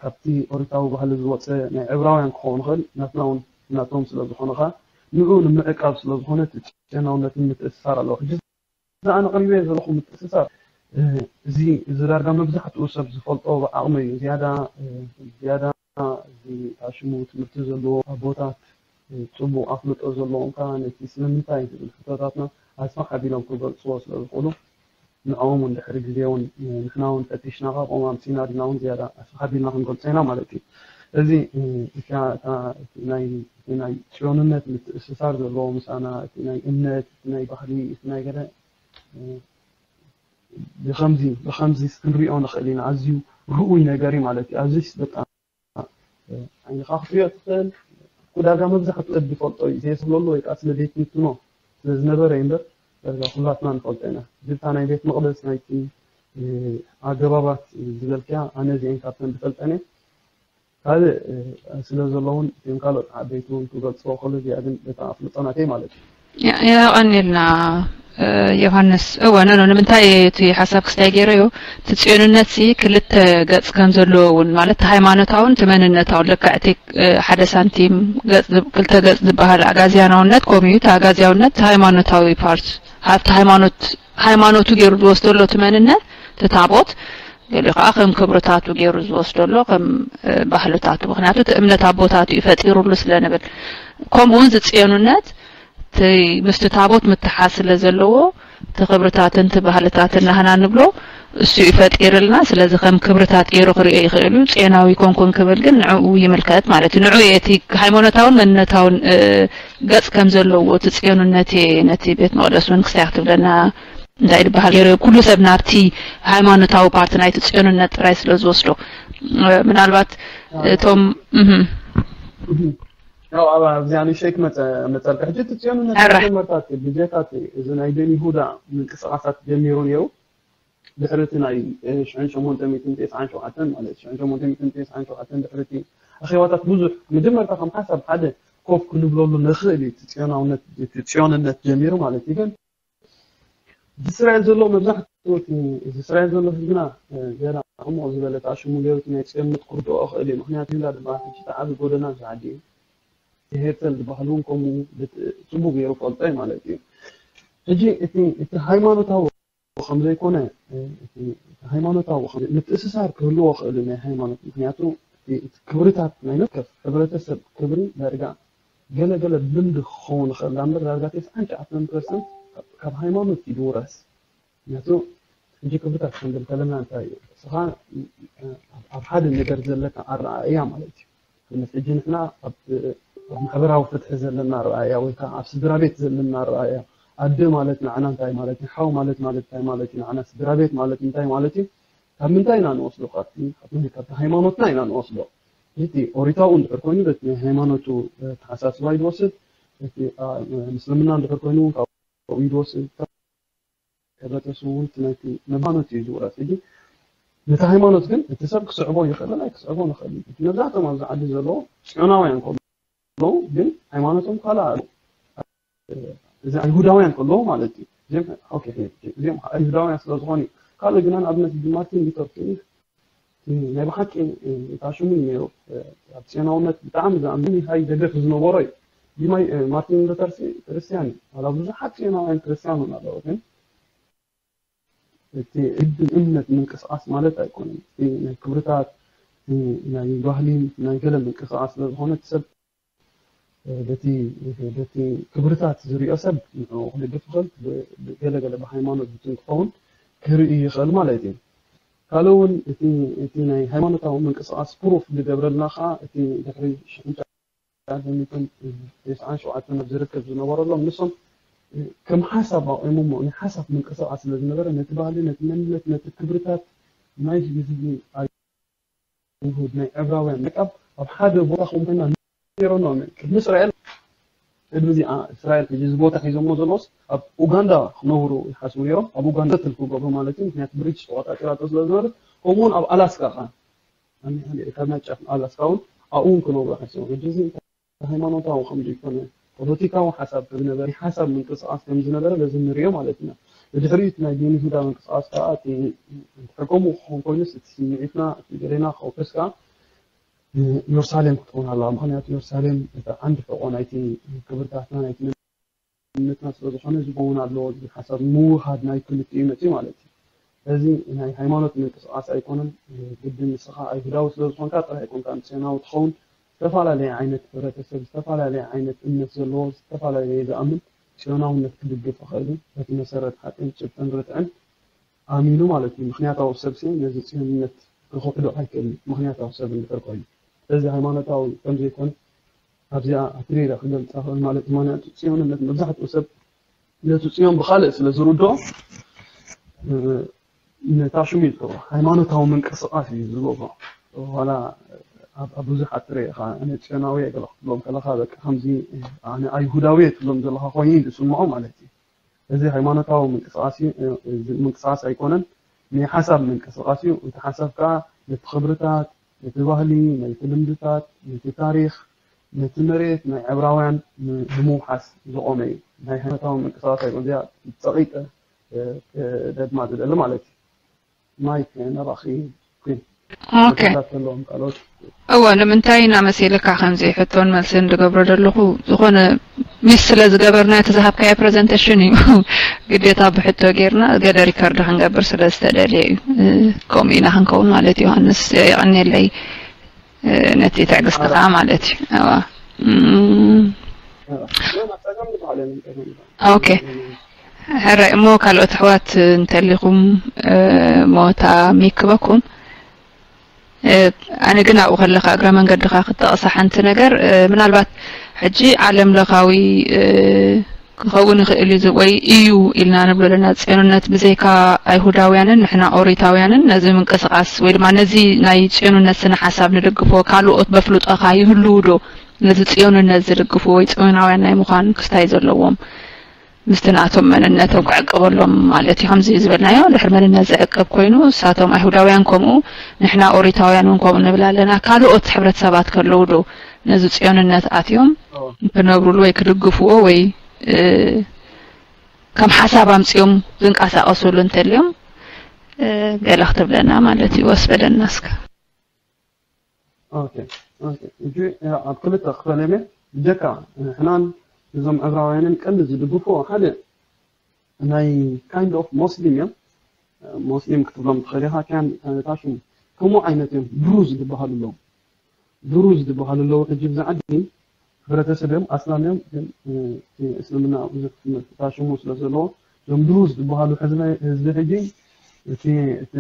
ካብቲ ኦሪታዊ ባህሊ ዝወፀ ናይ ዕብራውያን ክኸውን ይኽእል ናትና እውን ናቶም ስለ ዝኾነ ከዓ ንኡ ንምዕቃብ ስለ ዝኾነ እቲ ፅዮናውነትን ምትእስሳር ኣለዎ ሕጂ እዛ ኣነ ቀሪበ ዘለኹ ምትእስሳር እዚ እዚ ዳርጋ መብዛሕትኡ ሰብ ዝፈልጦ ብዓቕሚ እዩ። ዝያዳ ዝያዳ እዚ ታሽሙ ትምህርቲ ዘለዎ ኣቦታት፣ ጽቡቕ ኣፍልጦ ዘለዎም ከኣ ነቲ ስለምንታይ ዝብል ሕቶታትና ኣስፍሕ ኣቢሎም ክገልጽዎ ስለ ዝኽእሉ፣ ንዕኦም እውን ድሕሪ ግዜ እውን ንሕና እውን ፈቲሽና ካብኦም ኣምጺእና ድና እውን ዝያዳ ኣስፍሕ ኣቢልና ክንገልጾ ኢና ማለት እዩ። እዚ እታ ናይ ናይ ጽዮንነት ምትእስሳር ዘለዎ ምሳና፣ እቲ ናይ እምነት፣ እቲ ናይ ባህሊ፣ እቲ ናይ ገለ ብኸምዚ ብኸምዚ ክንሪኦ ንኽእል ኢና። ኣዝዩ ርኡይ ነገር እዩ ማለት እዩ። ኣዝዩስ በጣም ዓይንኻ ክትሪኦ ትኽእል። ኩዳጋ መብዛሕትኡ ሰብ ዝፈልጦ እዩ። ዘየስብለሉ ወይ ከዓ ስለ ዘይትንትኖ ስለ ዝነበረ እዩ እምበር፣ ዳርጋ ኩላትና ንፈልጦ ኢና። ግብታ ናይ ቤት መቕደስ ናይቲ ኣገባባት ዝበልክያ ኣነ እዚአን ካብተን ዝፈልጠን እየ። ካልእ ስለ ዘለውን እቶም ካልኦት ዓበይቲ እውን ክገልፅዎ ከሎ እዚኣ ግን በታ ኣፍልጦ ናተይ ማለት እዩ። የቐኒልና ዮሃንስ። እወ፣ ኖ፣ ኖ፣ ንምንታይ እቲ ሓሳብ ክስታይ ገይረዮ፣ እቲ ጽዮንነት ሲ ክልተ ገጽ ከም ዘለዎ እውን፣ ማለት፣ እቲ ሃይማኖታውን እቲ መንነታውን፣ ልክዕ እቲ ሓደ ሳንቲም ክልተ ገጽ ዝበሃል ኣጋዝያናውነት፣ ከምኡ እዩ፣ እቲ ኣጋዝያውነት፣ እቲ ሃይማኖታዊ ፓርት፣ ኣብቲ ሃይማኖት፣ ሃይማኖቱ ገይሩ ዝወስደሎ እቲ መንነት፣ እቲ ታቦት፣ ገሊኡ ከዓ ከም ክብርታቱ ገይሩ ዝወስደሎ ከም ባህልታቱ፣ ምክንያቱ እቲ እምነት ኣቦታቱ እዩ ፈጢሩሉ ስለ ንብል። ከምኡ እውን ዝፅዮንነት እቲ ምስቲ ታቦት ምትሓዝ ስለ ዘለዎ እቲ ክብርታትን እቲ ባህልታትን ናህና ንብሎ እሱ እዩ ፈጢርልና። ስለዚ ከም ክብርታት ገይሩ ክሪኦ ይኽእል እዩ። ፅዮናዊ ኮንኩን ክብል ግን ንዕኡ ይምልከት ማለት እዩ። ንዕኡ እቲ ሃይማኖታውን መንነታውን ገፅ ከም ዘለዎ እቲ ፅዮንነት ነቲ ቤት መቅደስ እውን ክስታይ ክትብለና እንታይ ዝበሃል ገይሩ ኩሉ ሰብ ናብቲ ሃይማኖታዊ ፓርቲ ናይቲ ጽዮንነት ጥራይ ስለ ዝወስዶ ምናልባት እቶም ያው ኣብ ኣብዚኣ ንእሽተይ ክመፀ መፀልካ ሕጂ እቲ ጽዮንነት መጀመርታ ብጀካ እዚ ናይ ቤን ይሁዳ ምንቅስቃሳት ጀሚሩ ነይሩ። ድሕሪ እቲ ናይ ሽሕን ሸሞንተ ሚእትን ተስዓን ሸውዓተን ማለት ሽሕን ሸሞንተ ሚእትን ተስዓን ሸውዓተን ድሕሪ እቲ ኣኼባታት ብዙሕ መጀመርታ ከም ሓሳብ ሓደ ኮፍ ክንብለሉ ንኽእል እዩ። እቲ ጽዮናውነት እቲ ጽዮንነት ጀሚሩ ማለት እዩ። ግን እዚ እስራኤል ዘሎ መብዛሕትኡ እቲ እዚ እስራኤል ዘሎ ህዝብና ገና ዕሙቕ ዝበለ ተኣሽሙ ገይሩ እቲ ናይ ጽዮንነት ክርድኦ ክእል እዩ። ምክንያቱ ይሁዳ ዝበሃል ሕጂ እቲ ዓቢ ጎደና እዚ ዓዲ እዩ። እቲ ሄርተል ዝበሃል እውን ከምኡ ጽቡቕ ገይሩ ፈልጦ እዩ ማለት እዩ። ሕጂ እቲ እቲ ሃይማኖታዊ ከም ዘይኮነ እቲ ሃይማኖታዊ ከም ምትእስሳር ክህልዎ ክእል ናይ ሃይማኖት ምክንያቱ እቲ ክብርታት ናይ መከፍ ሕብረተሰብ ክብሪ ዳርጋ ገለ ገለ ልምዲ ክኸውን ይኽእል እምበር ዳርጋ ተስዓን ትሽዓተን ፐርሰንት ካብ ሃይማኖት እዩ ዝውረስ። ምክንያቱ ሕጂ ክብርታት ክንብል ከለና እንታይ እዩ? እስኻ ኣብ ሓደ ነገር ዘለካ ኣረኣእያ ማለት እዩ። ንኣብነት ሕጂ ንሕና ኣብ ኣብ ማሕበራዊ ፍትሒ ዘለና ኣረኣእያ ወይ ከዓ ኣብ ስድራ ቤት ዘለና ኣረኣእያ ኣደ ማለት ንዓና እንታይ ማለት እዩ? ሓው ማለት ማለት እንታይ ማለት እዩ? ንዓና ስድራ ቤት ማለት እንታይ ማለት እዩ? ካብ ምንታይ ኢና ንወስዶ? ካብቲ ካብቲ ሃይማኖትና ኢና ንወስዶ። እቲ ኦሪታዊ እንድሕር ኮይኑ በቲ ናይ ሃይማኖቱ ተሓሳስባ እዩ ዝወስድ። እቲ ምስልምና እንድሕር ኮይኑ እውን ካብኡ እዩ ዝወስድ። ሕብረተሰቡ እውን እቲ ናይቲ መባኖት እዩ ዝውረስ። ሕጂ ነቲ ሃይማኖት ግን እቲ ሰብ ክስዕቦ ይኽእልን ኣይክስዕቦ ንኽእል እዩ። እቲ መብዛሕትኦም ኣብዚ ዓዲ ዘለዉ ጽዮናውያን ከለዉ ግን ሃይማኖቶም ካልእ ኣሎ። እዚ ኣይሁዳውያን ከለዉ ማለት እዩ። እዚኦም ኦኬ፣ እዚኦም ከዓ ኣይሁዳውያን ስለ ዝኾኑ እዩ። ካልእ ግና ንኣብነት ማርቲን ሉተር ኪንግ ናይ ብሓቂ ታሽሙ እዩ ነይሩ። ኣብ ጽዮናውነት ብጣዕሚ ዝኣምን ሃይ ደገፍ ዝነበሮ እዩ። ዲማይ ማርቲን ሉተር ክርስቲያን እዩ። ዋላ ብዙሓት ጽዮናውያን ክርስቲያን እውን ኣለዉ ግን እቲ ዕድል እምነት ምንቅስቃስ ማለት ኣይኮነን። እቲ ናይ ክብርታት ናይ ባህሊ ናይ ገለ ምንቅስቃስ ስለ ዝኾነ እቲ ሰብ በቲ በቲ ክብርታት ዝሪኦ ሰብ ንዕኡ ክድግፍ ይኽእል። ገለ ገለ ብሃይማኖት ዝትን ክኸውን ክርኢ ይኽእል ማለት እዩ። ካልእ እውን እቲ እቲ ናይ ሃይማኖታዊ ምንቅስቃስ ፕሩፍ ዝገብረልና ከዓ እቲ ድሕሪ ሽሕን ትሽዓን ሚእትን ተስዓን ሸውዓተን ኣብ ዝርከብ ዝነበረሎም ንሶም ከም ሓሳብ ኣቑሞሞ ናይ ሓሳብ ምንቅስቃስ ስለ ዝነበረ ነቲ ባህሊ ነቲ መንነት ነቲ ክብርታት ናይ ህዝቢ ኣይሁድ ናይ ዕብራውያን ምዕቃብ ኣብ ሓደ ቦታ ከም ኮይና ነይሮም ቅድሚ እስራኤል ቅድሚ እዚኣ እስራኤል ሕጂ እዚ ቦታ ሒዞሞ ዘለዎስ ኣብ ኡጋንዳ ክነብሩ ይሓስቡ ነይሮም ኣብ ኡጋንዳ ትል ክገብሩ ማለት እዩ ምክንያቱ ብሪቲሽ ተቆጣጢራቶ ስለ ዝነበረት ከምኡውን ኣብ ኣላስካ ከዓ ካብ ናይ ጫፍ ኣላስካ እውን ኣብኡ እውን ክነብሩ ሓሲቦም ሕጂ እዚ ሃይማኖታዊ ከም ዘይኮነ ፖለቲካዊ ሓሳብ ከም ዝነበረ ሓሳብ ምንቅስቃስ ከም ዝነበረ በዚ ንሪኦ ማለት ኢና። ብድሕሪኡ እቲ ናይ ቤን ይሁዳ ምንቅስቃስ ከዓ እቲ ከምኡ ክኸውን ኮይኑስ እቲ ስምዒትና እቲ ገሌና ክውሕስ ከዓ ኢየሩሳሌም ክትኸውን ኣለዋ። ምክንያቱ ኢየሩሳሌም እቲ ዓንዲ ሕቆ ናይቲ ክብርታትና ናይቲ መንነትና ስለ ዝኾነ ዝኸውን ኣለዎ ዝብል ሓሳብ ምውሃድ ናይ ክልቲኡ መፅዩ ማለት እዩ። እዚ ናይ ሃይማኖት ምንቅስቃስ ኣይኮነን። ግዲ ንስኻ ኣይሁዳዊ ስለ ዝኾንካ ጥራይ ኣይኮንካ ጽዮናዊ ትኸውን። ዝተፈላለየ ዓይነት ሕብረተሰብ፣ ዝተፈላለየ ዓይነት እምነት ዘለዎ፣ ዝተፈላለየ ዝኣምን ጽዮናውነት ክድግፍ ይኽእል እዩ። በቲ መሰረት ሓቅን ጭብጥን ርትዕን ኣሚኑ ማለት እዩ። ምኽንያታዊ ሰብ ሲ ነዚ ጽዮንነት ክኽሕዶ ኣይክእልን። ምኽንያታዊ ሰብ እንድሕር ኮይኑ፣ ስለዚ ሃይማኖታዊ ከም ዘይኮነ ኣብዚኣ ኣትሪረ ክገልጻ ክእል ማለት እዩ። ምኽንያቱ ጽዮንነት መብዛሕትኡ ሰብ ነቲ ጽዮን ብኻልእ ስለ ዝርድኦ፣ እ፣ ነታ ሽሙ ይልከቦ ሃይማኖታዊ ምንቅስቃስ እዩ ዝገብሮ። ዋላ ኣብ ኣብ ብዙሓት ትርኢ ኢኻ፣ "ኣነ ጽዮናዊ እየ" ገለ ክትብሎም ከለኻ፣ በቃ ከምዚ፣ "ኣነ ኣይሁዳዊ እየ" ትብሎም ዘለኻ ኮይኑ እዩ ዝስምዖ ማለት እዩ። እዚ ሃይማኖታዊ ምንቅስቃስ እዩ፣ እ፣ እዚ ምንቅስቃስ ኣይኮነን፣ ናይ ሓሳብ ምንቅስቃስ እዩ። እቲ ሓሳብ ከኣ ነቲ ክብርታት፣ ነቲ ባህሊ፣ ነቲ ልምድታት፣ ነቲ ታሪኽ፣ ነቲ መሬት ናይ ዕብራውያን ን-፣ ንምውሓስ ዝቖመ እዩ። ናይ ሃይማኖታዊ ምንቅስቃስ ኣይኮነን። እዚኣ ጸቒጠ፣ እ፣ እ፣ ደግማ ዝደሊ ማለት እዩ። ማይክ ናባኺ ኩን። ኦኬ። ሕቶታት ዘለዎም ካልኦት? እወ፣ ንምንታይ ኢና መሲልካ ከምዚ ሕቶን መልስን ዝገብሮ ዘለኹ? ዝኾነ ሚስ ስለ ዝገበርና እቲ ዝሃብካዮ ፕረዘንቴሽን እዩ። ግዴታ ብሕቶ ጌርና ገለ ሪከርድ ክንገብር ስለ ዝተደልየ እዩ። እ፣ ከምኡ ኢና ክንከውን ማለት እዩ። ዮሃንስ፣ የቐንየለይ፣ እ፣ ነቲ ትዕግስትኻ ማለት እዩ። እወ። እም፣ ጸገም ዝበሃል የለን፣ ጸገም ዝበሃል። ኦኬ። ሕራይ እሞ ካልኦት ኣሕዋት እንተሊኹም፣ እ፣ ሞታ ሚክበኩም። እ፣ ኣነ ግን ኣብኡ ከለኻ እግረ መንገድኻ ክትጠቕሳ ሓንቲ ነገር፣ እ፣ ምናልባት ሕጂ ዓለም ለኻዊ፣ እ፣ ክኸውን ይኽእል እዩ ዝ-፣ ወይ እዩ ኢልና ንብሎ ኣለና። ጽዮንነት ብዘይካ ኣይሁዳውያንን ንሕና ኦሪታውያንን ነዚ ምንቅስቃስ ወይ ድማ ነዚ ናይ ጽዮንነት ስነ ሓሳብ ንድግፎ ካልኦት በፍልጦኻ ይህልዉ ዶ? ነዚ ጽዮንነት ዝድግፉ ወይ ጽዮናውያን ናይ ምዃን ክስታይ ዘለዎም ምስቲ ናቶም መንነቶም ክዕቅበሎም ማለት እዩ። ከምዚ ዝበልናዮ ድሕሪ መንነት ዝዕቅብ ኮይኑ፣ እሳቶም ኣይሁዳውያን ከምኡ፣ ንሕና ኦሪታውያን እውን ከምኡ ንብል ኣለና። ካልኦት ሕብረተሰባት ከለዉ ዶ ነዚ ጽዮንነት ኣትዮም ክነብሩሉ ወይ ክድግፍዎ ወይ፣ እ፣ ከም ሓሳብ ኣምጺኦም ዝንቀሳቐሱሉ እንተልዮም፣ እ፣ ገለ ክትብለና ማለት እዩ። ወስበለና እስከ። ኦኬ፣ ኦኬ። ሕጂ፣ ያ፣ ኣብ ክልተ ክፈለመ፣ ብጀካ ንሕናን እዞም ዕብራውያንን ቀንዲ ዝድግፍዎ ሓደ ናይ kind of ሞስሊም እዮም። ሞስሊም ክትብሎም ትኽእል ኢኻ፣ ኪያን፣ ታሽም ከምኡ ዓይነት እዮም። ድሩዝ ዝበሃሉ ኣለዉ። ድሩዝ ዝበሃሉ ኣለዉ። ሕጂ ብዛ ዓዲ ሕብረተሰብ እዮም፣ ኣስላም እዮም፣ ግን፣ እ፣ እቲ እስልምና ብዙሕ ትምህርትታት ሽሙ ስለ ዘለዎ፣ እዞም ድሩዝ ዝበሃሉ ህዝቢ፣ ህዝቢ ሕጂ እቲ፣ እቲ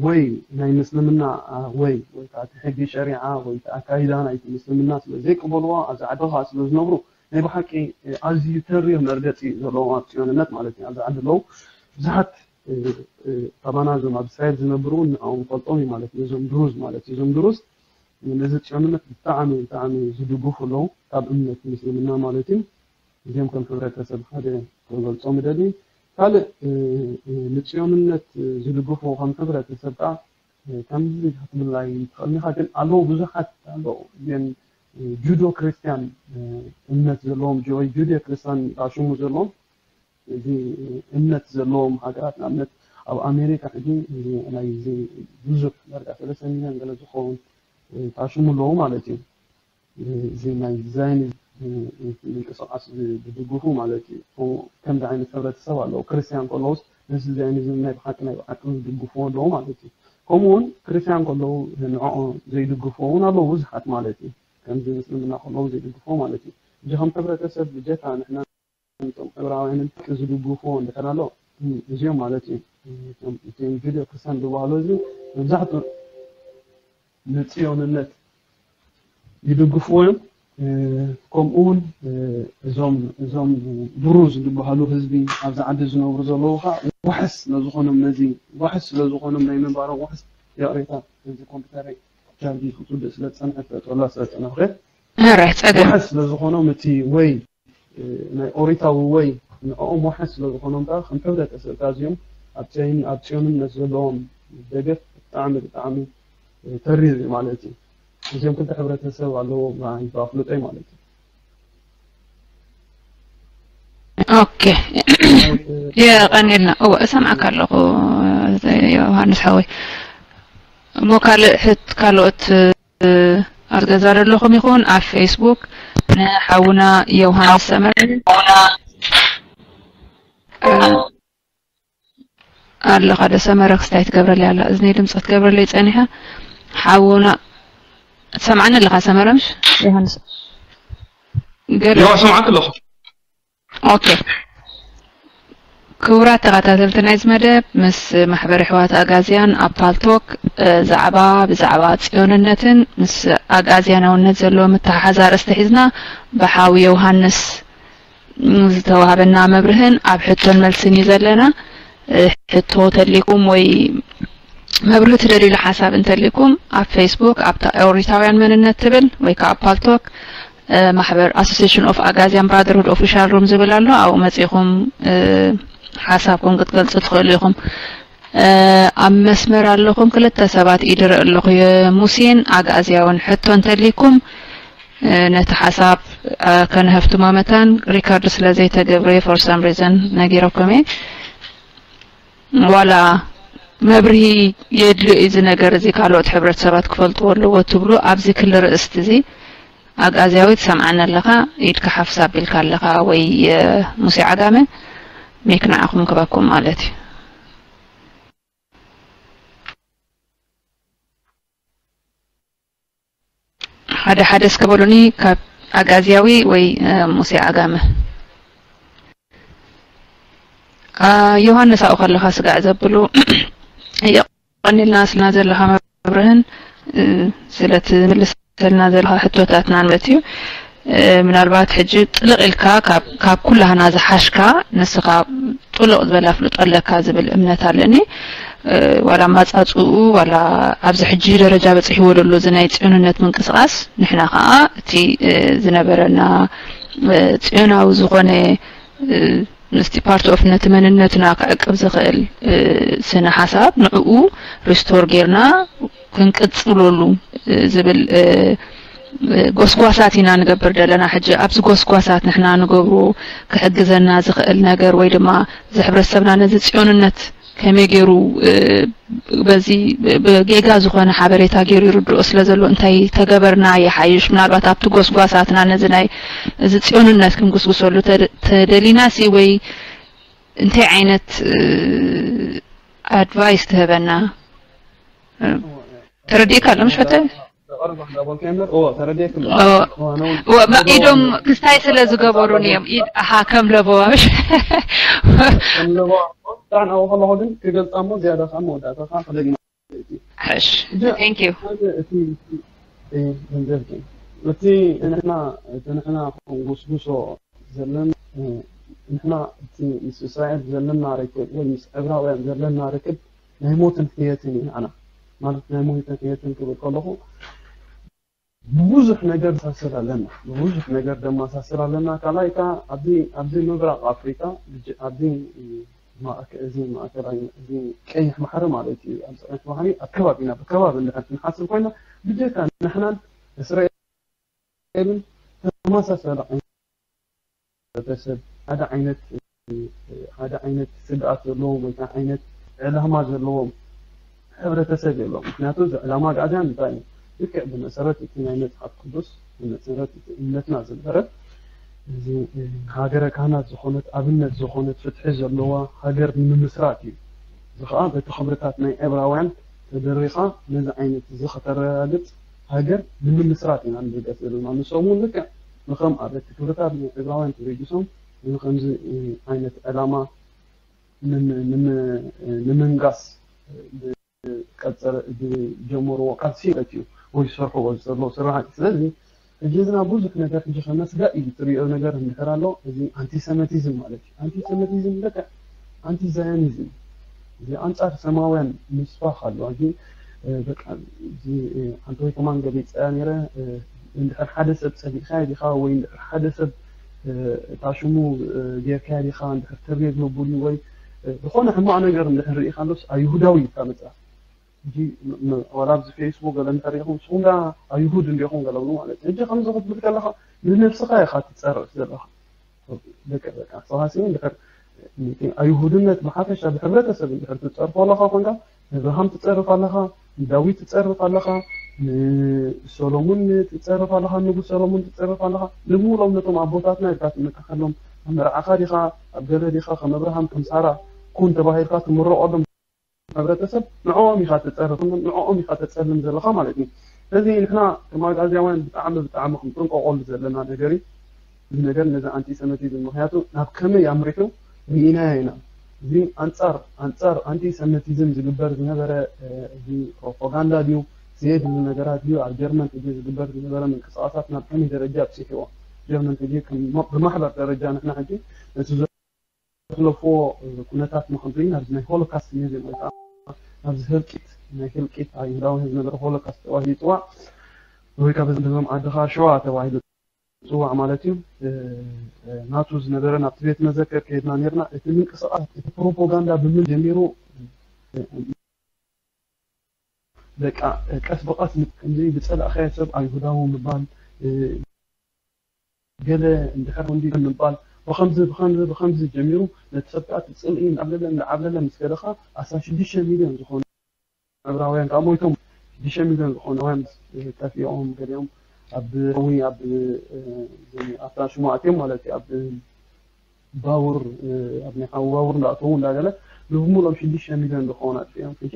ወይ ናይ ምስልምና፣ አ፣ ወይ፣ ወይ ከዓ እቲ ሕጊ ሸሪዓ፣ ወይ እቲ ኣካይዳ ናይቲ ምስልምና ስለ ዘይቅበልዎ፣ ኣብዚ ዓዲ ከዓ ስለ ዝነብሩ፣ ናይ ብሓቂ፣ እ፣ ኣዝዩ ተሪር መርገፂ ዘለዎም ኣብ ፅዮንነት ማለት እዩ። ኣብዚ ዓዲ ኣለዉ ብዙሓት፣ እ፣ እ፣ ካባና እዞም ኣብ እስራኤል ዝነብሩ እውን ንዕኦም ንፈልጦም እዩ ማለት እዩ። እዞም ድሩዝ ማለት እዩ። እዞም ድሩዝ ነዚ ጽዮንነት ብጣዕሚ፣ ብጣዕሚ ዝድግፉ ኣለዉ፣ ካብ እምነት ምስልምና ማለት እዩ። እዚኦም ከም ሕብረተሰብ ሓደ ክገልጾም እደሊ። ካልእ፣ እ፣ እ፣ ንጽዮንነት ዝድግፉ ከም ሕብረተሰብ ከኣ፣ እ፣ ከምዚ ክትብል ኣይትኽእልን ኢኻ፣ ግን ኣለዉ፣ ብዙሓት ኣለዉ። ግን፣ እ፣ ጁዶ ክርስትያን፣ እ፣ እምነት ዘለዎም፣ ጆ-፣ ጁድዮ ክርስትያን ዝኣሽሙ ዘለዎም፣ እዚ እምነት ዘለዎም ሃገራት፣ ንኣብነት ኣብ ኣሜሪካ ሕጂ እዚ ናይ እዚ ብዙሕ ዳርጋ ሰለስተ ሚልዮን ገለ ዝኸውን ታሽሙ ኣለዉ ማለት እዩ። እዚ ናይ ዛይኒዝም ምንቅስቃስ ዝድግፉ ማለት እዩ። ከምዚ ዓይነት ሕብረተሰብ ኣለዉ። ክርስትያን ከለዉስ ነዚ ዛይኒዝም ናይ ብሓቂ ናይ ብሓቂ ዝድግፍዎ ኣለዉ ማለት እዩ። ከምኡ እውን ክርስትያን ከለዉ ንዕኦ ዘይድግፍዎ እውን ኣለዉ ብዙሓት ማለት እዩ። ከምዚ ምስልምና ከለዉ ዘይድግፍዎ ማለት እዩ። እዚ ከም ሕብረተሰብ ብጀካ ንሕና እቶም ዕብራውያንን ዝድግፍዎ እንድሕር ኣሎ፣ እዚኦም ማለት እዩ። እቶም፣ እቶም ጁድዮ ክርስትያን ዝበሃሉ እዚ መብዛሕትኡ ንጽዮንነት ይድግፍዎ እዮም። እ፣ ከምኡ እውን፣ እ፣ እዞም፣ እዞም ድሩዝ ዝበሃሉ ህዝቢ ኣብዚ ዓዲ ዝነብሩ ዘለዉ ከዓ ዋሕስ ስለ ዝኾኖም፣ ነዚ ዋሕስ ስለ ዝኾኖም ናይ ምንባሮም ዋሕስ፣ ይቕሬታ፣ እዚ ኮምፒውተረይ ቻርጅ ክትውድእ ስለ ዝጸንሐት፣ ጠላ ስለ ዝጸናሕኩ፣ ሕራይ ጸገም። ዋሕስ ስለ ዝኾኖም እቲ ወይ እ፣ ናይ ኦሪታዊ ወይ ንዕኦም ዋሕስ ስለ ዝኾኖም ከኣ ከም ሕብረተሰብ ከኣ እዚኦም ኣብ ጸይን-፣ ኣብ ጽዮንነት ዘለዎም ደገፍ ብጣዕሚ፣ ብጣዕሚ፣ እ፣ ተሪር እዩ ማለት እዩ። እዚኦም ክልተ ሕብረተሰብ ኣለዎ ብኣይ-፣ ብኣፍልጦይ ማለት እዩ። ኦኬ። የቐንየልና። እወ፣ እሰምዓካ ኣለኹ፣ ዮሃንስ ሓወይ። እሞ ካልእ ሕት-፣ ካልኦት ኣብ ገዛ ዘለኹም ይኹን ኣብ ፌስቡክ ንሓውና ዮሃንስ ሰመረ፣ እ፣ ኣለኻ ዶ ሰመረ? ክስታይ ትገብረለይ ኣላ እዝነይ፣ ድምፂ ክትገብረለይ ፀኒሓ። ሓውና ትሰምዓኒ ኣለኻ ሰመረ? ምሽ ዮሃንስ ገለ ያው ስምዓት ኣለኹ። ኦኬ። ክቡራት ተኸታተልቲ ናይዚ መደብ፣ ምስ ማሕበር ኣሕዋት ኣጋዝያን ኣብ ፓልቶክ ዛዕባ ብዛዕባ ጽዮንነትን ምስ ኣጋዝያናውነት ዘለዎ ምትሓሓዝ ኣርእስቲ ሒዝና ብሓው ዮሃንስ ዝተዋህበና መብርህን ኣብ ሕቶን መልስን እዩ ዘለና። ሕቶ ተሊኩም ወይ መብርህ ትደልዩሉ ሓሳብ እንተሊኩም ኣብ ፌስቡክ ኣብታ ኦሪታውያን መንነት ትብል ወይ ከዓ ኣብ ፓልቶክ ማሕበር ኣሶሲሽን ኦፍ ኣጋዚያን ብራደርሁድ ኦፊሻል ሩም ዝብል ኣሎ። ኣብኡ መፂኹም ሓሳብኩም ክትገልፁ ትኽእሉ ኢኹም። ኣብ መስመር ኣለኹም ክልተ ሰባት ኢድረ ኣለኹ የሙሴን ኣግኣዝያውን ሕቶ እንተሊኩም ነቲ ሓሳብ ከነሀፍትሞ መታን ሪከርድ ስለ ዘይተገብረ for some reason ነጊረኩም እየ። ዋላ መብርሂ የድልዮ እዚ ነገር እዚ ካልኦት ሕብረተሰባት ክፈልጥዎ ኣለዎ ትብሉ ኣብዚ ክሊ ርእስቲ እዚ ኣግኣዝያዊ ትሰምዓኒ ኣለኻ ኢድካ ሓፍስ ኣቢልካ ኣለኻ ወይ ሙሴ ዓጋመ ሜክ ንዓኹም ክበኩም ማለት እዩ። ሓደ ሓደ እስከ በሉኒ ካብ ኣጋዝያዊ ወይ ሙሴ ዓጋመ። ዮሃንስ ኣብኡ ከለኻ ስጋዕ ዘብሉ የቐኒልና ስልና ዘለኻ መብርህን ስለ ትምልሰልና ዘለኻ ሕቶታትና ማለት እዩ። ምናልባት ሕጂ ጥልቕ ኢልካ ካብ ኩላህና ዝሓሽካ ንስኻ ጥሉቕ ዝበለ ኣፍልጦ ኣለካ ዝብል እምነት ኣለኒ። ዋላ ኣማፃፅኡ ዋላ ኣብዚ ሕጂ ደረጃ በፂሕዎ ዘሎ እዚ ናይ ፅዮንነት ምንቅስቃስ ንሕና ከዓ እቲ ዝነበረና ፅዮናዊ ዝኾነ ምስቲ part of ነቲ መንነትና ክዕቅብ ዝኽእል ስነ ሓሳብ ንዕኡ ሪስቶር ጌርና ክንቅፅለሉ ዝብል ጎስጓሳት ኢና ንገብር ዘለና። ሕጂ ኣብዚ ጎስጓሳት ንሕና ንገብሮ ክሕግዘና ዝኽእል ነገር ወይ ድማ እዚ ሕብረተሰብና ነዚ ፅዮንነት ከመይ ገይሩ በዚ ብጌጋ ዝኾነ ሓበሬታ ገይሩ ይርድኦ ስለ ዘሎ እንታይ ተገበርና ይሓይሽ? ምናልባት ኣብቲ ጎስጓሳትና ነዚ ናይ እዚ ፅዮንነት ክንጉስጉሰሉ ተደሊና ሲ ወይ እንታይ ዓይነት ኣድቫይስ ትህበና? ተረዲእካ ኣሎ ምሽ ፈተ? ኢዶም ክስታይ ስለ ዝገበሩን እዮም። ኢድ ኣሃ ከም ለበዋ ምሽ ከም ለበዋ ብጣዕሚ ኣብኡ ከለኹ ግን ክገልፃ እሞ ዝያዳ ከዓ መወዳእታ ከዓ ክደግማ ሕሽ thank you። እቲ ገንዘብኪ እቲ ንሕና እቲ ንሕና ክንጉስጉሶ ዘለና ንሕና እቲ ምስ እስራኤል ዘለና ርክብ ወይ ምስ ዕብራውያን ዘለና ርክብ ናይ ሞትን ሕየትን እዩ። ንዓና ማለት ናይ ሞትን ሕየትን ክብል ከለኹ ብዙሕ ነገር ንመሳሰል ኣለና፣ ብዙሕ ነገር ደመሳስል ኣለና። ካልኣይ ከኣ ኣብዚ ኣብዚ ምብራቕ ኣፍሪቃ ኣብዚ እዚ ማእከላይ እዚ ቀይሕ ባሕሪ ማለት እዩ። ኣብዚ ቀይሕ ባሕሪ ኣብ ከባቢና ብከባቢ እንድሕር ክንሓስብ ኮይና ብጀካ ንሕናን እስራኤልን ተመሳሳሊ ሕብረተሰብ ሓደ ዓይነት ሓደ ዓይነት ስግኣት ዘለዎም ወይ ከዓ ዓይነት ዕላማ ዘለዎም ሕብረተሰብ የሎም። ምክንያቱ እዚ ዕላማ ኣግኣዝያን እንታይ እዩ? ልክዕ ብመሰረት እቲ ናይ መፅሓፍ ቅዱስ ብመሰረት እቲ እምነትና ዝነበረ እዚ ሃገረ ካህናት ዝኾነት ኣብነት ዝኾነት ፍትሒ ዘለዋ ሃገር ንምምስራት እዩ። እዚ ከዓ በቲ ክብርታት ናይ ዕብራውያን ተደሪኻ ነዚ ዓይነት እዚ ከተረጋግፅ ሃገር ንምምስራት ኢና ንብገስ ዘለና። ንሶም እውን ልክዕ ንኸም ኣብ እቲ ክብርታት ናይ ዕብራውያን ተበጊሶም ንኸምዚ ዓይነት ዕላማ ንምንጋስ ዝጀመርዎ ቃልሲ ማለት እዩ ወይ ዝሰርሕዎ ዝዘለዉ ስራሕ እዩ። ስለዚ ሕጂ እዚ ናብ ብዙሕ ነገር ሕጂ ከመስጋእ እዩ ትሪኦ ነገር እንድሕር ኣሎ እዚ ኣንቲሰመቲዝም ማለት እዩ። ኣንቲሰመቲዝም በቃ ኣንቲዛዮኒዝም እዚ ኣንጻር ሰማውያን ምስፋሕ ኣሎ። እዚ በቃ እዚ ኣንተ ወይ ከማን ገሊጸያ ነይረ እንድሕር ሓደ ሰብ ጸሊእካዮ ዲኻ ወይ እንድሕር ሓደ ሰብ እታ ሽሙ ጌርካዮ ዲኻ እንድሕር ተቤት መቡል ወይ ዝኾነ ሕማቕ ነገር እንድሕር ርኢኻሎስ ኣይሁዳዊ ኢልካ ምጽራፍ። ሕጂ ዋላ ኣብዚ ፌስቡክ ገለ እንድሕር ርኢኹም ንስኹም ዳ ኣይሁድ እንዲኹም ገለ ብሉ ማለት እዩ። ሕጂ ከምዚ ክትብል ከለኻ ንነብስኻ ኢኻ ትጸርፍ ዘለኻ። በቃ በቃ ንስኻ ሲ እንድሕር ነቲ ኣይሁድነት ብሓፈሻ ብሕብረተሰብ እንድሕር ትጸርፎ ኣለኻ ኮንካ ንኣብርሃም ትጸርፍ ኣለኻ፣ ንዳዊት ትጸርፍ ኣለኻ፣ ንሰሎሙን ትጸርፍ ኣለኻ፣ ንጉስ ሰሎሙን ትጸርፍ ኣለኻ። ንምውሎም ነቶም ኣቦታትና ኢልካ ትምክሐሎም ኣብ መርዓኻ ዲኻ ኣብ ገለ ዲኻ ከም ኣብርሃም ከም ሳራ ኩን ተባሂልካ ትምረቐሎም። ሕብረተሰብ ንዕኦም ኢኻ ተጸርፍን ንዕኦም ኢኻ ተጸልም ዘለኻ ማለት እዩ። ስለዚ ንሕና ከም ኣግኣዝያውያን ብጣዕሚ ብጣዕሚ ክንጥንቀቐሉ ዘለና ነገር እዩ። እዚ ነገር ነዚ ኣንቲሰሚቲዝም ምኽንያቱ ናብ ከመይ ኣምሪሑ ርኢናዮ ኢና። እዚ ኣንጻር ኣንጻር ኣንቲሰሚቲዝም ዝግበር ዝነበረ እዚ ፕሮፓጋንዳ ድዩ ዘየድሊ ነገራት ድዩ ኣብ ጀርመን ሕጂ ዝግበር ዝነበረ ምንቅስቃሳት ናብ ከመይ ደረጃ ኣብፂሕዎ ጀርመን ሕጂ ብማሕበር ደረጃ ንሕና ሕጂ ነቲ ዘሕለፍዎ ኩነታት ንክንርኢ ናብዚ ናይ ሆሎካስት ሙዚየም ወይ ከዓ ናብዚ ህልቂት ናይ ህልቂት ኣይሁዳውያን ዝነበረ ሆሎካስት ተባሂሉ ይፅዋዕ ወይ ከዓ በዞም ዓድኻ ሸዋ ተባሂሉ ዝፅዋዕ ማለት እዩ። ናቱ ዝነበረ ናብቲ ቤት መዘከር ከይድና ነርና እቲ ምንቅስቃስ እቲ ፕሮፓጋንዳ ብምን ጀሚሩ በቃ ቀስ ብቀስ ከምዚ ዝጸላእካዮ ሰብ ኣይሁዳዊ ምባል ገለ እንድሕር እንዲ ምባል ብኸምዚ ብኸምዚ ብኸምዚ ጀሚሩ ነቲ ሰብ ከዓ ትጽልኢ እንዳዓብለለ እንዳዓብለለ ምስ ከደኻ ኣስራ ሽዱሽተ ሚልዮን ዝኾኑ ዕብራውያን ከዓ ሞይቶም ሽዱሽተ ሚልዮን ዝኾኑ ዕብራውያን ጠፊኦም ገሊኦም ኣብ ዊ ኣብ ኣብታ ሽሙ ኣትዮም ማለት እዩ ኣብ ባቡር ኣብ ናይ ሓዊ ባቡር እንዳእተዉ እንዳገለ ንብሙሎም ሽዱሽተ ሚልዮን ዝኾኑ ኣጥፊኦም ሕጂ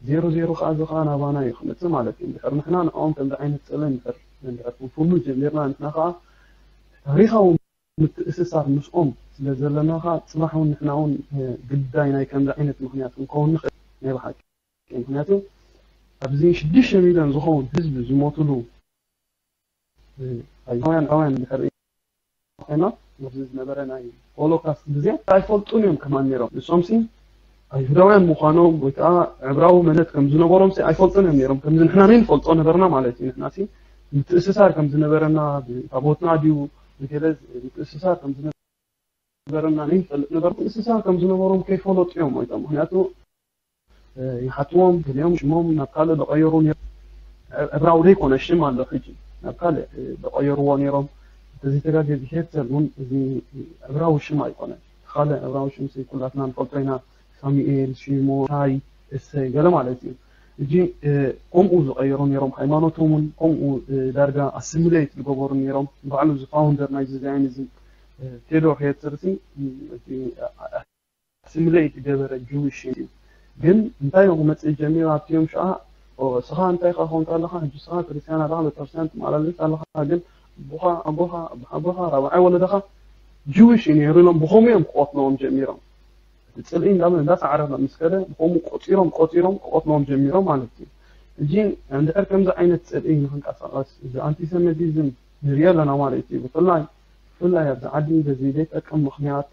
ዜሮ ዜሮ ከዓ እዚ ከዓ ናባና እዩ ክመፅእ ማለት እዩ እንድሕር ንሕና ንዕኦም ከምዚ ዓይነት ፀለ እንድሕር እንድሕር ክንፍኑ ጀሚርና ንሕና ከዓ ታሪካዊ ምትእስሳር ምስኦም ስለ ዘለና ከዓ ፅባሕ እውን ንሕና እውን ግዳይ ናይ ከምዚ ዓይነት ምክንያት ክንከውን ንኽእል ናይ ብሓቂ ምክንያቱ ኣብዚ ሽዱሽተ ሚልዮን ዝኸውን ህዝቢ ዝሞትሉ ኣይሁዳውያን ዕብራውያን እንድሕር ኮይና ኣብዚ ዝነበረ ናይ ሆሎካስት ግዜ ኣይፈልጡን እዮም ከማን ነይሮም ንሶም ሲ ኣይሁዳውያን ምዃኖም ወይ ከዓ ዕብራዊ መነት ከም ዝነበሮም ሲ ኣይፈልጡን እዮም ነይሮም ከምዚ ንሕና ናይ ንፈልጦ ነበርና ማለት እዩ ንሕና ሲ ምትእስሳር ከም ዝነበረና ታቦትና ድዩ ንገለ ምትእስሳር ከም ዝነበረና ናይ ንፈልጥ ነበር ምትእስሳር ከም ዝነበሮም ከይፈለጡ እዮም ሞይቶም ምክንያቱ ይሓትዎም ገሊኦም ሽሞም ናብ ካልእ ዝቐየሩ ዕብራዊ ዘይኮነ ሽም ኣሎ ሕጂ ናብ ካልእ ዝቐየርዎ ነይሮም እንተዘይተጋግየ እዚ ሄርተል እውን እዚ ዕብራዊ ሽም ኣይኮነን ካልእ ዕብራዊ ሽም ኩላትና ንፈልጦ ኢና ሳሙኤል ሽሞታይ እሰይ ገለ ማለት እዩ እጂ ከምኡ ዝቐየሩ ነይሮም ሃይማኖቶም እውን ከምኡ ዳርጋ ኣስሚሌት ዝገበሩ ነይሮም ባዕሉ እዚ ፋውንደር ናይ ዚዛይኒዝም ቴዶር ሄርተል ኣስሚሌት ዝገበረ ጅዊሽ እዩ ግን እንታይ ክመፅእ ጀሚሩ ኣብቲ ዮም ሽዓ እስኻ እንታይ ካ ኮንካ ኣለኻ ሕጂ እስኻ ክርስትያን ኣለኻ ቤተክርስትያን ትመላለስ ኣለኻ ግን ኣቦኻ ኣቦኻ ኣቦኻ ራብዓይ ወለደኻ ጅዊሽ እዩ ነይሩ ኢሎም ብኸምኡ እዮም ክቆትልዎም ጀሚሮም እቲ ፅልኢ እንዳበለ እንዳሳዕረ ምስ ከደ ብኸምኡ ቆፂሮም ቆፂሮም ክቆትልዎም ጀሚሮም ማለት እዩ ሕጂ እንድሕር ከምዚ ዓይነት ፅልኢ ንክንቀሳቀስ እዚ ኣንቲሰሚቲዝም ንሪኦ ኣለና ማለት እዩ ብፍላይ ብፍላይ ኣብዚ ዓዲ በዚ ዘይጠቅም ምክንያት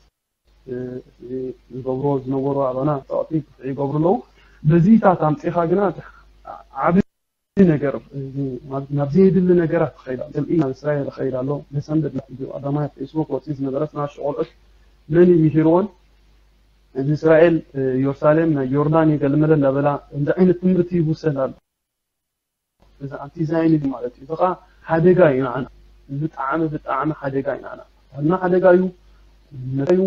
ዝገብርዎ ዝነበሩ ኣባና ፀቕጢ ክፍዒ ይገብሩ ኣለዉ። በዚታት ኣምፂኻ ግና ዓብ ነገር ናብ ዘየድሊ ነገራት ትኸይድ ኣሎ። ስልኢ ናብ እስራኤል ይኸይድ ኣሎ። መሰንበድ ቀዳማይ ኣብ ፌስቡክ ወፂ ዝነበረ ስናሽ ቆልዑት መን እዩ ምሂርዎን እዚ እስራኤል ዮርሳሌም ናይ ዮርዳን እዩ ገልመለ እንዳበላ ከምዚ ዓይነት ትምህርቲ ይውሰድ ኣሎ። እዚ ኣንቲ ዛይኒዝም ማለት እዩ። እዚ ከዓ ሓደጋ እዩ ንዓና። ብጣዕሚ ብጣዕሚ ሓደጋ እዩ ንዓና። እና ሓደጋ እዩ። መታዩ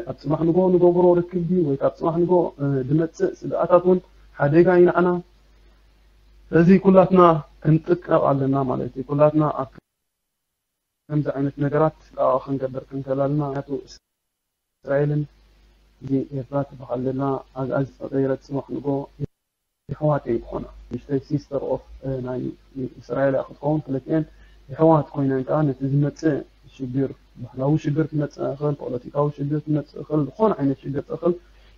ኣብ ፅባሕ ንጎ ንገብሮ ርክብ ድዩ ወይ ካብ ፅባሕ ንጎ ድመፅእ ስግኣታት እውን ሓደጋ እዩ ንዓና። ስለዚ ኩላትና ክንጥቀቕ ኣለና ማለት እዩ። ኩላትና ኣብ ከምዚ ዓይነት ነገራት ጥንቃቐ ክንገብር ክንክእል ኣለና። ምክንያቱ እስራኤልን እዚ ኤርትራ ትበሃል ዘለና ኣግኣዚ ተቐይረት ፅባሕ ንጎ የሕዋት እየን ክኾና። ንእሽተይ ሲስተር ኦፍ ናይ እስራኤል እያ ክትኸውን። ክልቲኤን የሕዋት ኮይነን ከዓ ነቲ ዝመፅእ ሽግር፣ ባህላዊ ሽግር ክመፅእ ይኽእል፣ ፖለቲካዊ ሽግር ክመፅእ ይኽእል፣ ዝኾነ ዓይነት ሽግር ይኽእል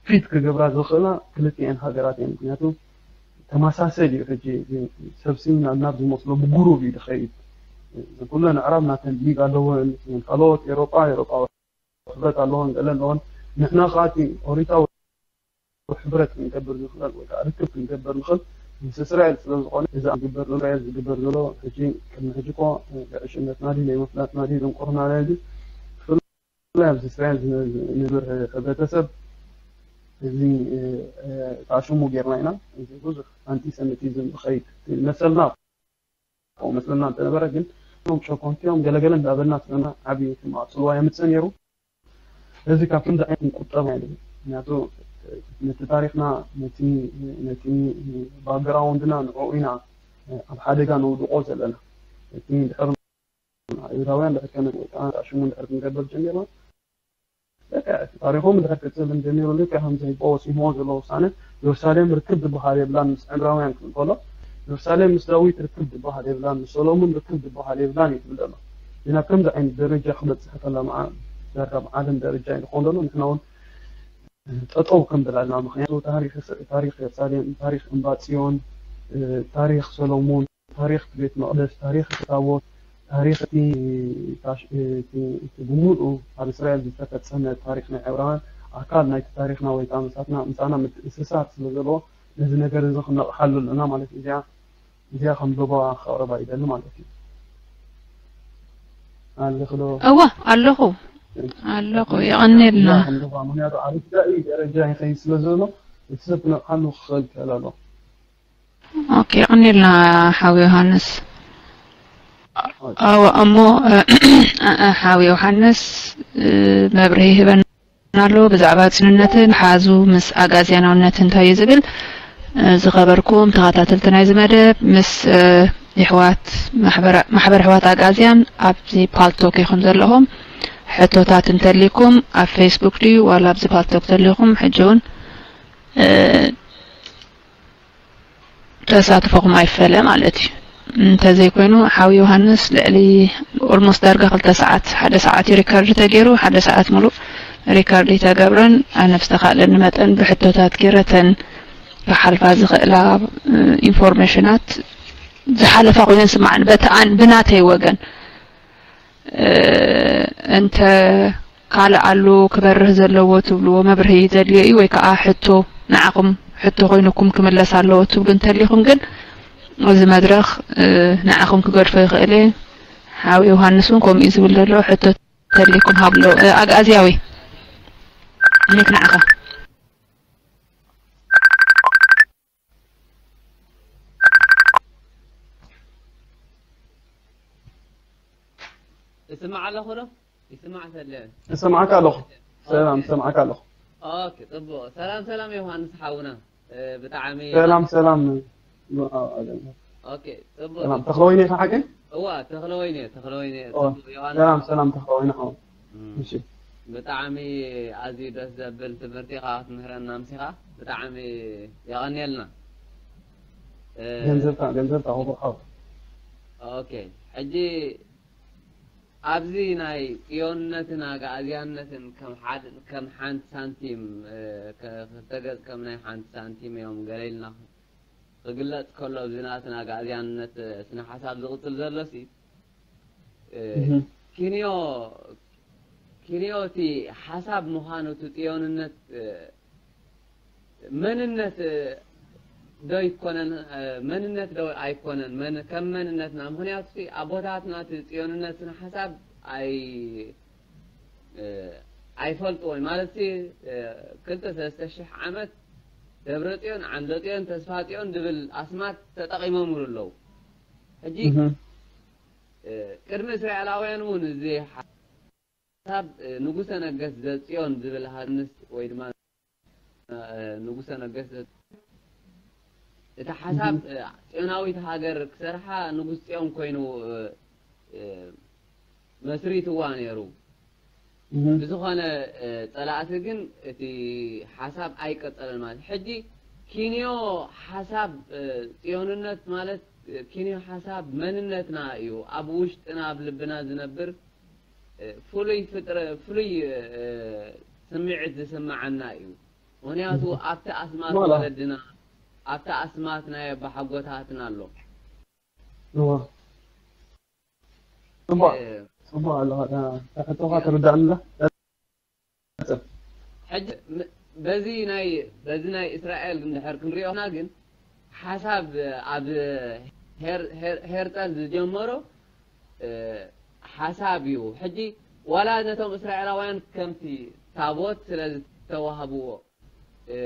ፊት ክገብራ ዝኽእላ ክልቲኤን ሃገራት እየን። ምክንያቱ ተመሳሰል እዩ። ሕጂ ሰብሲ ናብ ናብ ዝመስሎ ብጉሩብ እዩ ዝኸይድ። ኩለን ኣዕራብ ናተን ሊግ ኣለወን፣ ካልኦት ኤሮጳ ኤሮጳዊ ሕብረት ኣለወን፣ ገለ ኣለወን። ንሕና ከዓ እቲ ኦሪታዊ ሕብረት ክንገብር ንኽእል ወይ ከዓ ርክብ ክንገብር ንኽእል ምስ እስራኤል ስለ ዝኾነ እዚ ዝግበር ዘሎ እስራኤል ዝግበር ዘሎ ሕጂ ቅድሚ ሕጂ እኮ ዕሽነትና ድዩ ናይ ምፍላጥና ድዩ ድንቁርና ናይ ድዩ ብፍላይ ኣብዚ እስራኤል ዝነብር ሕብረተሰብ እዚ ተኣሽሙ ጌርና ኢና እዚ ብዙሕ ኣንቲሰሚቲዝም ዝኸይድ መሰልና ከምኡ መስለና እንተነበረ ግን እቶም ሸኮንቲኦም ገለገለ እንዳበልና ስለና ዓብዪ ሕማቕ ፅልዋ የምፅእ ነይሩ። ስለዚ ካብ ከምዚ ዓይነት ክንቁጠብ ኣይደልን። ምክንያቱ ነቲ ታሪኽና ነቲ ነቲ ባክግራውንድና ንዕኡ ኢና ኣብ ሓደጋ ነውድቆ ዘለና። እቲ ድሕር ኣይሁዳውያን ድሕር ከነ ወይ ከዓ ሽሙ ድሕር ክንገብር ጀሚርና በቃ እቲ ታሪኾም እንድሕር ክጽል እንጀሚሩ፣ ልክዕ ከምዚ ህዝቦ ወሲንዎ ዘሎ ውሳነ፣ ኢየሩሳሌም ርክብ ዝበሃል የብላን ምስ ዕብራውያን ክብል ከሎ፣ ኢየሩሳሌም ምስ ዳዊት ርክብ ዝበሃል የብላን፣ ምስ ሰሎሙን ርክብ ዝበሃል የብላን እዩ ዝብል ዘሎ። ግን ኣብ ከምዚ ዓይነት ደረጃ ክበጽሕ ከሎ፣ መዓ-፣ ዳርጋ ኣብ ዓለም ደረጃ እዩ ዝኸውን ዘሎ። ንሕና እውን ጠጠው ክንብል ኣለና። ምኽንያቱ ታሪኽ፣ ታሪኽ ኢየሩሳሌም፣ ታሪኽ እምባ ጽዮን፣ እ፣ ታሪኽ ሰሎሙን፣ ታሪኽ እቲ ቤት መቕደስ፣ ታሪኽ እቲ ታቦት፣ ታሪኽ እቲ ታሽ-፣ እቲ፣ እቲ ብምሉኡ ኣብ እስራኤል ዝተፈጸመ ታሪኽ ናይ ዕብራውያን ኣካል ናይቲ ታሪኽና ወይ ከዓ ምሳትና፣ ምሳና ምትእስሳር ስለ ዘለዎ ነዚ ነገር እዚ ክንነቕሓሉ ኣለና ማለት እዩ። እዚኣ፣ እዚኣ ከም ዞባ ከቕርባ ይደሊ ማለት እዩ። ኣለኺ ዶ? እወ፣ ኣለኹ። ኣለኹ። እዚኣ የቐንየልና። ከም ዞባ፣ ምኽንያቱ ኣብ ርዳኢ ደረጃ ይኸይድ ስለ ዘሎ እቲ ሰብ ክነቕሓሉ ክኽእል ክእል ኣለዎ። ኦኬ፣ የቐንየልና ሓው ዮሃንስ። ኣዎ፣ እሞ፣ እ፣ ሓው ዮሃንስ፣ እ፣ መብርሂ ይህበና ኣሎ ብዛዕባ ጽዮንነትን ሓዙ ምስ ኣጋዝያናውነት እንታይ እዩ ዝብል። እ፣ ዝኸበርኩም ተኸታተልቲ ናይዚ መደብ፣ ምስ፣ እ፣ የሕዋት ማሕበራ-፣ ማሕበር ኣሕዋት ኣጋዝያን ኣብዚ ፓልቶክ ኢኹም ዘለኹም። ሕቶታት እንተልይኩም ኣብ ፌስቡክ ድዩ ዋላ ኣብዚ ፓልቶክ ተልይኩም፣ ሕጂ እውን፣ እ፣ ተሳትፎኹም ኣይፈለ ማለት እዩ። እንተዘይኮይኑ ሓው ዮሃንስ ልዕሊ ኦልሞስት ዳርጋ ክልተ ሰዓት፣ ሓደ ሰዓት እዩ ሪከርድ ተገይሩ፣ ሓደ ሰዓት ሙሉእ ሪከርድ ይተገብረን። ኣነ ብዝተኻእለኒ መጠን ብሕቶታት ገይረተን ክሓልፋ ዝኽእላ፣ እ፣ ኢንፎርሜሽናት ዝሓለፋ ኮይነን ስማዕን በቲ ኣን-፣ ብናተይ ወገን እ፣ እንተ ካልእ ኣሎ ክበርህ ዘለዎ ትብልዎ መብርሂ ዘድልዮ እዩ ወይ ከዓ ሕቶ ንዓኹም ሕቶ ኮይኑኩም ክምለስ ኣለዎ ትብሉ እንተሊኹም ግን እዚ መድረኽ፣ እ፣ ንዓኹም ክገድፎ ይኽእል እየ። ሓው ዮሃንስ እውን ከምኡ እዩ ዝብል ዘሎ። ሕቶ ተሊኩም ሃብሎ። እ፣ ኣግኣዝያዊ ሚክ ንዓኻ። እስማዕ ኣለኹ ዶ? ይስማዕ ሰለ። እሰማዕካ ኣለኹ። ሰላም፣ ኦኬ። እሰማዕካ ኣለኹ። ኦኬ፣ ጽቡቕ። ሰላም፣ ሰላም ዮሃንስ ሓውና። እ፣ ብጣዕሚ ሰላም፣ ሰላም። ኦኬ፣ ጽቡቕ። ሰላም፣ ተኽለወይኒ ኢኻ ሓቀይ? እዋ፣ ተኽለወይኒ፣ ተኽለወይኒ። ኦ፣ ጽቡቕ፣ ዮሃንስ። ሰላም፣ ሰላም፣ ተኽለወይኒ ሓው። እም። እሺ። ብጣዕሚ ኣዝዩ ደስ ዘብል ትምህርቲ ኢኻ ክትምህረና ኣምሲኻ። ብጣዕሚ የቐንየልና። እ፣ ገንዘብካ፣ ገንዘብካ ክቡር ሓው። ኦኬ፣ ሕጂ ኣብዚ ናይ ጽዮንነትን ኣግኣዝያነትን ከም ሓድ-፣ ከም ሓንቲ ሳንቲም፣ እ፣ ከ-፣ ክልተ ገጽ ከም ናይ ሓንቲ ሳንቲም እዮም ገለ ኢልና ክግለጽ ከሎ፣ ኣብዚ ናትን ኣግኣዝያነት ስነ ሓሳብ ዝቕጽል ዘሎሲ፣ እ፣ እህ። ኪንዮ፣ ኪንዮ እቲ ሓሳብ ምዃኑ እቲ ጽዮንነት፣ እ፣ መንነት ዶ ይኮነን? መንነት ዶ ኣይኮነን? መን-፣ ከም መንነትና፣ ምኽንያቱ ኣቦታትና እቲ ጽዮንነት ስነ ሓሳብ ኣይ-፣ ኣይፈልጥዎን። ማለት፣ ክልተ ሰለስተ ሽሕ ዓመት ደብረ ጽዮን፣ ዓንደ ጽዮን፣ ተስፋ ጽዮን ዝብል ኣስማት ተጠቒሞምሉ ኣለዉ። ሕጂ፣ እህ። ቅድሚ እስራኤላውያን እውን እዚ ሓሳብ ንጉሰ ነገስት ዘጽዮን ዝብል ሃንስ ወይ ድማ ንጉሰ ነገስት ዘ-፣ እቲ ሓሳብ፣ እህ። ጽዮናዊት ሃገር ክሰርሓ ንጉስ ጽዮን ኮይኑ፣ መስሪትዋ ነይሩ። እህ። ብዝኾነ፣ ጸላእቲ ግን እቲ ሓሳብ ኣይቀጸለን ማለት። ሕጂ ኪንዮ ሓሳብ፣ ጽዮንነት ማለት ኪንዮ ሓሳብ መንነትና እዩ። ኣብ ውሽጥና፣ ኣብ ልብና ዝነብር፣ ፍሉይ ፍጥረ-፣ ፍሉይ፣ ስምዒት ዝስምዓና እዩ። ምኽንያቱ እህ። ኣብቲ ኣስማት ዋላ። ወለድና፣ ኣብቲ ኣስማት ናይ ኣባሓጎታትና ኣሎ። እዋ። ጽቡቕ፣ እ፣ ጽቡቕ ኣለኻ። እታ ሕቶኻ ያ። ተረዳእንላ። ቀጽል። ሕጂ ም-፣ በዚ ናይ፣ በዚ ናይ እስራኤል እንድሕር ክንሪኦና ግን ሓሳብ ኣብ ሄር-፣ ሄር-፣ ሄርጸል ዝጀመሮ፣ እ፣ ሓሳብ እዩ። ሕጂ ዋላ ነቶም እስራኤላውያን ከምቲ ታቦት ስለ ዝተዋህብዎ፣ እ፣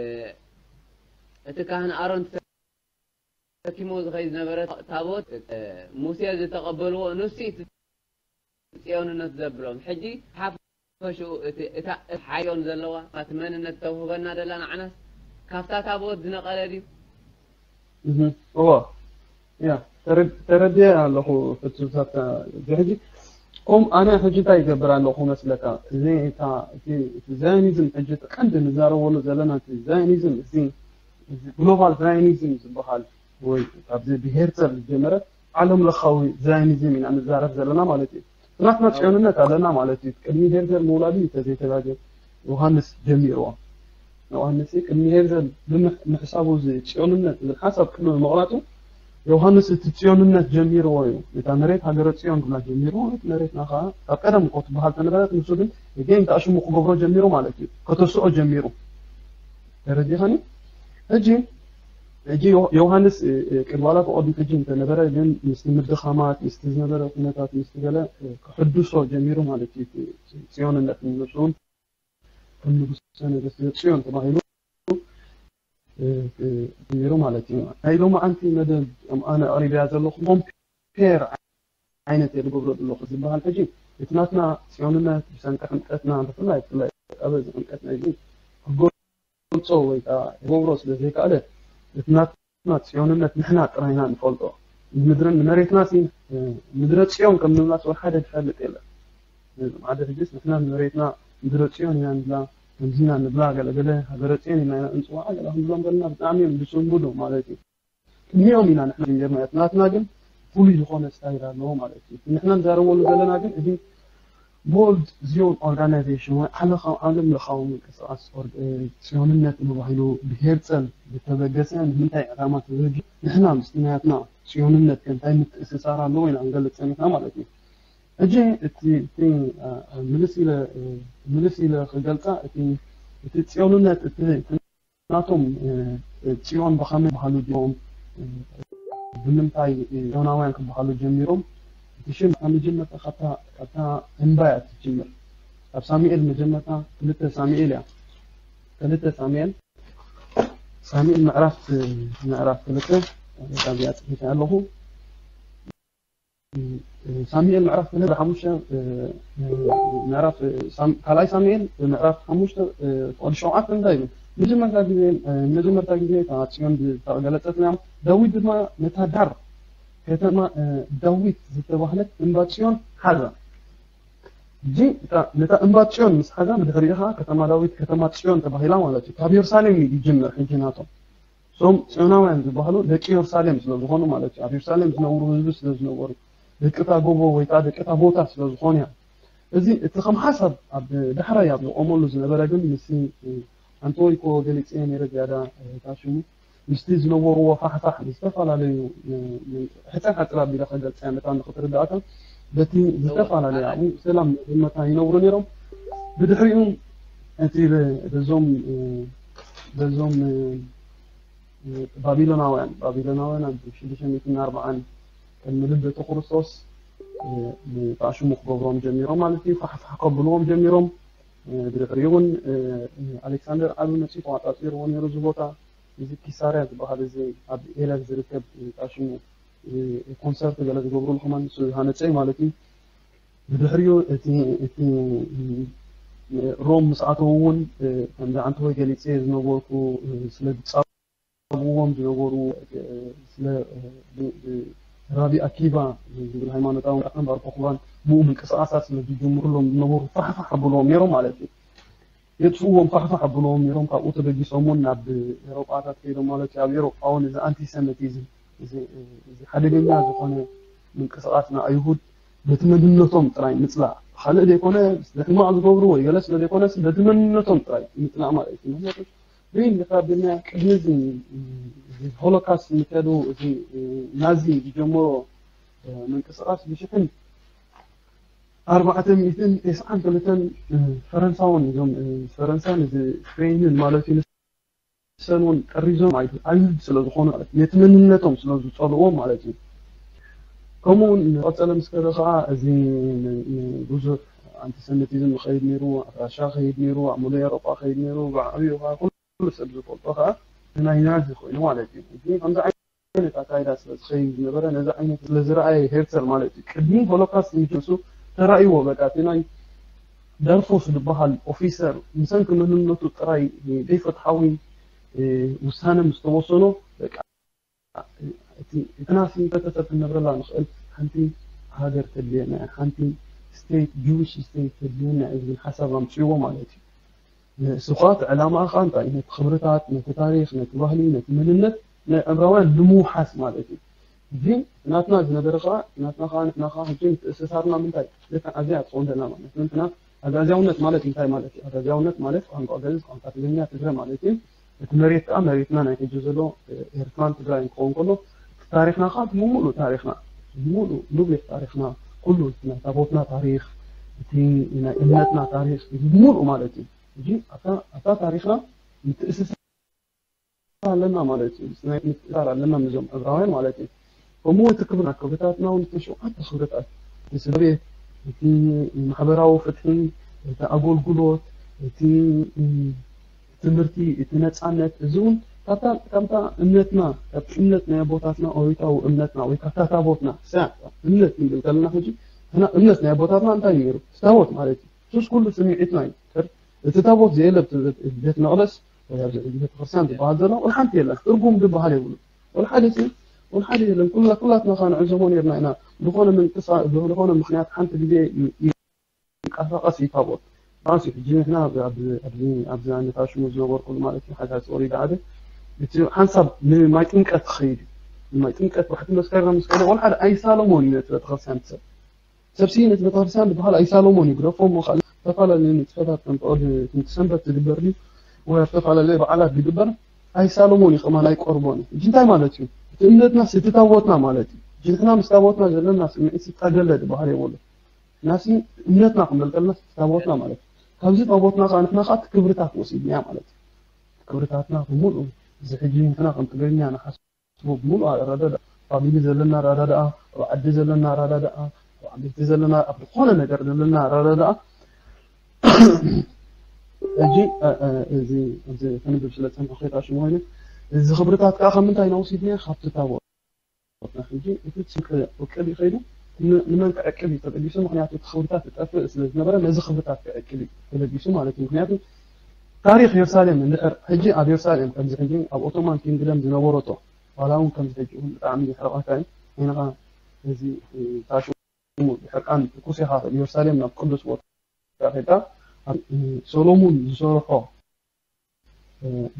እቲ ካህን ኣሮን ተሰኪሞ ዝኸይድ ዝነበረ ታቦት፣ እ፣ ሙሴ ዝተቐበልዎ፣ ንሱ እቲ ጽዮንነት ዘብሎም። ሕጂ ሓፈሽኡ እቲ፣ እታ፣ እታ ሓዮን ዘለዋ፣ እቲ መንነት ተውህበና ደላ ንዓናስ ካብታ ታቦት ዝነቐለ ድዩ? እህ፣ እዎ። ያ፣ ተረ-፣ ተረድየ ኣለኹ ፍጹም ሳታ። እዚ ሕጂ ከም ኣነ ሕጂ እንታይ ይገብር ኣለኹ መስለካ? እዚ እታ እቲ እቲ ዛዮኒዝም ሕጂ እቲ ቀንዲ ንዛረበሉ ዘለና እቲ ዛዮኒዝም እዚ እዚ ግሎባል ዛዮኒዝም ዝበሃል ወይ ካብዚ ብሄርተር ዝጀመረ ዓለም ለኻዊ ዛዮኒዝም ኢና ንዛረብ ዘለና ማለት እዩ። ናትና ጽዮንነት ኣለና ማለት እዩ። ቅድሚ ሄርተር ምውላዱ እዩ ተዘይተጋገ ዮሃንስ ጀሚርዎ። ዮሃንስ ቅድሚ ሄርተር ብምሕ- ምሕሳቡ እዚ ጽዮንነት ዝብል ሓሳብ ቅድሚ ምቕራጹ ዮሃንስ እቲ ጽዮንነት ጀሚርዎ እዩ። እታ መሬት ሃገረ ጽዮን ክብላ ጀሚርዎ መሬትና ከዓ ካብ ቀደም እኮ ትበሃል ተነበረት ንሱ ግን ግን ተኣሽሙ ክገብሮ ጀሚሩ ማለት እዩ። ከተስኦ ጀሚሩ ተረዲኸኒ። ሕጂ ሕጂ ዮ- ዮሃንስ እ፣ እ፣ ቅድሚ ዋላ ተቐድሙ ሕጂ እንተነበረ ግን ምስቲ ምድኻማት ምስቲ ዝነበረ ኩነታት ምስቲ ገለ እ፣ ክሕድሶ ጀሚሩ ማለት እዩ። እቲ ጽዮንነት ንሱ እውን ከም ንጉሰ ነገስት ጽዮን ተባሂሉ እ፣ እ፣ ጀሚሩ ማለት እዩ። ናይ ሎማዓንቲ መደብ ከም ኣነ ኣቕሪበያ ዘለኹ ኮምፔር ዓይነት እየ ዝገብሮ ዘለኹ ዝበሃል ሕጂ እቲ ናትና ጽዮንነት ብሰንኪ ሕምቀትና ብፍላይ ብፍላይ ኣብ እዚ ሕምቀትና እዚ ክገልጾ ወይ ከዓ ክገብሮ ስለ ዘይከኣለ እቲ ናትና ጽዮንነት ንሕና ጥራይና ንፈልጦ ንምድርን ንመሬትና ሲ ምድረ ጽዮን ከም ንብላስ ወላ ሓደ ዝፈልጥ የለን። ሓደ ሕጅስ ንሕና ንመሬትና ምድረ ጽዮን ኢና ንብላ ከምዚና ንብላ ገለገለ ሃገረ ጽዮን ኢና እንፅዋዓ ገለ ክንብሎም ዘለና ብጣዕሚ እዮም ዝስንብዱ ማለት እዩ። ቅድሚኦም ኢና ንሕና ጀመርና ናትና ግን ፍሉይ ዝኾነ ስታይል ኣለዎ ማለት እዩ። ንሕና ንዛረበሉ ዘለና ግን እዚ ቦልድ ዚዮን ኦርጋናይዜሽን ወይ ዓለኻ ዓለም ለኻዊ ምንቅስቃስ ኦርግ- እ፣ ጽዮንነት ተባሂሉ ብሄርጸል ዝተበገሰ ንምንታይ ዕላማ ተበጊ ንሕና ምስቲ ናያትና ጽዮንነት ከ እንታይ ምትእስሳር ኣለዎ ኢና ክንገልጽ ጸኒሕና ማለት እዩ። ሕጂ እቲ እቲ እ፣ ምልስ ኢለ እ፣ ምልስ ኢለ ክገልጻ እቲ እቲ ጽዮንነት እቲ ናቶም ጽዮን ብኸመይ ክበሃሉ ጀሚሮም? ብምንታይ ጽዮናውያን ክበሃሉ ጀሚሮም? እቲ ሽም ካብ መጀመርታ ካብታ እምባ እያ ትጅምር። ካብ ሳሙኤል መጀመርታ ክልተ ሳሙኤል እያ። ክልተ ሳሙኤል ሳሙኤል ምዕራፍ ምዕራፍ ክልተ ካብዚኣ ፅሒፈ ኣለኹ። ሳሙኤል ምዕራፍ ክልተ ሓሙሽተ ምዕራፍ ካልኣይ ሳሙኤል ምዕራፍ ሓሙሽተ ፍቕዲ ሸውዓተ እንታይ ይብል? መጀመርታ ግዜ መጀመርታ ግዜ እታ ጽዮን ዝተገለጸት እያ። ዳዊት ድማ ነታ ዳር ከተማ ዳዊት ዝተባህለት እምባ ጽዮን ሓዛ። እጂ ነታ እምባ ጽዮን ምስ ሓዛ ብድሕሪኡ ከዓ ከተማ ዳዊት ከተማ ጽዮን ተባሂላ ማለት እዩ። ካብ የሩሳሌም እዩ ይጅምር ሕጂ ናቶም እዞም ጽዮናውያን ዝበሃሉ ደቂ የሩሳሌም ስለ ዝኾኑ ማለት እዩ። ኣብ የሩሳሌም ዝነብሩ ህዝቢ ስለ ዝነበሩ ደቂ እታ ጎቦ ወይ ከዓ ደቂ እታ ቦታ ስለ ዝኾኑ እዮም። እዚ እቲ ከም ሓሳብ ኣብ ዳሕራይ ኣብ ዝቆመሉ ዝነበረ ግን ምስ ኣንቶይ ኮ ገሊፀ ነይረ ዝያዳ ታሽሙ ምስቲ ዝነበርዎ ፋሕፋሕ ዝተፈላለዩ ሕፀር ሓፅር ኣቢለ ከገልፀ መታን ንክትርዳእካ በቲ ዝተፈላለየ ኣብኡ ሰላም መታ ይነብሩ ነይሮም። ብድሕሪኡ እቲ በዞም በዞም ባቢሎናውያን ባቢሎናውያን ኣብ ሽዱሽተ ሚእትን ኣርባዓን ቅድሚ ልደቱ ክርስቶስ ብኣሽሙ ክገብሮም ጀሚሮም ማለት እዩ። ፋሕፋሕ ከብልዎም ጀሚሮም። ብድሕሪኡ እውን ኣሌክሳንደር ዓቢ መፂኡ ተቋፃፂርዎ ነይሩ እዚ ቦታ። እዚ ኪሳርያ ዝበሃል እዚ ኣብ ኤለን ዝርከብ ኣሽሙ ኮንሰርት ገለ ዝገብሩሉ ከማን ንሱ ዝሃነፀ እዩ ማለት እዩ። ብድሕሪኡ እቲ እቲ ሮም ምስ ኣተዉ እውን ከምዚ ዓንተወይ ገሊፀ ዝነበርኩ ስለ ዝፃብዎም ዝነበሩ ስለ ራቢ ኣኪባ ዝብል ሃይማኖታዊ ራእን ባርኮክባን ብኡ ምንቅስቃሳት ስለ ዝጅምሩሎም ዝነበሩ ፋሕፋሕ ኣብልዎም ነይሮም ማለት እዩ። የጥፍዎም ፋሕፋሕ ኣብልዎም ነይሮም። ካብኡ ተበጊሶም እውን ናብ ኤሮጳታት ከይዶም ማለት እዩ። ኣብ ኤሮጳ እውን እዚ ኣንቲሰሚቲዝም እዚ ሓደገኛ ዝኾነ ምንቅስቃስ ንኣይሁድ በቲ መንነቶም ጥራይ ምፅላእ ካልእ ዘይኮነ ስለ ሕማቕ ዝገብሩ ወይ ገለ ስለ ዘይኮነ በቲ መንነቶም ጥራይ ምፅላእ ማለት እዩ። ምክንያቱ ሪል ካብ ብና ቅድሚ እዚ ሆሎካስት ምከዱ እዚ ናዚ ዝጀመሮ ምንቅስቃስ ብሽሕን ኣርባዕተ ሚእትን ተስዓን ክልተን ፈረንሳውን እዞም ፈረንሳን እዚ ስፔንን ማለት እዩ። ንሰን እውን ጠሪዞም ኣይሁድ ስለ ዝኾኑ ማለት ነቲ መንነቶም ስለ ዝፀልዎም ማለት እዩ። ከምኡ እውን ንቐፀለ ምስ ከደ ከዓ እዚ ብዙሕ ኣንቲሰሚቲዝም ይኸይድ ነይሩ። ኣብ ራሻ ከይድ ነይሩ፣ ኣብ ሙሉእ ኤሮጳ ከይድ ነይሩ። ብዓብዩ ከዓ ኩሉ ሰብ ዝፈልጦ ከዓ ናይ ናዚ ኮይኑ ማለት እዩ። እዚ ከምዚ ዓይነት ኣካይዳ ስለ ዝኸይድ ዝነበረ ነዚ ዓይነት ስለ ዝረኣየ ሄርተር ማለት እዩ ቅድሚ ሆሎካስት ምጅምሱ ተራእይዎ በቃ እቲ ናይ ደርፎስ ዝበሃል ኦፊሰር ብሰንኪ መንነቱ ጥራይ ዘይፍትሓዊ ውሳነ ምስ ተወሰኖ በቃ እቲ ናሲ ህብረተሰብ ክንነብረላ ንኽእል ሓንቲ ሃገር ተድልየና እያ፣ ሓንቲ state, Jewish state ተድልየና እዩ ዝብል ሓሳብ ኣምፅእዎ ማለት እዩ። ንሱ ከዓ እቲ ዕላማ ከዓ እንታይ? ነቲ ክብርታት፣ ነቲ ታሪኽ፣ ነቲ ባህሊ፣ ነቲ መንነት ናይ ዕብራውያን ንምውሓስ ማለት እዩ። ግን ናትና ዝነበረ ከዓ፣ ናትና ከዓ ንሕና ከዓ ሕጂ ምትእስሳርና ምንታይ? ልክዕ ኣብዚኣ ትኸውን ዘላ ማለት እዩ። ንሕና ኣጋዝያውነት ማለት እንታይ ማለት እዩ? ኣጋዝያውነት ማለት ቋንቋ ግዕዝ፣ ቋንቋ ትግርኛ፣ ትግረ ማለት እዩ። እቲ መሬት ከዓ መሬትና ናይ ሕጂ ዘሎ ኤርትራን ትግራይን ክኸውን ከሎ፣ እቲ ታሪኽና ከዓ ብምሉእ ታሪኽና፣ ብምሉእ ንብሌት ታሪኽና፣ ኩሉ ናይ ታቦትና ታሪኽ፣ እቲ ናይ እምነትና ታሪኽ ብምሉእ ማለት እዩ። ሕጂ ኣብታ ኣብታ ታሪኽና ምትእስሳር ኣለና ማለት እዩ። ናይ ምትእስሳር ኣለና ምስዞም ዕብራውያን ማለት እዩ። ከምኡ እቲ ክብርና ክብርታትና እውን እቲ ሸውዓተ ክብርታት፣ እቲ ስድራ ቤት፣ እቲ ማሕበራዊ ፍትሒ፣ እቲ ኣገልግሎት፣ እቲ ትምህርቲ፣ እቲ ነፃነት፣ እዚ እውን ካብታ እምነትና፣ ካብቲ እምነት ናይ ኣቦታትና፣ ኦሪታዊ እምነትና ወይ ካብታ ታቦትና፣ እሳ እምነት ክንብል ከለና ሕጂ ንሕና እምነት ናይ ኣቦታትና እንታይ እዩ ነይሩ? እቲ ታቦት ማለት እዩ። እሱስ ኩሉ ስምዒትና እዩ። እቲ ታቦት ዘየለ ቤት መቕደስ ወይ ኣብዚ ሕጂ ቤተክርስትያን ዝበሃል ዘሎ ወላ ሓንቲ የለን። ትርጉም ዝበሃል የብሉ። ወላ ሓደ ወላ ሓደ የለን። ኩላ ኩላትና ካ ንዕዘቦ ነርና ኢና። ዝኾነ ምንቅስቃስ ዝኾነ ምክንያት ሓንቲ ግዜ ይንቀሳቀስ ይታቦት ራሱ ሕጂ ንሕና ኣብዚ ኣብዚ ነታ ሽሙ ዝነበርኩሉ ማለት እዩ ሓሳብ ወሪዳ ዓደ እቲ ሓንሳብ ንማይ ጥምቀት ክኸይድ እዩ። ንማይ ጥምቀት ባሕቲ መስከረም ምስ ከደ ወላ ሓደ ኣይሳለሞን እዩ ነቲ ቤተክርስትያን ሰብ ሰብሲ ነቲ ቤተክርስትያን ዝበሃል ኣይሳለሞን እዩ ግደፎ እሞ ካልእ ዝተፈላለዩ ንጥፈታት ከም ፍቕዲ ትምህርቲ ሰንበት ዝግበር ድዩ ወይ ኣብ ዝተፈላለዩ በዓላት ዝግበር ኣይሳለሞን እዩ ከማን ኣይቆርቦን እዩ። እዚ እንታይ ማለት እዩ? እቲ እምነትና ስቲ ታቦትና ማለት እዩ። እዚ ንሕና ምስ ታቦትና ዘለና ስምዒት ስጣገለ ዝበሃል የብሉ። ናሲ እምነትና ክንብል ከለና ስቲ ታቦትና ማለት እዩ። ካብዚ ታቦትና ከዓ ንሕና ከዓ ክብርታት ወሲድናያ ማለት እዩ። ክብርታትና ብምሉእ እዚ ሕጂ ንሕና ከም ትግርኛ ንሓስ ብሙሉእ ኣረዳድኣ ፋሚሊ ዘለና ኣረዳድኣ ኣብ ዓዲ ዘለና ኣረዳድኣ ኣብ ዓበይቲ ዘለና ኣብ ዝኾነ ነገር ዘለና ኣረዳድኣ ሕጂ እዚ እዚ ክንብብ ስለ ዝፀንሑ ከይታ ሽሙ ኮይኑ እዚ ክብርታት ከዓ ካብ ምንታይ ኢና ወሲድናዮ ካብቲ ታቦት ሕጂ እቲ ውቅብ ይኸይዱ ንመን ክዕቅብ እዩ ተበጊሱ ምክንያቱ እቲ ክብርታት ዝጠፍእ ስለ ዝነበረ ነዚ ክብርታት ክዕቅብ እዩ ተበጊሱ ማለት እዩ ምክንያቱ ታሪክ የሩሳሌም እንድሕር ሕጂ ኣብ የሩሳሌም ከምዚ ሕጂ ኣብ ኦቶማን ኪንግደም ዝነበረቶ ዋላ እውን ከምዚ ሕጂ እውን ብጣዕሚ ይሕርቐካ እዩ ዓይንኻ እዚ ታሽሙ ብሕርቃን ትኩስ ኢኻ የሩሳሌም ናብ ቅዱስ ቦታ ከይድካ ሰሎሙን ዝሰርሖ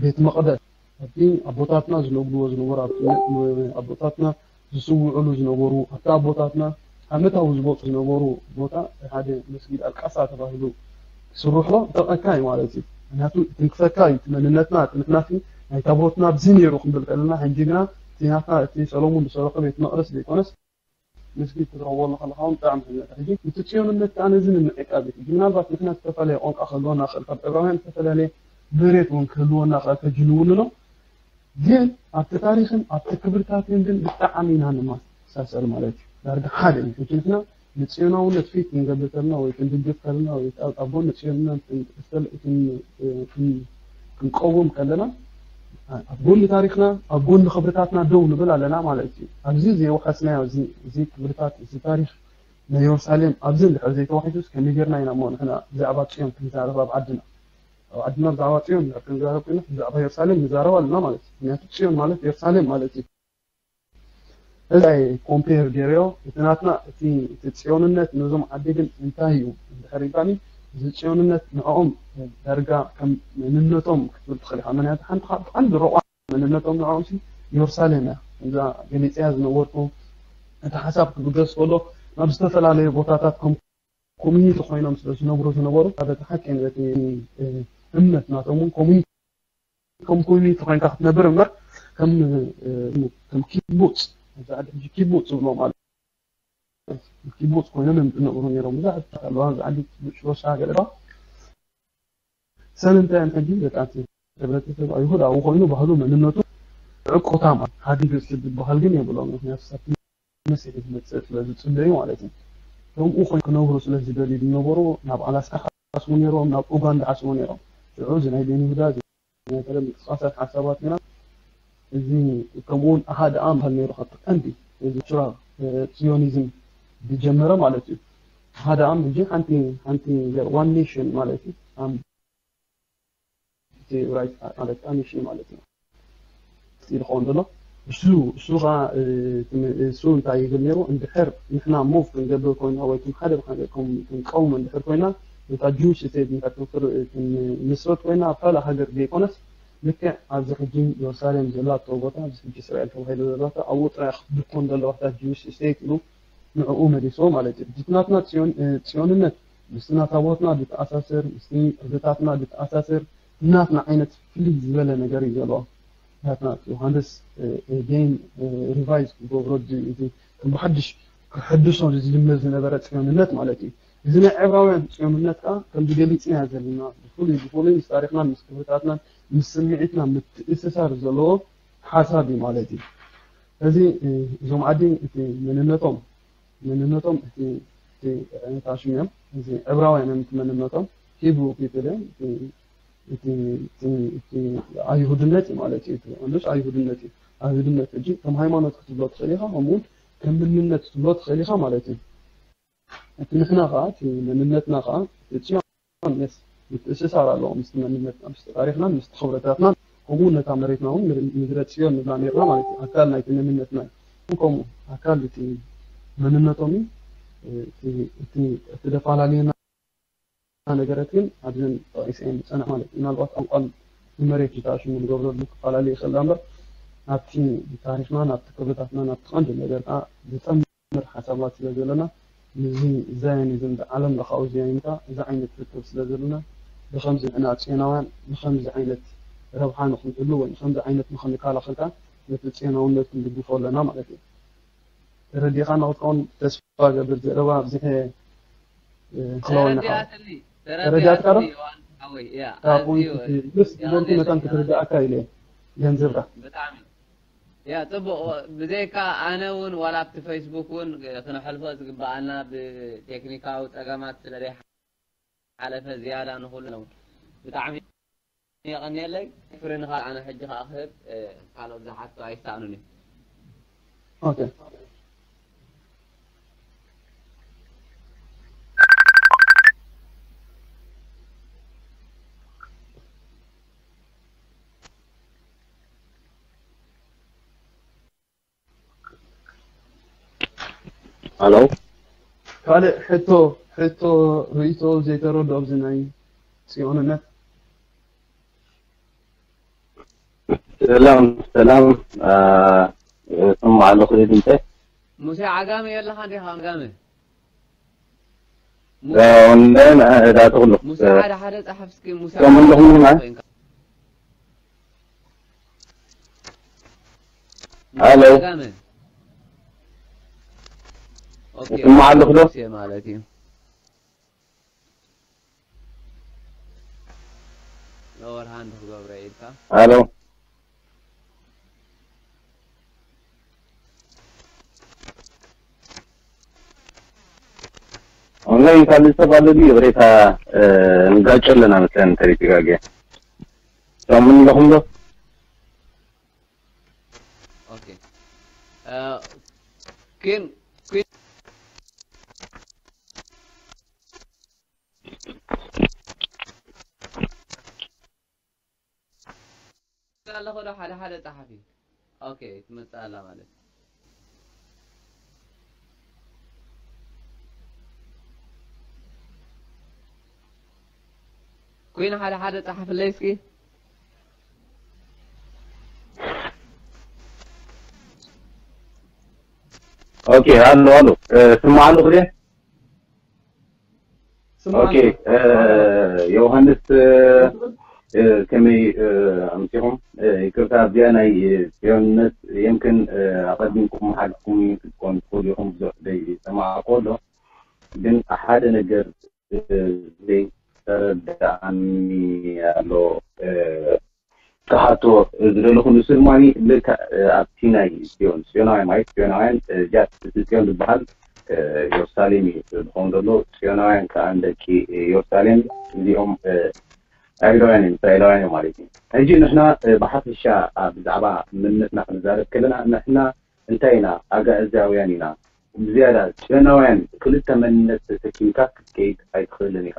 ቤት መቕደስ ኣብቲ ኣቦታትና ዝነግድዎ ዝነበሩ ኣቦታትና ዝስውዕሉ ዝነበሩ ኣብቲ ኣቦታትና ዓመታዊ ዝመፁ ዝነበሩ ቦታ ሓደ መስጊድ ኣልቃሳ ተባሂሉ ክስርሖ ይጠቕመካ እዩ ማለት እዩ ምክንያቱ ትንክፈካ እዩ እቲ መንነትና እቲ ምክንያቱ ናይ ታቦትና ኣብዚ ነይሩ ክንብል ከለና ሕጂ ግና እቲ ናትና እቲ ሰሎሙን ዝሰረሖ ቤት መቕደስ ዘይኮነስ መስጊድ ክትረኽቦ ከለኻ እውን ብጣዕሚ ሕጂ እቲ ፅዮንነት ከዓ ነዚ ንምዕቃብ እዩ ሕጂ ምናልባት ንሕና ዝተፈላለየ ቋንቋ ክህልወና ክእል ካብ ዕብራውያን ዝተፈላለየ መሬት እውን ክህልወና ክእል ሕጂ ንውንኖ ግን ኣብቲ ታሪክን ኣብቲ ክብርታትን ግን ብጣዕሚ ኢና ንመሳሰል ማለት እዩ ዳርጋ ሓደ እዩ ሕጂ ንሕና ንፅዮናውነት ፊት ክንገብር ከለና ወይ ክንድግፍ ከለና ወይ ኣብ ጎኒ ፅዮንነት ክንቀውም ከለና ኣብ ጎኒ ታሪክና ኣብ ጎኒ ክብርታትና ደው ንብል ኣለና ማለት እዩ ኣብዚ ዘይወሓስናዮ እዚ ክብርታት እዚ ታሪክ ናይ የሩሳሌም ኣብዚ እንድሕር ዘይተዋሒሱስ ከመይ ጌርና ኢና እሞ ንሕና ብዛዕባ ፅዮን ክንዛረብ ኣብ ዓድና ኣብ ዓድና ብዛዕባ ፅዮን እንድሕር ክንዛረብ ኮይና ብዛዕባ የሩሳሌም ንዛረብ ኣለና ማለት እዩ ምክንያቱ ፅዮን ማለት የሩሳሌም ማለት እዩ እዚ ኮምፔር ገይረዮ እቲ ናትና እቲ እቲ ፅዮንነት ነዞም ዓዲ ግን እንታይ እዩ እንድሕር ኢልካኒ እዚ ፅዮንነት ንዕኦም ዳርጋ ከም መንነቶም ክትብል ትኽእል ኢኻ ምክንያቱ ሓንቲ ካብ ቀንዲ ረቋ መንነቶም ንዕኦም ሲ የሩሳሌም እያ እዛ ገሊፅያ ዝነበርኩ እቲ ሓሳብ ክብገስ ከሎ ናብ ዝተፈላለዩ ቦታታት ከም ኮሚኒቲ ኮይኖም ስለ ዝነብሩ ዝነበሩ ሓደ ሓቂ እቲ እምነት ናቶም እውን ኮሚኒቲ ከም ኮሚኒቲ ኮይንካ ክትነብር እምበር ከም ከም ኪቡፅ ኣብዚ ዓዲ ሕጂ ኪቡፅ ዝብሎ ማለት ኪቡፅ ኮይኖም እዮም ዝነብሩ ነይሮም ብዙሓት ኣለዋ ኣብዚ ዓዲ ሽሮሻ ገለባ ሰለምታያን ሕጂ ደቃት ሕብረተሰብ ኣይሁዳዊ ኮይኑ ባህሉ መንነቱ ዕቆታ ማለት ሃዲግ ዝበሃል ግን የብሎም ምክንያቱ መሲሕ ዝመፅእ ስለ ዝፅበዩ ማለት እዩ ከምኡ ኮይ ክነብሩ ስለ ዝደልዩ ዝነበሩ ናብ ኣላስካ ሓስቡ ነይሮም ናብ ኡጋንዳ ሓስቡ ነይሮም ሽዑ እዚ ናይ ቤን ይሁዳ ናይ ቀደም ምንቅስቃሳት ሓሳባት ግና እዚ ከምኡውን ኣሃደ ኣም በሃል ነይሩ ካብቲ ቀንዲ እዚ ቹራ ጽዮኒዝም ዝጀመረ ማለት እዩ ሓደ ኣም እዚ ሓንቲ ሓንቲ ዋን ኔሽን ማለት እዩ ማለት ኔሽን ማለት እዩ ዝኸውን ዘሎ እሱ እሱ ኸዓ እሱ እንታይ ይብል ነይሩ? እንድሕር ንሕና ሞቭ ክንገብር ኮይና ወይ ከም ሓደ ክንቀውሞ እንድሕር ኮይና፣ ነታ ጅዊሽ ስቴት እንድሕር ክንምስርት ኮይና፣ ኣብ ካልእ ሃገር ዘይኮነስ፣ ልክዕ ኣብዚ ሕጂ ኢየሩሳሌም ዘላቶ ቦታ፣ ኣብዚ ሕጂ እስራኤል ተባሂሉ ዘላቶ ኣብኡ ጥራይ ክትድኮን ዘለዋ እታ ጅዊሽ ስቴት ኢሉ ንዕኡ መሊስዎ ማለት እዩ። እቲ ናትና ጽዮን ጽዮንነት ምስቲ ናታ ቦትና ዝተኣሳሰር፣ ምስቲ ክብርታትና ዝተኣሳሰር፣ ናትና ዓይነት ፍልይ ዝበለ ነገር እዩ ዘለዎ። ናትና ዮሃንስ ጌን ሪቫይዝ ክገብሮ እዚ ከም ብሓድሽ ክሕድሶ ዝጅምር ዝነበረ ጽዮንነት ማለት እዩ። እዚ ናይ ዕብራውያን ጽዮንነት ከዓ ከምዚ ገሊጽናዮ ዘለና ብፍሉይ ብፍሉይ ምስ ታሪኽናን ምስ ክብርታትናን ምስ ስምዒትና ምትእስሳር ዘለዎ ሓሳብ እዩ ማለት እዩ። እዚ እዞም ዓዲ እቲ መንነቶም መንነቶም እቲ እቲ እንታይ ሽም እዮም? እዚ ዕብራውያን እዮም እቲ መንነቶም፣ ሂብሩ ፒፕል እዮም። እቲ እቲ እቲ እቲ ኣይሁድነት እዩ ማለት እዩ። እቲ ቀንዱስ ኣይሁድነት እዩ። ኣይሁድነት ሕጂ ከም ሃይማኖት ክትብሎ ትኽእል ኢኻ፣ ከምኡ እውን ከም መንነት ክትብሎ ትኽእል ኢኻ ማለት እዩ። እቲ ንሕና ከዓ እቲ መንነትና ከዓ እቲ ጽዮን የስ ምትእስሳር ኣለዎ ምስቲ መንነትና፣ ምስቲ ታሪኽናን ምስቲ ክብረታትናን፣ ከምኡ እውን ነታ መሬትና እውን ምድረ ጽዮን ንብላ ነርና ማለት እዩ። ኣካል ናይቲ መንነትና እዩ። ከምኡ ኣካል እቲ መንነቶም እዩ። እቲ እቲ እቲ ደፈላለዩና ነገራት ግን ኣብዘን ጠቒሰ እየን ዝጸንሕ ማለት እዩ። ምናልባት ቋንቋን ንመሬት ዝተኣሽሙ ንገብረሉ ክፈላለ ይኽእል እምበር፣ ኣብቲ ታሪኽናን ኣብቲ ክብርታትናን ኣብቲ ቀንዲ ነገር ከዓ ዝጸምር ሓሳባት ስለ ዘለና፣ ምስዚ ዛዮኒዝም ዓለም ለኻዊ ዛዮኒታ እዚ ዓይነት ርክብ ስለ ዘለና፣ ብኸምዚ ንሕና ጽዮናውያን ንኸምዚ ዓይነት ረብሓ ንኽንህሉ ወይ ንኸምዚ ዓይነት ንኽንከላኸል ከዓ ነቲ ጽዮናውነት ክንድግፎ ኣለና ማለት እዩ። ተረዲእካ ንኽትከውን ተስፋ ገብር። ዘረባ ኣብዚሐ ክለወና ተረዲኣትኒ ተረዲኣትካ ዶ? ተረዲኣትኒ ዮሃንስ ሓወይ። ያ ካብ ኣዝዩ ፖይንት እ፣ ምስ ዝበልኩ መጠን ክትርዳእካ ኢለ ገንዘብካ። ብጣዕሚ ያ ጽቡቕ። ብዘይካ ኣነ እውን ዋላ ኣብቲ ፌስቡክ እውን ክነሕልፎ ዝግበኣና ብቴክኒካዊ ጸገማት ስለ ዘይሓለፈ ዝያዳ ንኹሉ ብጣዕሚ የቐንየለይ። ፍሪ ንኻል ኣነ ሕጂ ከኣ ክህብ እ፣ ካልኦት ዝሓቱ ኣይሰኣኑን እዮም። ኦኬ። ኣሎ። ካልእ ሕቶ ሕቶ ርእይቶ ዘይተረድኦ ኣብዚ ናይ ጽዮንነት ሰላም ሰላም። እ፣ እሰማዕ ኣለኹ ድምፀ። ሙሴ ዓጋመ የለኻ እንዲኻ ዓጋመ? ሙሴ እ፣ ወንደን፣ እ፣ እዳ ተኽሉ። ሙሴ እ፣ ሓደ ሓደ ጸሓፍ እስኪ ሙሴ ሰሙን ዓጋመ ኣለኹም ዲና? ኮይንካ። ሙሴ ኣሎ። ዓጋመ። ኦኬ፣ እሰማዕ ኣለኹ ዶ? ሙሴ ማለት እዩ። ሎወር ሃንድ ክገብሮ ኢልካ። ኣሎ። ኦንላይን ካብ ዝተፈላለዩ ይቕሬታ፣ እ፣ ንጋጮ ኣለና መሰለኒ ተሪፊጋግያ። ሰሙን ኣለኹም ዶ? ኦኬ። እ፣ ኪን ኪን ኣለኹ ዶ ሓደ ሓደ ጸሓፊ? ኦኬ፣ ትመጽእ ኣላ ማለት። ኩን ሓደ ሓደ ጸሓፍለይ እስኪ። ኦኬ፣ ኣሎ ኣሎ። እ፣ ስማዕ ኣለኹ ድየ? ስማዕ ኦኬ፣ ኣለኹ። እ፣ ዮሃንስ፣ እ፣ እ፣ ከመይ፣ እ፣ ኣምሲኹም? እ፣ ይቅርታ፣ ኣብዚኣ ናይ፣ እ፣ ጽዮንነት የምክን፣ እ፣ ኣቐዲምኩም ሓሊፍኩም ክትኮኑ ትኽእሉ ኢኹም፣ ብዙሕ ዘይሰማዕኩ ኣሎ። ግን ሓደ ነገር፣ እ፣ ዘይተረድኣኒ ኣሎ። እ፣ ክሓቶ ዝደለኹ፣ ንሱ ድማ ልክዕ ኣብቲ ናይ ጽዮን፣ ጽዮናውያን ማለት ጽዮናውያን፣ እ፣ ጃት እቲ ጽዮን ዝበሃል፣ እ፣ ኢየሩሳሌም እዩ ዝኸውን ዘሎ። ጽዮናውያን ከኣ ንደቂ ኢየሩሳሌም እዚኦም፣ እ፣ ኣይሁዳውያን እዮም፣ እስራኤላውያን እዮም ማለት እዩ። ሕጂ ንሕና፣ እ፣ ብሓፈሻ ኣብ ብዛዕባ መንነትና ክንዛረብ ከለና፣ ንሕና እንታይ ኢና? ኣጋእዝያውያን ኢና። ብዝያዳ ጽዮናውያን ክልተ መንነት ተሰኪምካ ክትከይድ ኣይትኽእልን ኢኻ።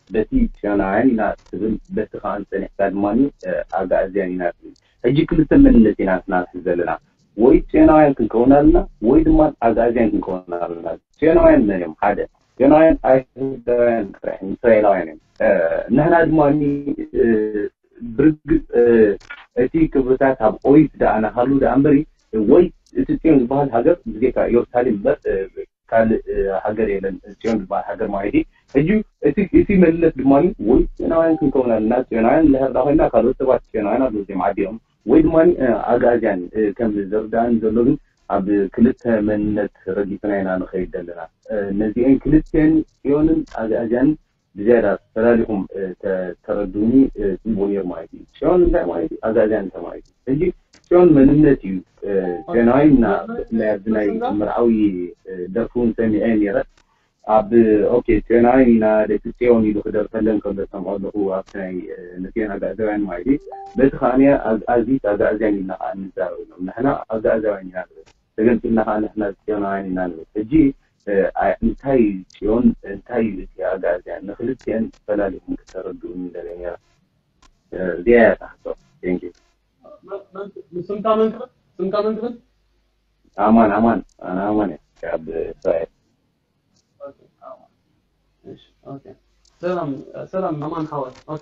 በቲ ጽዮናውያን ኢና ትብል፣ በቲ ከኣ ጸኒሕካ ድማ፣ እ፣ ኣጋእዝያን ኢና ትብል። ሕጂ ክልተ መንነት ኢና ንሕና ንሕዝ ዘለና። ወይ ጽዮናውያን ክንከውን ኣለና ወይ ድማ ኣግኣዝያን ክንከውን ኣለና። ጽዮናውያን መን እዮም? ሓደ ጽዮናውያን ኣይሁዳውያን ጥራሕ እዮም፣ እስራኤላውያን እዮም። ንሕና ድማ ብርግጽ እቲ ክብርታት ኣብ ኦሪት ደኣ ናሃሉ ደኣ እምበሪ፣ ወይ እቲ ጽዮን ዝበሃል ሃገር ብዜካ ኢየሩሳሌም እምበር ካልእ ሃገር የለን ጽዮን ዝበሃል ሃገር ማለት እዩ። ሕጂ እቲ እቲ መንነት ድማ ወይ ጽዮናውያን ክንከውን ኣለና፣ ጽዮናውያን እንድሕር ደኣ ኮይና ካልኦት ሰባት ጽዮናውያን ኣለዉ እዚኦም ዓዲኦም፣ ወይ ድማ ኣግኣዝያን ከም ዝርዳእኒ ዘሎ ግን ኣብ ክልተ መንነት ረጊጽና ኢና ንኸይድ ዘለና። ነዚአን ክልተን ጽዮንን ኣግኣዝያንን ብዝያዳ ፈላሊኹም ተረድኡኒ ጽቡቕ ነይሩ ማለት እዩ። ጽዮን እንታይ ማለት እዩ? ኣግኣዝያን እንታይ ማለት እዩ? ሕጂ ጽዮን መንነት እዩ። ጽዮናዊ ናይ ኣብዚ ናይ መርዓዊ ደርፊ እውን ሰሚዐ ነይረ። ኣብ ኦኬ ጽዮናዊ ኢና ደቂ ጽዮን ኢሉ ክደርፈለን ከሎ ሰምዖ ኣለኹ ኣብቲ ናይ ነጽዮን ኣግኣዝያውያን ማለት እዩ። በቲ ከኣ ኣግኣዚት ኣግኣዝያን ኢልና ከኣ ንዛረበሎም ንሕና ኣግኣዝያውያን ኢና ንብል። ተገንጺልና ከኣ ንሕና ጽዮናውያን ኢና ንብል። ሕጂ እንታይ እዩ ጽዮን እንታይ እዩ እቲ ኣግኣዝያን ንክልቲአን ፈላሊኹም ክተረድኡኒ ደለ ነይረ። እዚኣ እያ ታሕቶ። Thank you። ስምካ መን ትብል? ስምካ መን ትብል? ኣማን ኣማን ኣነ ኣማን እየ ካብ እስራኤል። ሰላም ሰላም ኣማን ሓወይ። ኦኬ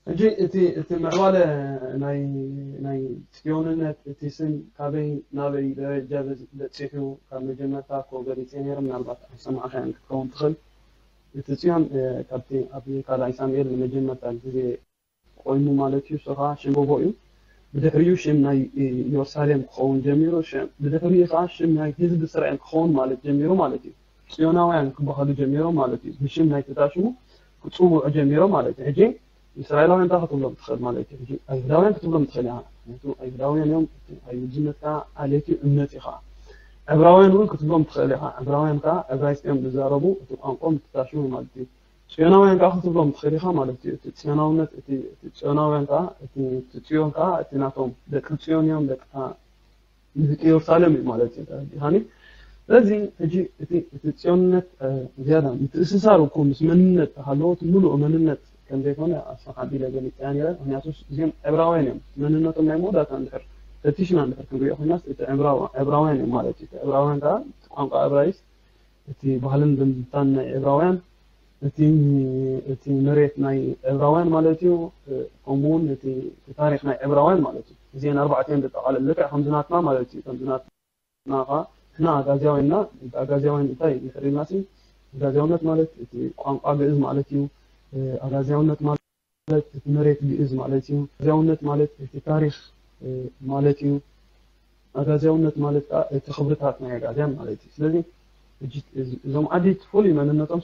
ሕጂ እቲ እቲ ምዕባለ ናይ ናይ ጽዮንነት እቲ ስም ካበይ ናበይ ደረጃ በጺሑ ካብ መጀመርታ እኮ ገሊጸ ነይረ። ምናልባት ኣይሰማዕካያን ክትከውን ትኽእል። እቲ ጽዮን ካብቲ ኣብ ካልኣይ ሳሙኤል ንመጀመርታ ግዜ ኮይኑ ማለት እዩ። እሱ ከዓ ሽም ጎቦ እዩ። ብድሕሪኡ ሽም ናይ ኢየሩሳሌም ክኸውን ጀሚሩ። ብድሕሪኡ ከዓ ሽም ናይ ህዝቢ እስራኤል ክኸውን ማለት ጀሚሩ ማለት እዩ። ጽዮናውያን ክበሃሉ ጀሚሮም ማለት እዩ። ብሽም ናይ ተታሽሙ ክጽውዑ ጀሚሮም ማለት እዩ። ሕጂ እስራኤላውያን እንታይ ክትብሎም ትኽእል ማለት እዩ? ሕጂ ኣይሁዳውያን ክትብሎም ትኽእል ኢኻ። ምክንያቱ ኣይሁዳውያን እዮም፣ ኣይሁድነት ከዓ ዓሌት እዩ፣ እምነት እዩ ከዓ። ዕብራውያን እውን ክትብሎም ትኽእል ኢኻ። ዕብራውያን ከዓ ዕብራይስጥ እዮም ዝዛረቡ፣ እቲ ቋንቋኦም ተታሽሙ ማለት እዩ። ጽዮናውያን ከዓ ክትብሎም ትኽእል ኢኻ ማለት እዩ። እቲ ጽዮናውነት እቲ ጽዮናውያን ከዓ እቲ ጽዮን ከዓ እቲ ናቶም ደቂ ጽዮን እዮም፣ ደቂ ንደቂ ኢየሩሳሌም እዩ ማለት እዩ። ተረዲኻኒ? ስለዚ ሕጂ እቲ እቲ ጽዮንነት ዝያዳ ምትእስሳር እኮ ምስ መንነት ተሃለዎ እቲ ምሉእ መንነት ከም ዘይኮነ ኣስፋሕ ኣቢለ ገሊጸያ ነይረ። ምክንያቱ እዚኦም ዕብራውያን እዮም። መንነቶም ናይ መወዳእታ እንድሕር ፈቲሽና እንድሕር ክንሪኦ ኮይናስ እቲ ዕብራውያን እዮም ማለት እዩ። እቲ ዕብራውያን ከዓ ቋንቋ ዕብራይስ እቲ ባህልን ዝምድታን ናይ ዕብራውያን እቲ እቲ መሬት ናይ ዕብራውያን ማለት እዩ። ከምኡ እውን እቲ ታሪክ ናይ ዕብራውያን ማለት እዩ። እዚአን ኣርባዕቲአን ዘጠቓልል ልክዕ ከምዚ ናትና ማለት እዩ። ከምዚ ናትና ኸዓ ንሕና ኣጋዝያውያን ኢና። ኣጋዝያውያን እንታይ ድሕር ኢልናሲ ኣጋዝያውነት ማለት እቲ ቋንቋ ግእዝ ማለት እዩ። ኣጋዝያውነት ማለት ማለት እቲ መሬት ግእዝ ማለት እዩ። ኣጋዝያውነት ማለት እቲ ታሪኽ ማለት እዩ። ኣጋዝያውነት ማለት ከዓ እቲ ክብርታት ናይ ኣጋዝያን ማለት እዩ። ስለዚ እዞም ዓዲት ፍሉይ መንነቶም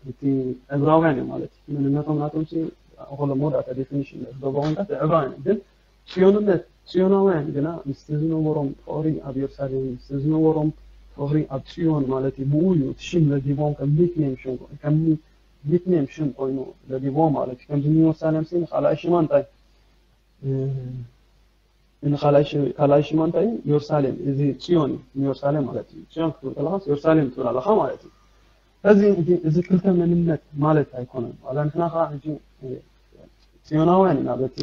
እቲ ዕብራውያን እዮም ማለት እዩ። መንነቶም ናቶም ከሎ መወዳእታ ዴፊኒሽን ዝገብሮ ኮንካ ዕብራውያን እዮም። ግን ጽዮንነት ጽዮናውያን ግና ምስቲ ዝነበሮም ፍቕሪ ኣብ ኢየሩሳሌም ምስቲ ዝነበሮም ፍቕሪ ኣብ ጽዮን ማለት እዩ። ብኡ እዩ እቲ ሽም ለጊቦም ከም ኒክኔም ሽም ከም ኒክኔም ሽም ኮይኑ ለጊቦም ማለት እዩ። ከምዚ ንኢየሩሳሌም ሲ ንኻልኣይ ሽማ እንታይ ንኻልኣይ ሽማ እንታይ እዩ? ኢየሩሳሌም እዚ ጽዮን እዩ። ንኢየሩሳሌም ማለት እዩ። ጽዮን ክትብል ከለኻስ ኢየሩሳሌም ትብል ኣለኻ ማለት እዩ። እዚ እዚ ክልተ መንነት ማለት ኣይኮነን። ዋላ ንሕና ከዓ ሕጂ ጽዮናውያን ኢና። በቲ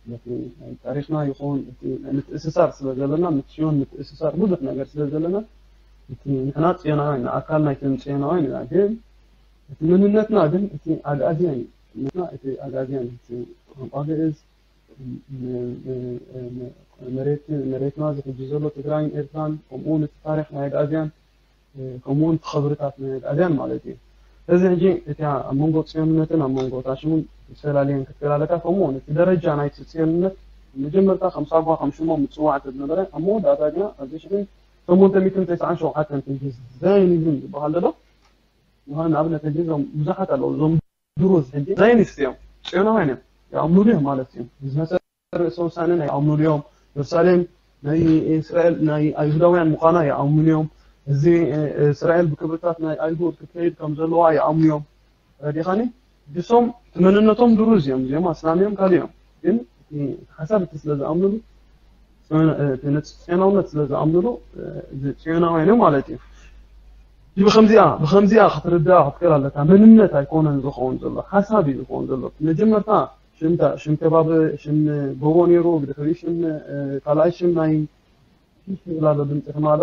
በቲ ናይ ታሪኽና ይኹን እቲ ምትእስሳር ስለ ዘለና ምስ ጽዮን ምትእስሳር ብዙሕ ነገር ስለ ዘለና እቲ ንሕና ጽዮናውያን ኢና። ኣካል ናይቶም ጽዮናውያን ኢና። ግን እቲ መንነትና ግን እቲ ኣግኣዝያን እዩ። መንነትና እቲ ኣግኣዝያን እቲ ቋንቋ ግእዝ መሬት መሬትና እዚ ሕጂ ዘሎ ትግራይን ኤርትራን ከምኡ እውን እቲ ታሪኽ ናይ ኣግኣዝያን ከምኡ እውን እቲ ክብርታት ናይ ኣግኣዝያን ማለት እዩ። ስለዚ ሕጂ እቲ ኣብ መንጎ ጽዮንነትን ኣብ መንጎ ታሽሙን ዝተፈላለየን ክትከላለካ ከምኡ እውን እቲ ደረጃ ናይቲ ጽዮንነት መጀመርታ ከም ሳጓ ከም ሽሞም ምጽዋዕ እንተዝነበረ ኣብ መወዳእታ ግና ኣብዚ ሽሕን ሸሞንተ ሚእትን ተስዓን ሸውዓተን ክንዲ ዛይኒዝም ዝበሃል ዘሎ ምዃኑ ንኣብነት ሕጂ እዞም ብዙሓት ኣለዉ እዞም ድሩዝ ሕጂ ዛይኒስት እዮም፣ ጽዮናውያን እዮም፣ ይኣምኑሉ እዮም ማለት እዩ። ዝመጸ ርእሰ ውሳነ ናይ ይኣምኑሉ እዮም። ኢየሩሳሌም ናይ እስራኤል ናይ ኣይሁዳውያን ምዃና ይኣምኑ እዮም። እዚ እስራኤል ብክብርታት ናይ ኣይሁድ ክትከይድ ከም ዘለዋ ይኣምኑ እዮም። ረዲኻኒ ድሶም መንነቶም ድሩዝ እዮም። እዚኦም ኣስላም እዮም ካልእ እዮም። ግን ሓሳብ እቲ ስለ ዝኣምኑሉ ጽዮናውነት ስለ ዝኣምኑሉ ጽዮናውያን እዮም ማለት እዩ። ብከምዚኣ ብከምዚኣ ክትርዳእ ክትክእል ኣለካ። መንነት ኣይኮነን ዝኸውን ዘሎ ሓሳብ እዩ ዝኸውን ዘሎ። መጀመርታ ሽምታ ሽም ከባቢ ሽም ጎቦ ነይሩ፣ ብድሕሪኡ ሽም ካልኣይ ሽም ናይ ላሎ ድምፂ ሕማሎ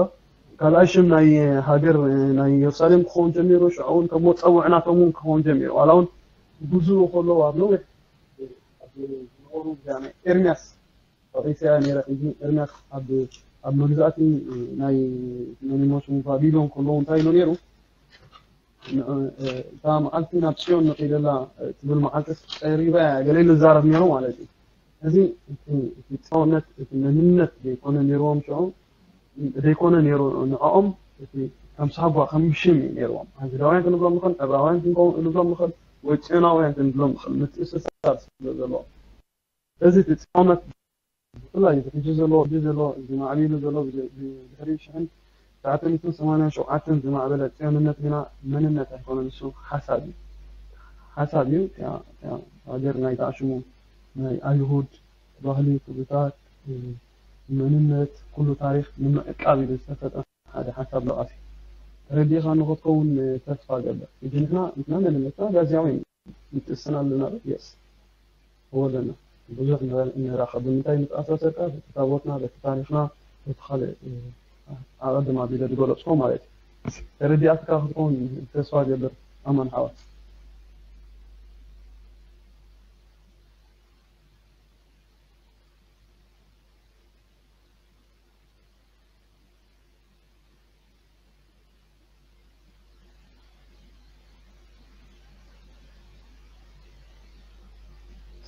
ካልኣይ ሽም ናይ ሃገር ናይ ኢየሩሳሌም ክኸውን ጀሚሩ። ሽዑ እውን ከም መፀውዕናቶም እውን ክኸውን ጀሚሩ። ዋላ እውን ብዙ ከለዉ ኣብ ነዊሕ ዝነበሩ ናይ ኤርሚያስ ተቂሰያ ነይረ። ሕጂ ኤርሚያስ ኣብ ኣብ መግዛእቲ ናይ መኒሞስ ባቢሎን ከለዉ እንታይ ኢሉ ነይሩ? እታ መዓልቲ ናብ ጽዮን ንኺደላ ትብል መዓልቲ ቀሪባ እያ ገለ ንዛረብ ነይሩ ማለት እዩ። እዚ እቲ ጻውነት እቲ መንነት ዘይኮነ ነይርዎም ሽዑ ዘይኮነ ነይሩ ንዕኦም እቲ ከም ሳጓ ከም ሽም እዩ ነይርዎም። ኣይሁዳውያን ክንብሎም ንኽእል፣ ዕብራውያን ክንብሎም ንኽእል፣ ወይ ጽዮናውያን ክንብሎም ንኽእል ምትእስሳር ስለ ዘለዎ እዚ እቲ ጻውነት ብፍላይ እዚ ሕጂ ዘሎ ሕጂ ዘሎ እዚ ማዕቢሉ ዘሎ ብድሕሪ ሽሕን ትሽዓተ ሚእትን ሰማንያን ሸውዓተን ዝማዕበለ ጽዮንነት ግና መንነት ኣይኮነን፣ ንሱ ሓሳብ እዩ። ሓሳብ እዩ። ሃገር ናይ ተኣሽሙ ናይ ኣይሁድ ባህሊ፣ ክብርታት፣ መንነት፣ ኩሉ ታሪኽ ንምዕቃብ ኢሉ ዝተፈጠረ ሓደ ሓሳብ ለቓሲ ተረዲእካ ንኽትከውን ተስፋ ገብር። ሕጂ ንሕና ንሕና መንነትና ጋዝያዊ ምጥስና ኣለና ዶ? የስ። እወ ኣለና። ብዙሕ ንራኸብ። ብምንታይ ምትኣሳሰርካ? በቲ ታቦትና፣ በቲ ታሪኽና፣ በቲ ካልእ ኣቐድም ኣቢለ ዝገለጽኮ ማለት እዩ። ተረዲኣትካ ክትከውን ተስፋ ገብር ኣማን ሓወት።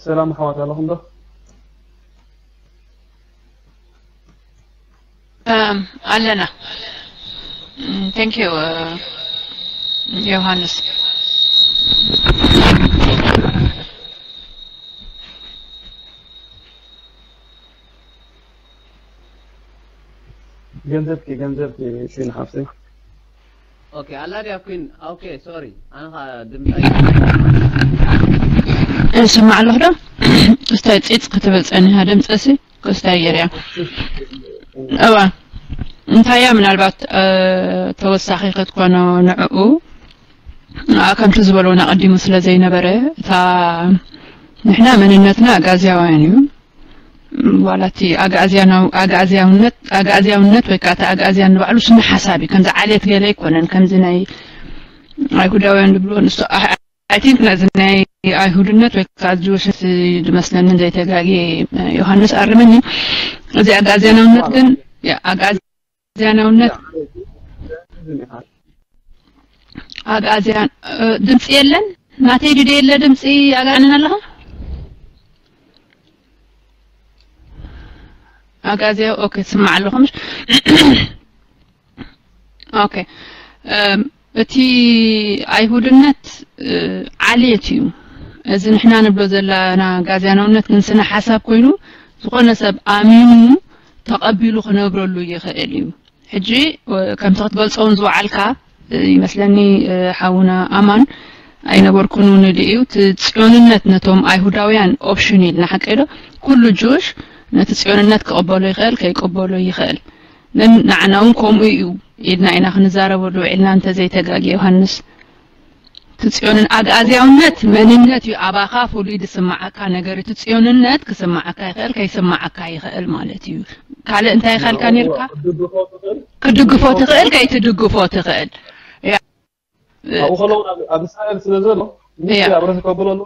ሰላም ኣሕዋት ኣለኹም ዶ? ኣለና። Thank you ዮሃንስ። ገንዘብኪ ገንዘብኪ ፊን ሓፍቲ ኦኬ ኣላ ድያ ኩን ኦኬ ሶሪ ኣነ ኸዓ ድምፃ እሰማዕ ኣለኹ ዶ እስታይ ፂፅ ክትብል ፀኒሃ ድምፀሲ ክስታይ ገይርያ እዋ እንታያ ምናልባት ተወሳኺ ክትኮኖ ንዕኡ ከምቲ ዝበልዎ ኣቐዲሙ ስለ ዘይነበረ እታ ንሕና መንነትና ኣጋዝያውያን እዩ ዋላ እቲ ኣግኣዝያውነት ኣግኣዝያውነት ወይ ከዓ እቲ ኣግኣዝያን ንባዕሉ ስነ ሓሳብ እዩ ከምዚ ዓሌት ገለ ኣይኮነን ከምዚ ናይ ኣይሁዳውያን ዝብልዎ ንሱ I think ነዚ ናይ ኣይሁድነት ወይ ከዓ ጅውሽነት ዝመስለኒ ዘይተጋግየ ዮሃንስ ኣርመኒ እዚ ኣግኣዝያናውነት ግን ኣግኣዝያናውነት ኣግኣዝያን ድምፂ የለን ናተይ ድደ የለ ድምፂ ኣጋንን ኣለኻ ኣግኣዝያ ኦኬ ትስማዕ ኣለኹ ምሽ ኦኬ እቲ ኣይሁድነት ዓሌት እዩ እዚ ንሕና ንብሎ ዘለና ጋዝያናውነት ግን ስነ ሓሳብ ኮይኑ ዝኾነ ሰብ ኣሚኑ ተቐቢሉ ክነብረሉ ይኽእል እዩ ሕጂ ከምቲ ክትገልፆ እውን ዝወዓልካ ይመስለኒ ሓውና ኣማን ኣይነበርኩን እውን ድዩ እቲ ፅዮንነት ነቶም ኣይሁዳውያን ኦፕሽን ኢልና ሓቀ ዶ ኩሉ ጁሽ ነቲ ፅዮንነት ክቕበሎ ይኽእል ከይቅበሎ ይኽእል ግን ንዓና እውን ከምኡ እዩ ኢልና ኢና ክንዛረበሉ ውዒልና እንተዘይተጋጊ ዮሃንስ እቲ ፅዮንን ኣግኣዝያውነት መንነት እዩ ኣባኻ ፍሉይ ዝስማዓካ ነገር እቲ ፅዮንነት ክስማዓካ ይኽእል ከይስማዓካ ይኽእል ማለት እዩ ካልእ እንታይ ይኸልካ ነርካ ክትድግፎ ትኽእል ከይትድግፎ ትኽእል ኣብኡ ከለውን ኣብ እስራኤል ስለ ዘሎ ኣብ ርእሲ ከብሎ ኣሎ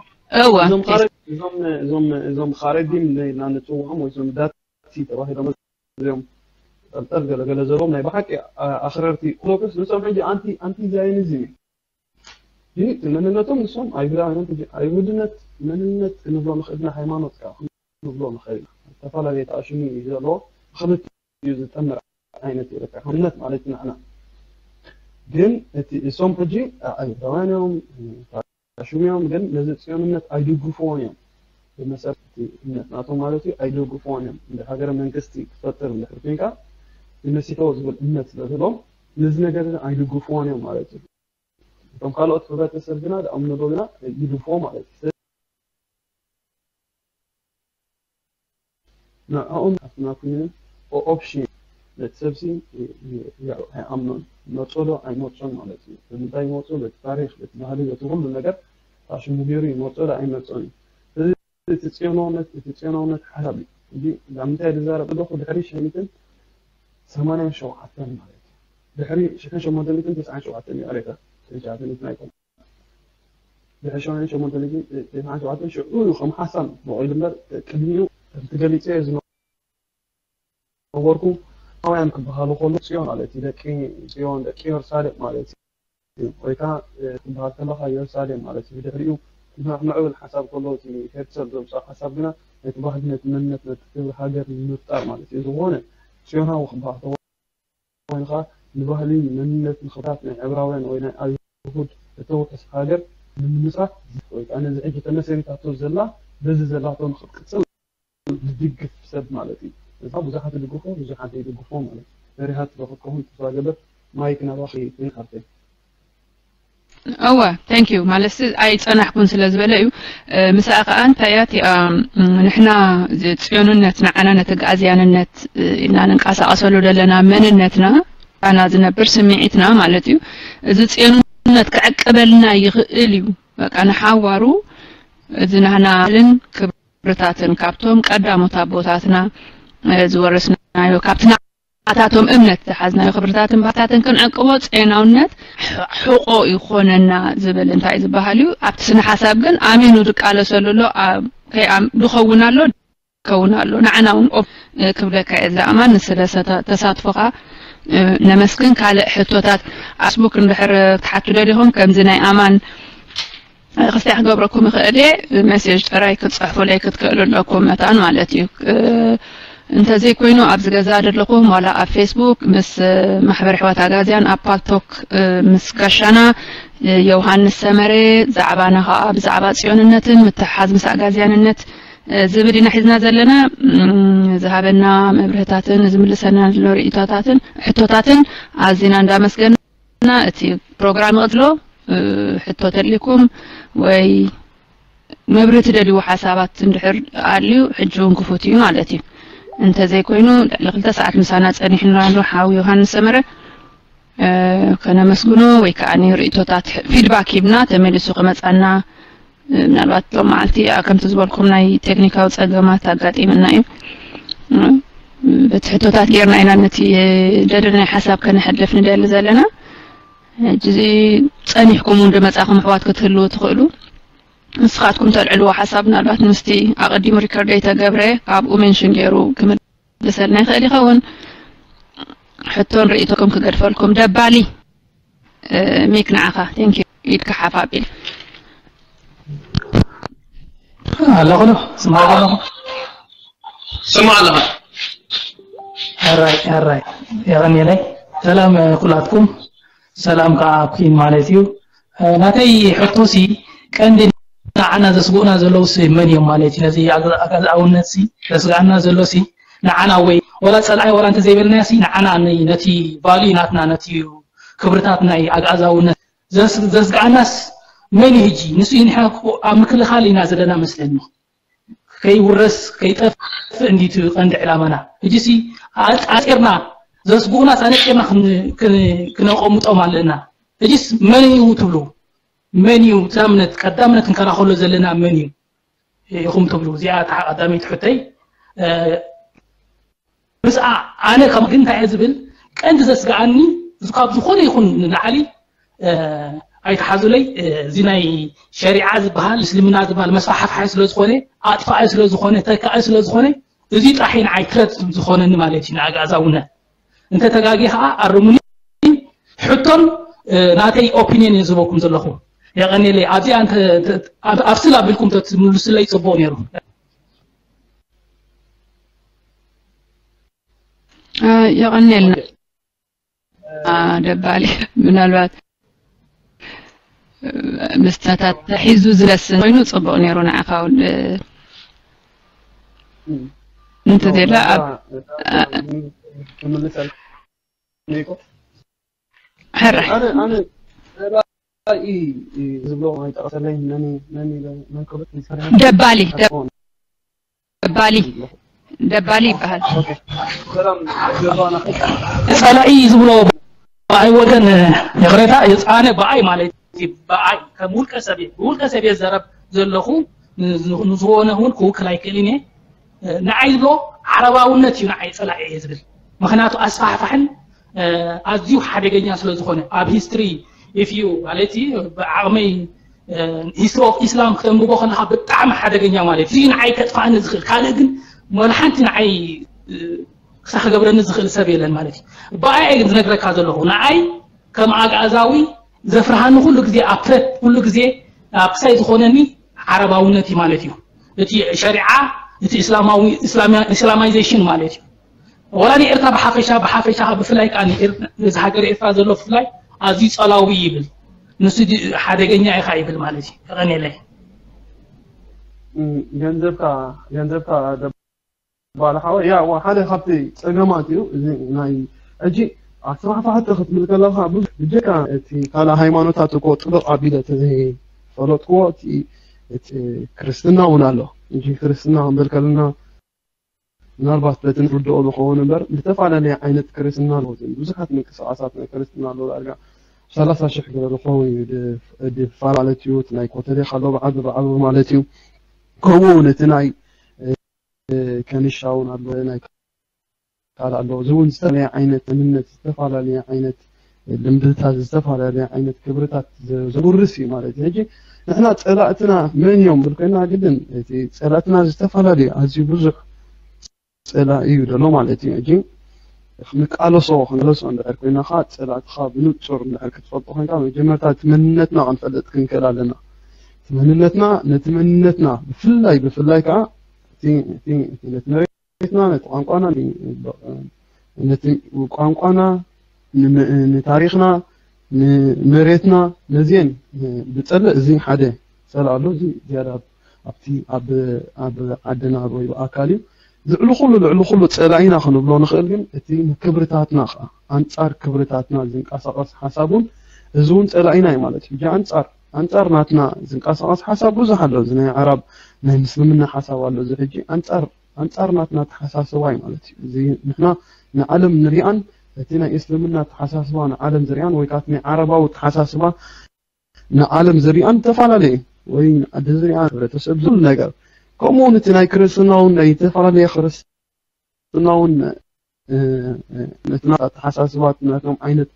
እወ እዞም ካረጅ እዞም እዞም እዞም ካረጅም ኢልና ንፅውዖም ወይ እዞም ዳቲ ተባሂሎም እዚኦም ጠልጠል ገለ ገለ ዘለዎም ናይ ብሓቂ ኣኽረርቲ ኦርቶዶክስ ንሶም ሕጂ ኣንቲ ኣንቲ ዛዮኒዝም እዩ ግን መንነቶም ንሶም ኣይሁዳውያን ሕጂ ኣይሁድነት መንነት ክንብሎ ንኽእል ኢና ሃይማኖት ከዓ ክንብሎ ንኽእል ኢና ዝተፈላለየ ተኣሽሙ እዩ ዘለዎ ብክልቲ እዩ ዝጠምር ዓይነት እዩ በቃ እምነት ማለት ንሕና ግን እቲ እሶም ሕጂ ኣይሁዳውያን እዮም ሽም እዮም ግን ነዚ ፅዮንነት ኣይድግፍዎን እዮም ብመሰረት እቲ እምነት ናቶም ማለት እዩ ኣይድግፍዎን እዮም እንደ ሃገረ መንግስቲ ክፈጥር እንድሕር ኮይንካ ንመሲሕዎ ዝብል እምነት ስለዝህሎም ነዚ ነገር እዚ ኣይድግፍዎን እዮም ማለት እዩ እቶም ካልኦት ሕብረተሰብ ግና ዝኣምንዎ ግና ይድግፍዎ ማለት እዩ ንዕኦም ኣፍና ኩይኑ ኦፕሽን ነቲ ሰብሲ ኣይኣምኖን መርጾ ዶ ኣይመርጾን ማለት እዩ ብምንታይ ይመርጾ በቲ ታሪክ በቲ ባህሊ በቲ ኩሉ ነገር ታሽሙ ገይሩ ይመርጾ ዶ ኣይመርጾን እዩ እቲ ጽዮናውነት፣ እቲ ጽዮናውነት ሓሳብ እዩ። እዚ ኣብ ምንታይ ዝዛረብ ኣለኹ? ድሕሪ ሽሕን ሸሞንተ ሚእትን ሰማንያን ሸውዓተን ማለት እዩ። ድሕሪ ሽሕን ሸሞንተ ሚእትን ተስዓን ሸውዓተን እዩ ኣሬታ ተሻተኒት ናይቶም። ድሕሪ ሽሕን ሸሞንተ ሚእትን ተስዓን ሸውዓተን ሽዑ እዩ ከም ሓሳብ በቒሉ እምበር፣ ቅድሚኡ ከምቲ ገሊጸዮ ዝነበርኩ፣ ጽዮናውያን ክበሃሉ ከሎ ጽዮን ማለት እዩ። ደቂ ጽዮን፣ ደቂ ኢየሩሳሌም ማለት እዩ። ወይ ከዓ፣ እ፣ ክበሃል ከለኻ ኢየሩሳሌም ማለት እዩ። ብድሕሪኡ ምዕ-፣ ምዕብል ሓሳብ ከሎ እቲ ሄርትሰል ዘውፅኦ ሓሳብ ግና ነቲ ባህሊ፣ ነቲ መንነት፣ ነቲ ክብሪ ሃገር ንምፍጣር ማለት እዩ። ዝኾነ ጽዮናዊ ክበሃል ከሎ ኮይኑ ከዓ ንባህሊ፣ መንነት፣ ንኽብርታት ናይ ዕብራውያን ወይ ናይ ኣይሁድ እተውሕስ ሃገር ንምምስራት ወይ ከዓ ነዚ ሕጂ ተመሰሪታቶ ዘላ በዚ ዘላቶ ንኽትቅፅል ዝድግፍ ሰብ ማለት እዩ። እዛ ብዙሓት ይድግፎ፣ ብዙሓት ዘይድግፎ ማለት እዩ። መሪሃት ዝረኸብከውን ተስፋ ገበር ማይክ ናባኺ ይንካርተይ። እወ፣ thank you። ማለት ኣይጸናሕኩን ስለ ዝበለ እዩ። እ፣ ምሳኣ ከኣ እንታይ እያ እቲኣ፣ ም፣ ንሕና እዚ ጽዮንነት ንዓና ነቲ ኣግኣዝያንነት፣ እ፣ ኢልና ንንቀሳቐሰሉ ዘለና መንነትና፣ ኣና ዝነብር ስምዒትና ማለት እዩ። እዚ ጽዮንነት ክዕቅበልና ይኽእል እዩ። በቃ ንሓዋሩ እዚ ናህናልን ክብርታትን ካብቶም ቀዳሞት ኣቦታትና፣ እ፣ ዝወረስናዮ ካብቲ ናታቶም እምነት ዝሓዝናዮ ክብርታትን ባህታትን ክንዕቅቦ ጼናውነት ሕ-፣ ሕቆ ይኾነና ዝብል እንታይ ዝበሃል እዩ። ኣብቲ ስነ ሓሳብ ግን ኣሚኑ ዝቃለሰሉ ኣሎ። ኣብ-፣ ከይኣም-፣ ዝኸውን ኣሎ፣ ይኸውን ኣሎ። ንዓና እውን ኦፍ-፣ እ፣ ክብለካ እየ ዝኣማን ንስለ ሰተ-፣ ተሳትፎኻ፣ እ፣ ነመስግን። ካልእ ሕቶታት ኣስቡክ እንድሕር ክትሓቱ ደሊኹም ከምዚ ናይ ኣማን ክስታይ ክገብረኩም ይኽእል እየ። ሜሴጅ ጥራይ ክትጽሕፉለይ ክትክእሉ ኣለኩም መታን ማለት እዩ። እ፣ እንተዘይኮይኑ ኣብዚ ገዛ ዘለኹም ዋላ ኣብ ፌስቡክ ምስ፣ እ፣ ማሕበር ኣሕዋት ኣጋዝያን ኣብ ፓልቶክ፣ እ፣ ምስ ጋሻና፣ እ፣ ዮሃንስ ሰመረ ዛዕባና ኸኣ ብዛዕባ ጽዮንነትን ምትሕሓዝ ምስ ኣጋዝያንነት፣ እ፣ ዝብል ኢና ሒዝና ዘለና። እም፣ ዝሃበና መብርህታትን ዝምልሰና ዘሎ ርእይቶታትን ሕቶታትን ኣዚና እንዳመስገን እና እቲ ፕሮግራም ይቕጽሎ። እ፣ ሕቶ ተልይኩም ወይ መብርህ ትደልይዎ ሓሳባት እንድሕር ኣልዩ፣ ሕጂ እውን ክፉት እዩ ማለት እዩ። እንተዘይኮይኑ፣ ልዕሊ ክልተ ሰዓት ምሳና ጸኒሕና ኣሎ ሓው ዮሃንስ ሰመረ። እ፣ ከነመስግኖ ወይ ከኣ ንርእይቶታት ፊድባክ ሂብና ተመሊሱ ክመጻና፣ እ፣ ምናልባት ሎም መዓልቲ፣ ኣ፣ ከምቲ ዝበልኩም ናይ ቴክኒካዊ ጸገማት ኣጋጢምና እዩ። እ፣ በቲ ሕቶታት ጌርና ኢና ነቲ፣ እ፣ ደለናዮ ሓሳብ ከነሕልፍ ንደሊ ዘለና። ሕጂ እዚ ጸኒሕኩም እውን ዝመጻኹም ኣሕዋት ክትህልዉ ትኽእሉ። ንስኻትኩም ተልዕልዎ ሓሳብ ምናልባት ምስቲ ኣቐዲሙ ሪከርድ ዘይተገብረ ካብኡ ሜንሽን ገይሩ ክምልሰልና ይኽእል ይኸውን። ሕቶን ርእይቶኩም ክገድፈልኩም። ደባሊ፣ እ፣ ሚክ ንዓኻ። ቴንክ ዩ። ኢድካ ሓፍ ኣቢል። ኣለኹ ዶ? ስማዕ ኣለኹ። ስማዕ ኣለኻ። ኣራይ፣ ኣራይ። የቐንየለይ። ሰላም፣ እ፣ ኩላትኩም። ሰላም ከኣ ኣብ ኪን ማለት እዩ። እ፣ ናተይ ሕቶሲ ቀንዲ ንዓና ዘስግኡና ዘለውሲ መን እዮም ማለት እዩ? ነዚ ኣገ-፣ ኣገዛኣውነትሲ ዘስግኣና ዘሎሲ ንዓና ወይ ወላ ጸላኢ ወላ እንተዘይበልናዮሲ ንዓና ን-፣ ነቲ ቫልዩ ናትና ነቲ ክብርታት ናይ ኣግኣዛውነት ዘስ-፣ ዘስግኣናስ መን እዩ ሕጂ? ንሱ እዩ ንሕና እኮ ኣብ ምክልኻል ኢና ዘለና መስለኒ። ከይውረስ ከይጠፍእ እንዲቱ ቀንዲ ዕላማና። ሕጂሲ ኣጻጺርና ዘስግኡናስ ኣነጺርና ክን-፣ ክን-፣ ክነቐምጦም ኣለና። ሕጂስ መን እዩ ትብሉ? መን እዩ እታ እምነት ቀዳምነት ክንከላኸሎ ዘለና መን እዩ ኢኹም ትብሉ? እዚኣ እታ ቀዳመይቲ ሕቶይ። እ፣ ምስኣ ኣነ ካብ ግን እንታይ እየ ዝብል፣ ቀንዲ ዘስግኣኒ እዚ ካብ ዝኾነ ይኹን ንላዕሊ፣ እ፣ ኣይትሓዙለይ፣ እ፣ እዚ ናይ ሸሪዓ ዝበሃል እስልምና ዝበሃል መስፋሕፋሒ ስለ ዝኾነ፣ ኣጥፋኢ ስለ ዝኾነ፣ ተካኢ ስለ ዝኾነ፣ እዚ ጥራሕ እዩ ንዓይ ትረት ዝኾነኒ ማለት እዩ ንኣግኣዛውነት። እንተ ተጋጊ ኸዓ ኣርሙኒ። ሕቶን፣ እ፣ ናተይ ኦፒንየን እየ ዝህበኩም ዘለኹ። የቐንየለይ። ኣብዚኣ እንተ፣ እንተ፣ ኣብ፣ ኣብ ስል ኣቢልኩም ተትምልሱለይ ጽቡቕ ነይሩ። እ፣ የቐንየልና። ኦኬ። እ፣ ደባሊ፣ ምናልባት፣ እ፣ ምስታታት ተሒዙ ዝለስን ኮይኑ ጽቡቕ ነይሩ ንዓኻ ውድ-፣ እም። እንተ ያው፣ ዘላ ኣብ፣ እዛ፣ እ፣ ክምልሰል ነይኮ። ሕራይ። ኣነ፣ ኣነ፣ ደባሊ፣ እ፣ ዝብሎ ኣይጠቐሰለይ፣ መን፣ መን፣ መን ክብት ይሰርሕ? ደባሊ፣ ኣትኮን። ደባሊ፣ ደባሊ ይበሃል። ኦኬ። ሰላም፣ ገባና። ጸላኢ ዝብሎ ብኣይ ወገን፣ ይቕሬታ፣ ኣነ ብኣይ ማለት እዩ፣ ብኣይ ከም ውልቀ ሰብ እየ፣ ብውልቀ ሰብ እየ ዝዛረብ ዘለኹ። ንዝኾነ እውን ክውክል ኣይክእልን እየ። ንዓይ ዝብሎ ዓረባውነት እዩ ንዓይ ጸላኢ እየ ዝብል። ምኽንያቱ ኣስፋሕፋሕን ኣዝዩ ሓደገኛ ስለ ዝኾነ ኣብ history if you ማለት ብዓቕመይ history of Islam ክተንብቦ ከለኻ ብጣዕሚ ሓደገኛ ማለት እዩ። ንዓይ ከጥፋእኒ ዝኽእል ካልእ ግን ወላ ሓንቲ ንዓይ ክሳ ክገብረኒ ዝኽእል ሰብ የለን ማለት እዩ። ብኣይ ግን ዝነግረካ ዘለኹ ንዓይ ከም ኣግኣዛዊ ዘፍርሃኒ ኩሉ ግዜ ኣብ threat ኩሉ ግዜ ኣብ ክሳይ ዝኾነኒ ዓረባውነት እዩ ማለት እዩ። እቲ ሸሪዓ እቲ እስላማዊ እስላማይዜሽን ማለት እዩ። ወላ ንኤርትራ ብሓፈሻ ብሓፈሻ ብፍላይ ከዓ እዚ ሃገር ኤርትራ ዘሎ ብፍላይ ኣዝዩ ጸላዊ ይብል። ንሱ ሓደገኛ ኢኻ ይብል ማለት እዩ። የቐንየለይ። ገንዘብካ ገንዘብካ ባለ ሓወ ያ ሓደ ካብቲ ጸገማት እዩ እዚ ናይ ሕጂ ኣስፋሕፋሕቲ ክትብል ከለካ ብዙሕ ብጀካ እቲ ካልእ ሃይማኖታት እኮ ጥብቕ ኣቢለ እቲ ፈለጥክዎ እቲ እቲ ክርስትና እውን ኣሎ እንጂ ክርስትና ክንብል ከለና ምናልባት በቲ ንርድኦ ዝኸውን እምበር ዝተፈላለየ ዓይነት ክርስትና ኣለዎ ብዙሓት ምንቅስቃሳት ናይ ክርስትና ኣለዎ ዳርጋ ሰላሳ ሽሕ ገለ ዝኸውን እዩ ድፋር ማለት እዩ እቲ ናይ ኮተሌ ካሎ ብዓቢ ብዓቢ ማለት እዩ ከምኡ እውን እቲ ናይ ከኒሻ እውን ኣሎ ናይ ካልእ ኣሎ እዚ እውን ዝተፈላለየ ዓይነት እምነት ዝተፈላለየ ዓይነት ልምድታት ዝተፈላለየ ዓይነት ክብርታት ዘውርስ እዩ ማለት እዩ ሕጂ ንሕና ፀላእትና መን እዮም ብል ኮይና ግድን እቲ ፀላእትና ዝተፈላለዩ ኣዝዩ ብዙሕ ፀላኢ እዩ ዘሎ ማለት እዩ ሕጂ ንቃለሶ ክንለሶ እንድሕር ኮይና ከዓ ፀላእትኻ ብንፁር እንድሕር ክትፈልጦ ኮይንካ መጀመርታ እቲ መንነትና ክንፈልጥ ክንክእል ኣለና እቲ መንነትና ነቲ መንነትና ብፍላይ ብፍላይ ከዓ ነቲ መሬትና ነቲ ቋንቋና ነቲ ቋንቋና ንታሪኽና ንመሬትና ነዚአን ብፀልእ እዚ ሓደ ፀላእ ኣሎ እዚ ዝያዳ ኣብቲ ኣብ ዓድና ወይ ብኣካል እዩ ልዕሊ ኩሉ ልዕሊ ኩሉ ፀላኢና ክንብሎ ንኽእል ግን እቲ ንክብርታትና ከዓ ኣንፃር ክብርታትና ዝንቀሳቐስ ሓሳብ እውን እዚ እውን ፀላኢና እዩ ማለት እዩ ሕጂ ኣንፃር ኣንፃር ናትና ዝንቀሳቐስ ሓሳብ ብዙሕ ኣሎ እዚ ናይ ዓራብ ናይ ምስልምና ሓሳብ ኣሎ እዚ ሕጂ ኣንፃር ኣንፃር ናትና ተሓሳስባ እዩ ማለት እዩ እዚ ንሕና ንዓለም ንሪኣን እቲ ናይ እስልምና ተሓሳስባ ንዓለም ዝሪኣን ወይ ከዓ ናይ ዓረባዊ ተሓሳስባ ንዓለም ዝሪኣን ዝተፈላለየ ወይ ዓዲ ዝሪኣ ሕብረተሰብ ዝብል ነገር ከምኡ እውን እቲ ናይ ክርስትና እውን ናይ ዝተፈላለየ ክርስትና እውን ነትና ኣተሓሳስባት ናቶም ዓይነት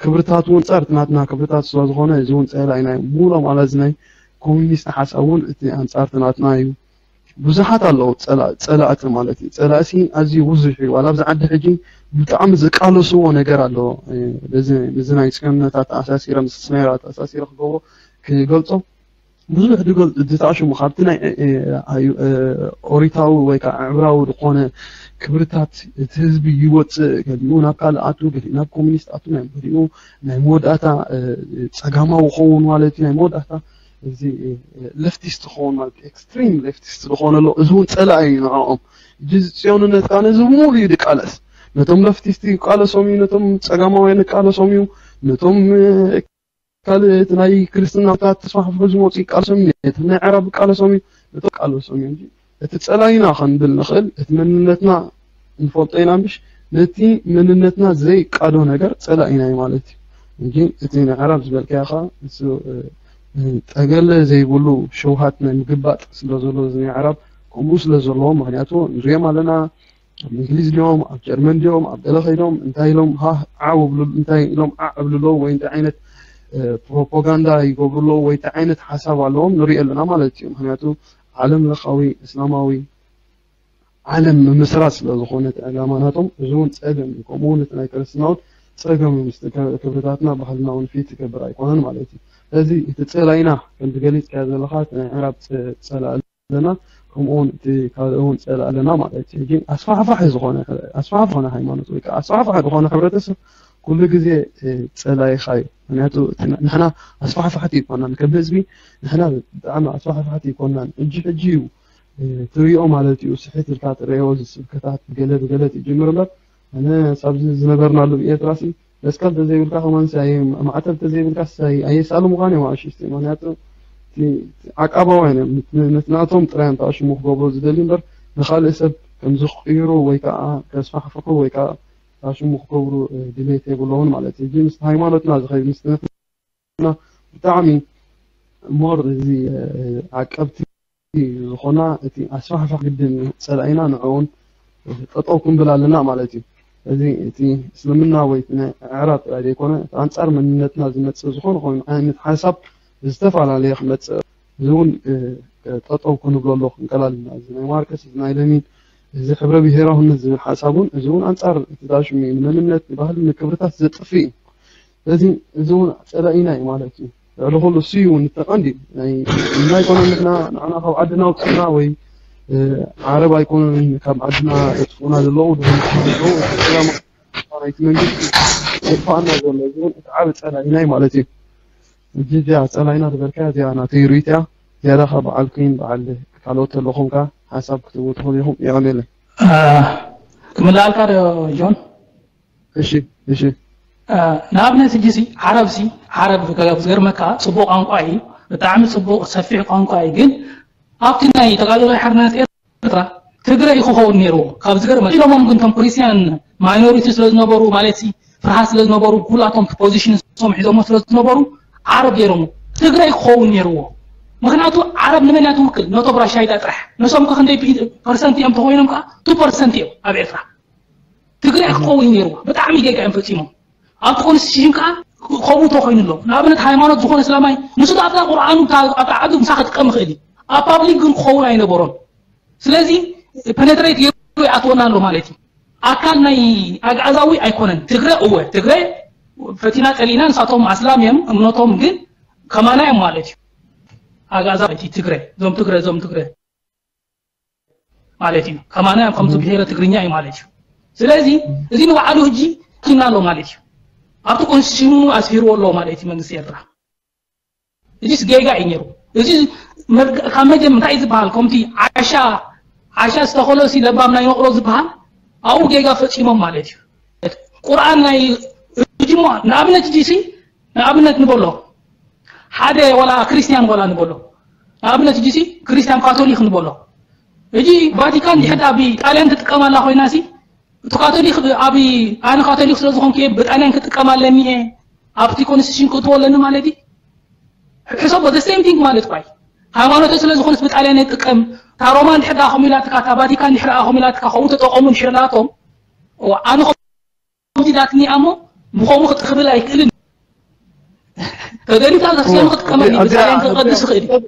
ክብርታት እውን ፀር ናትና ክብርታት ስለ ዝኾነ እዚ እውን ፀላኢ ናይ ሙሉ ማለት ናይ ኮሚኒስት ሓሳብ እውን እቲ ኣንፃር ናትና እዩ ብዙሓት ኣለዉ ፀላእቲ ማለት እዩ ፀላእሲ ኣዝዩ ብዙሕ እዩ ዋላ ኣብዚ ዓዲ ሕጂ ብጣዕሚ ዝቃለስዎ ነገር ኣሎ እዚ ናይ ፅዮንነት ኣተኣሳሲረ ምስ ስናይራ ኣተኣሳሲረ ክገብሮ ክገልፆ ብዙሕ ድገልፁ ዝተኣሽሙ ካብቲ ናይ ኦሪታዊ ወይ ከዓ ዕብራዊ ዝኾነ ክብርታት እቲ ህዝቢ ይወፅእ ገሊኡ ናብ ካልእ ኣቱ ገሊኡ ናብ ኮሚኒስት ኣቱ ናይ ገሊኡ ናይ መወዳእታ ፀጋማዊ ክኸውን ማለት እዩ ናይ መወዳእታ እዚ ሌፍቲስት ክኸውን ማለት ኤክስትሪም ሌፍቲስት ዝኾነ ኣሎ እዚ እውን ፀላኢ እዩ ንዕኦም ሕጂ እዚ ፅዮንነት ከዓ ነዚ ሙሉ እዩ ድቃለስ ነቶም ሌፍቲስት ይቃለሶም እዩ ነቶም ፀጋማውያን ይቃለሶም እዩ ነቶም ካልእ እቲ ናይ ክርስትና ተስፋሕፍሑ ዝመፁ ይቃለሶም እዩ ነቲ ናይ ዓረብ ይቃለሶም እዩ ነቶም ይቃለሶም እዩ እንጂ እቲ ፀላኢና ክንብል ንኽእል እቲ መንነትና ንፈልጦ ኢና ምሽ ነቲ መንነትና ዘይቃዶ ነገር ፀላኢና እዩ ማለት እዩ እንጂ እቲ ናይ ዓረብ ዝበልካዮ ከዓ እሱ ጠገለ ዘይብሉ ሸውሃት ናይ ምግባጥ ስለ ዘሎ እዚ ናይ ዓረብ ከምኡ ስለ ዘለዎ ምክንያቱ ንሪኦም ኣለና ኣብ እንግሊዝ ድዮም ኣብ ጀርመን ድዮም ኣብ ገለ ከይዶም እንታይ ኢሎም ሃህ ዓው እብሉ እንታይ ኢሎም ዓዕ እብሉ ኣለዉ ወይ እንታይ ዓይነት ፕሮፓጋንዳ ይገብሩ ኣለዉ ወይ እንታይ ዓይነት ሓሳብ ኣለዎም ንሪኦ ኣለና ማለት እዩ ምክንያቱ ዓለም ለኻዊ እስላማዊ ዓለም ምምስራት ስለ ዝኾነ እቲ ዕላማ ናቶም እዚ እውን ፀገም እዩ ከምኡ እውን እቲ ናይ ክርስትና እውን ፀገም እዩ ምስቲ ክብርታትና ባህልና እውን ፊት ይገብር ኣይኮነን ማለት እዩ ስለዚ እቲ ፀላኢና ከምቲ ገሊፅካዮ ዘለኻ እቲ ናይ ዕራብ ፀላእ ኣለና ከምኡ እውን እቲ ካልእ እውን ፀላእ ኣለና ማለት እዩ ግን ኣስፋሕፋሒ ዝኾነ ኣስፋሕፋሒ ዝኾነ ሃይማኖት ወይ ከዓ ኣስፋሕፋሒ ዝኾነ ሕብረተሰብ ኩሉ ግዜ ፀላኢኻ እዩ ምክንያቱ ንሕና ኣስፋሕፋሕቲ ይኮናን ከም ህዝቢ ንሕና ብጣዕሚ ኣስፋሕፋሕቲ ይኮናን እጂ ሕጂ እዩ ትሪኦ ማለት እዩ ስሕት ኢልካ ትረኦ ስብከታት ብገለ ብገለ ትጅምር እምበር ኣነ ሳብዚ ዝነበርናሉ ብኤርትራ ሲ መስቀል ተዘይብልካ ከማን ሲ ማዕተብ ተዘይብልካ ሲ ኣየሳሉ ምዃን እዮም ኣሽሽቲ ምክንያቱ ዓቃባውያን እዮም ነቲ ናቶም ጥራይ እዮም ተኣሽሙ ክገብሩ ዝደልዩ እምበር ንካልእ ሰብ ከም ዝቕይሩ ወይ ከዓ ከስፋሕፍሑ ወይ ከዓ ተኣሽሙ ክገብሩ ድሌት የብሎምን ማለት እዩ እዚ ምስ ሃይማኖትና ዝኸይድ ምስ ብጣዕሚ ሞር እዚ ዓቀብቲ ዝኾና እቲ ኣስፋሕፋሕ ግድን ጸላኢና ንዕኡን ጠጠው ክንብል ኣለና ማለት እዩ። እዚ እቲ እስልምና ወይ እቲ ናይ ኣዕራብ ጥራይ ዘይኮነ፣ እቲ ኣንጻር መንነትና ዝመጽእ ዝኾነ ኮይኑ ዓይነት ሓሳብ ዝተፈላለየ ክመጽእ፣ እዚ እውን፣ እ፣ ጠጠው ክንብለሉ ክንቀላልና፣ እዚ ናይ ማርከስ፣ እዚ ናይ ለኒን፣ እዚ ሕብረ ብሄራውነት ዝብል ሓሳብ እውን፣ እዚ እውን ኣንጻር እቲ ዳሽም እዩ። ንመንነት፣ ንባህሊ፣ ንክብርታት ዘጥፍእ እዩ። ስለዚ እዚ እውን ጸላኢና እዩ ማለት እዩ። ልዕሊ ኩሉ እሱ እዩ እውን እቲ ቀንዲ። ናይ፣ ናይ ኮነ ንሕና፣ ንዓና ካብ ዓድና ኣውፅእና ወይ፣ እ፣ ዓረብ ኣይኮነን ካብ ዓድና ዘጥፍኡና ዘለዉ፣ ድኾኑ ዘለዉ፣ እቲ ሰላም ናይቲ መንግስቲ ዘጥፍኣና ዘሎ፣ እዚ እውን እቲ ዓቢ ጸላኢና እዩ ማለት እዩ። ሕጂ እዚኣ ጸላኢና ዝበልካያ እዚኣ ናተይ ርእይቶ እያ። ዝያዳ ካብ በዓል ኩን በዓል ካልኦት ዘለኹም ከኣ ሓሳብ ክትህቡ ትኽእሉ ኢኹም። የቐንየለይ። አ፣ ክምልኣልካ ዶ ጆን? እሺ፣ እሺ። አ፣ ንኣብነት ሕጂ ሲ ዓረብ ሲ ዓረብ ከ-፣ ዝገርመካ ጽቡቕ ቋንቋ እዩ፣ ብጣዕሚ ጽቡቕ ሰፊሕ ቋንቋ እዩ። ግን ኣብቲ ናይ ተጋድሎ ሓርነት ኤርትራ ትግረ እዩ ክኸውን ነይርዎ። ካብ ዝገርመ ኢሎሞም ግን እቶም ክርስቲያን ማይኖሪቲ ስለ ዝነበሩ፣ ማለት ሲ ፍርሃት ስለ ዝነበሩ፣ ኩላቶም ፖዚሽን ንሶም ሒዞሞ ስለ ዝነበሩ ዓረብ ገይሮሞ። ትግረ እዩ ክኸውን ነይርዎ። ምኽንያቱ ዓረብ ንመን እያ ትውክል? ነቶም ራሻይዳ ጥራሕ። ንሶም ከ ክንደይ ቢ-፣ ፐርሰንት እዮም ተኾይኖም ከኣ? ቱ ፐርሰንት እዮም ኣብ ኤርትራ። ትግረ ክኸውን ነይርዎ። ብጣዕሚ ጌጋ እዮም ፈጺሞም። ኣብቲ ኮንስቲቱሽን ከኣ ከምኡ ተኾይኑ ኣሎ። ንኣብነት ሃይማኖት ዝኾነ እስላማይ ንሱ ኣብታ ቁርኣኑ ኣብታ ዓዱ ምሳ ክጥቀም ይኽእል እዩ። ኣብ ፓብሊክ ግን ክኸውን ኣይነበሮን። ስለዚ ፐነትሬት ገይሩ ይኣትወና ኣሎ ማለት እዩ። ኣካል ናይ ኣግኣዛዊ ኣይኮነን። ትግረ እወ፣ ትግረ ፈቲና ጸሊእና፣ ንሳቶም ኣስላም እዮም እምነቶም፣ ግን ከማና እዮም ማለት እዩ። ኣግኣዛዊ ትግረ፣ እዞም ትግረ፣ እዞም ትግረ ማለት እዩ። ከማና እዮም ከምዚ ብሄረ ትግርኛ እዩ ማለት እዩ። ስለዚ እዚ ንባዕሉ ሕጂ ኪና ኣሎ ማለት እዩ። ኣብቲ ኮንስቲቱሽኑ ኣስፊርዎ ኣሎ ማለት እዩ መንግስቲ ኤርትራ። እዚስ ጌጋ እዩ ነይሩ። እዚ መርግ-፣ ካብ መጀመርታ እንታይ ዝበሃል? ከምቲ ዓሻ፣ ዓሻ ዝተኸሎ ሲ ለባም ናይ መቕሎ ዝበሃል ኣብኡ ጌጋ ፈጺሞም ማለት እዩ። ቁርኣን ናይ፣ እጅሞ ንኣብነት እጂ ሲ፣ ንኣብነት ንበሎ፣ ሓደ ዋላ ክርስቲያን ዋላ ንበሎ፣ ንኣብነት እጂ ሲ ክርስቲያን ካቶሊክ ንበሎ፣ እጂ ቫቲካን ድሕር ኣብ ጣልያን ትጥቀም ኣላ ኮይና ሲ፣ እቲ ካቶሊክ ኣብ፣ ኣነ ካቶሊክ ስለ ዝኾንኩ እየ ብጣልያን ክጥቀም ኣለኒ እየ ኣብቲ ኮንስቲቱሽን ክእትዎ ኣለኒ ማለት እዩ። ሕሰቦ፣ the same thing ማለት እኳ እዩ። ሃይማኖተይ ስለ ዝኾነስ ብጣልያን እየ ዝጥቀም። እታ ሮማ እንድሕር ደኣ ከምኡ ኢላትካ፣ እታ ቫቲካን እንድሕር ደኣ ከምኡ ኢላትካ፣ ከምኡ ተጠቐሙ እንድሕር ደኣቶም፣ እዋ፣ ኣነ ከምዚ ኢላትኒ እያ እሞ ብኸምኡ ክጥኽብል ኣይክእልን። ተደሊኻ ዘክስዮን ክጥቀመሉ እዚኣ፣ ብጣልያን ክቐድስ ይኽእል እዩ።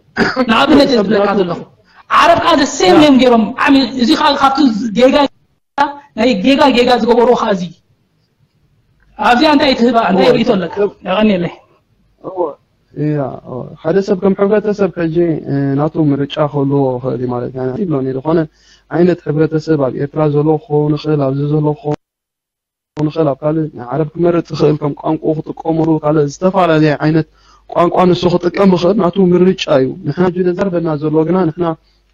ንኣብነት እየ ዝብለካ ዘለኹ። ዓረብ ከኣ the same እዮም ገይሮም። ዓሚ-፣ እዚ ከኣ ካብቲ ጌጋ፣ ናይ ጌጋ ጌጋ ዝገበርዎ ከኣ እዚ። ኣብዚኣ እንታይ ትህባ፣ እንታይ ርእይቶ ኣለካ? ሰብ የቐንየለይ። እዎ፣ እያ፣ እዎ። ሓደ ሰብ ከም ሕብረተሰብ ሕጂ፣ እ፣ ናቱ ምርጫ ክህልዎ ይኽእል እዩ ማለት እዩ። ይብሎን እዩ። ዝኾነ ዓይነት ሕብረተሰብ ኣብ ኤርትራ ዘሎ ክኸውን ይኽእል፣ ኣብዚ ዘሎ ክኸውን ይኽእል፣ ኣብ ካልእ ናይ ዓረብ ክመርጽ ይኽእል፣ ከም ቋንቋኡ ክጥቀመሉ፣ ካልእ ዝተፈላለየ ዓይነት ቋንቋ ንሱ ክጥቀም ይኽእል፣ ናቱ ምርጫ እዩ። ንሕና ሕጂ ዘዛርበና ዘሎ ግና ንሕና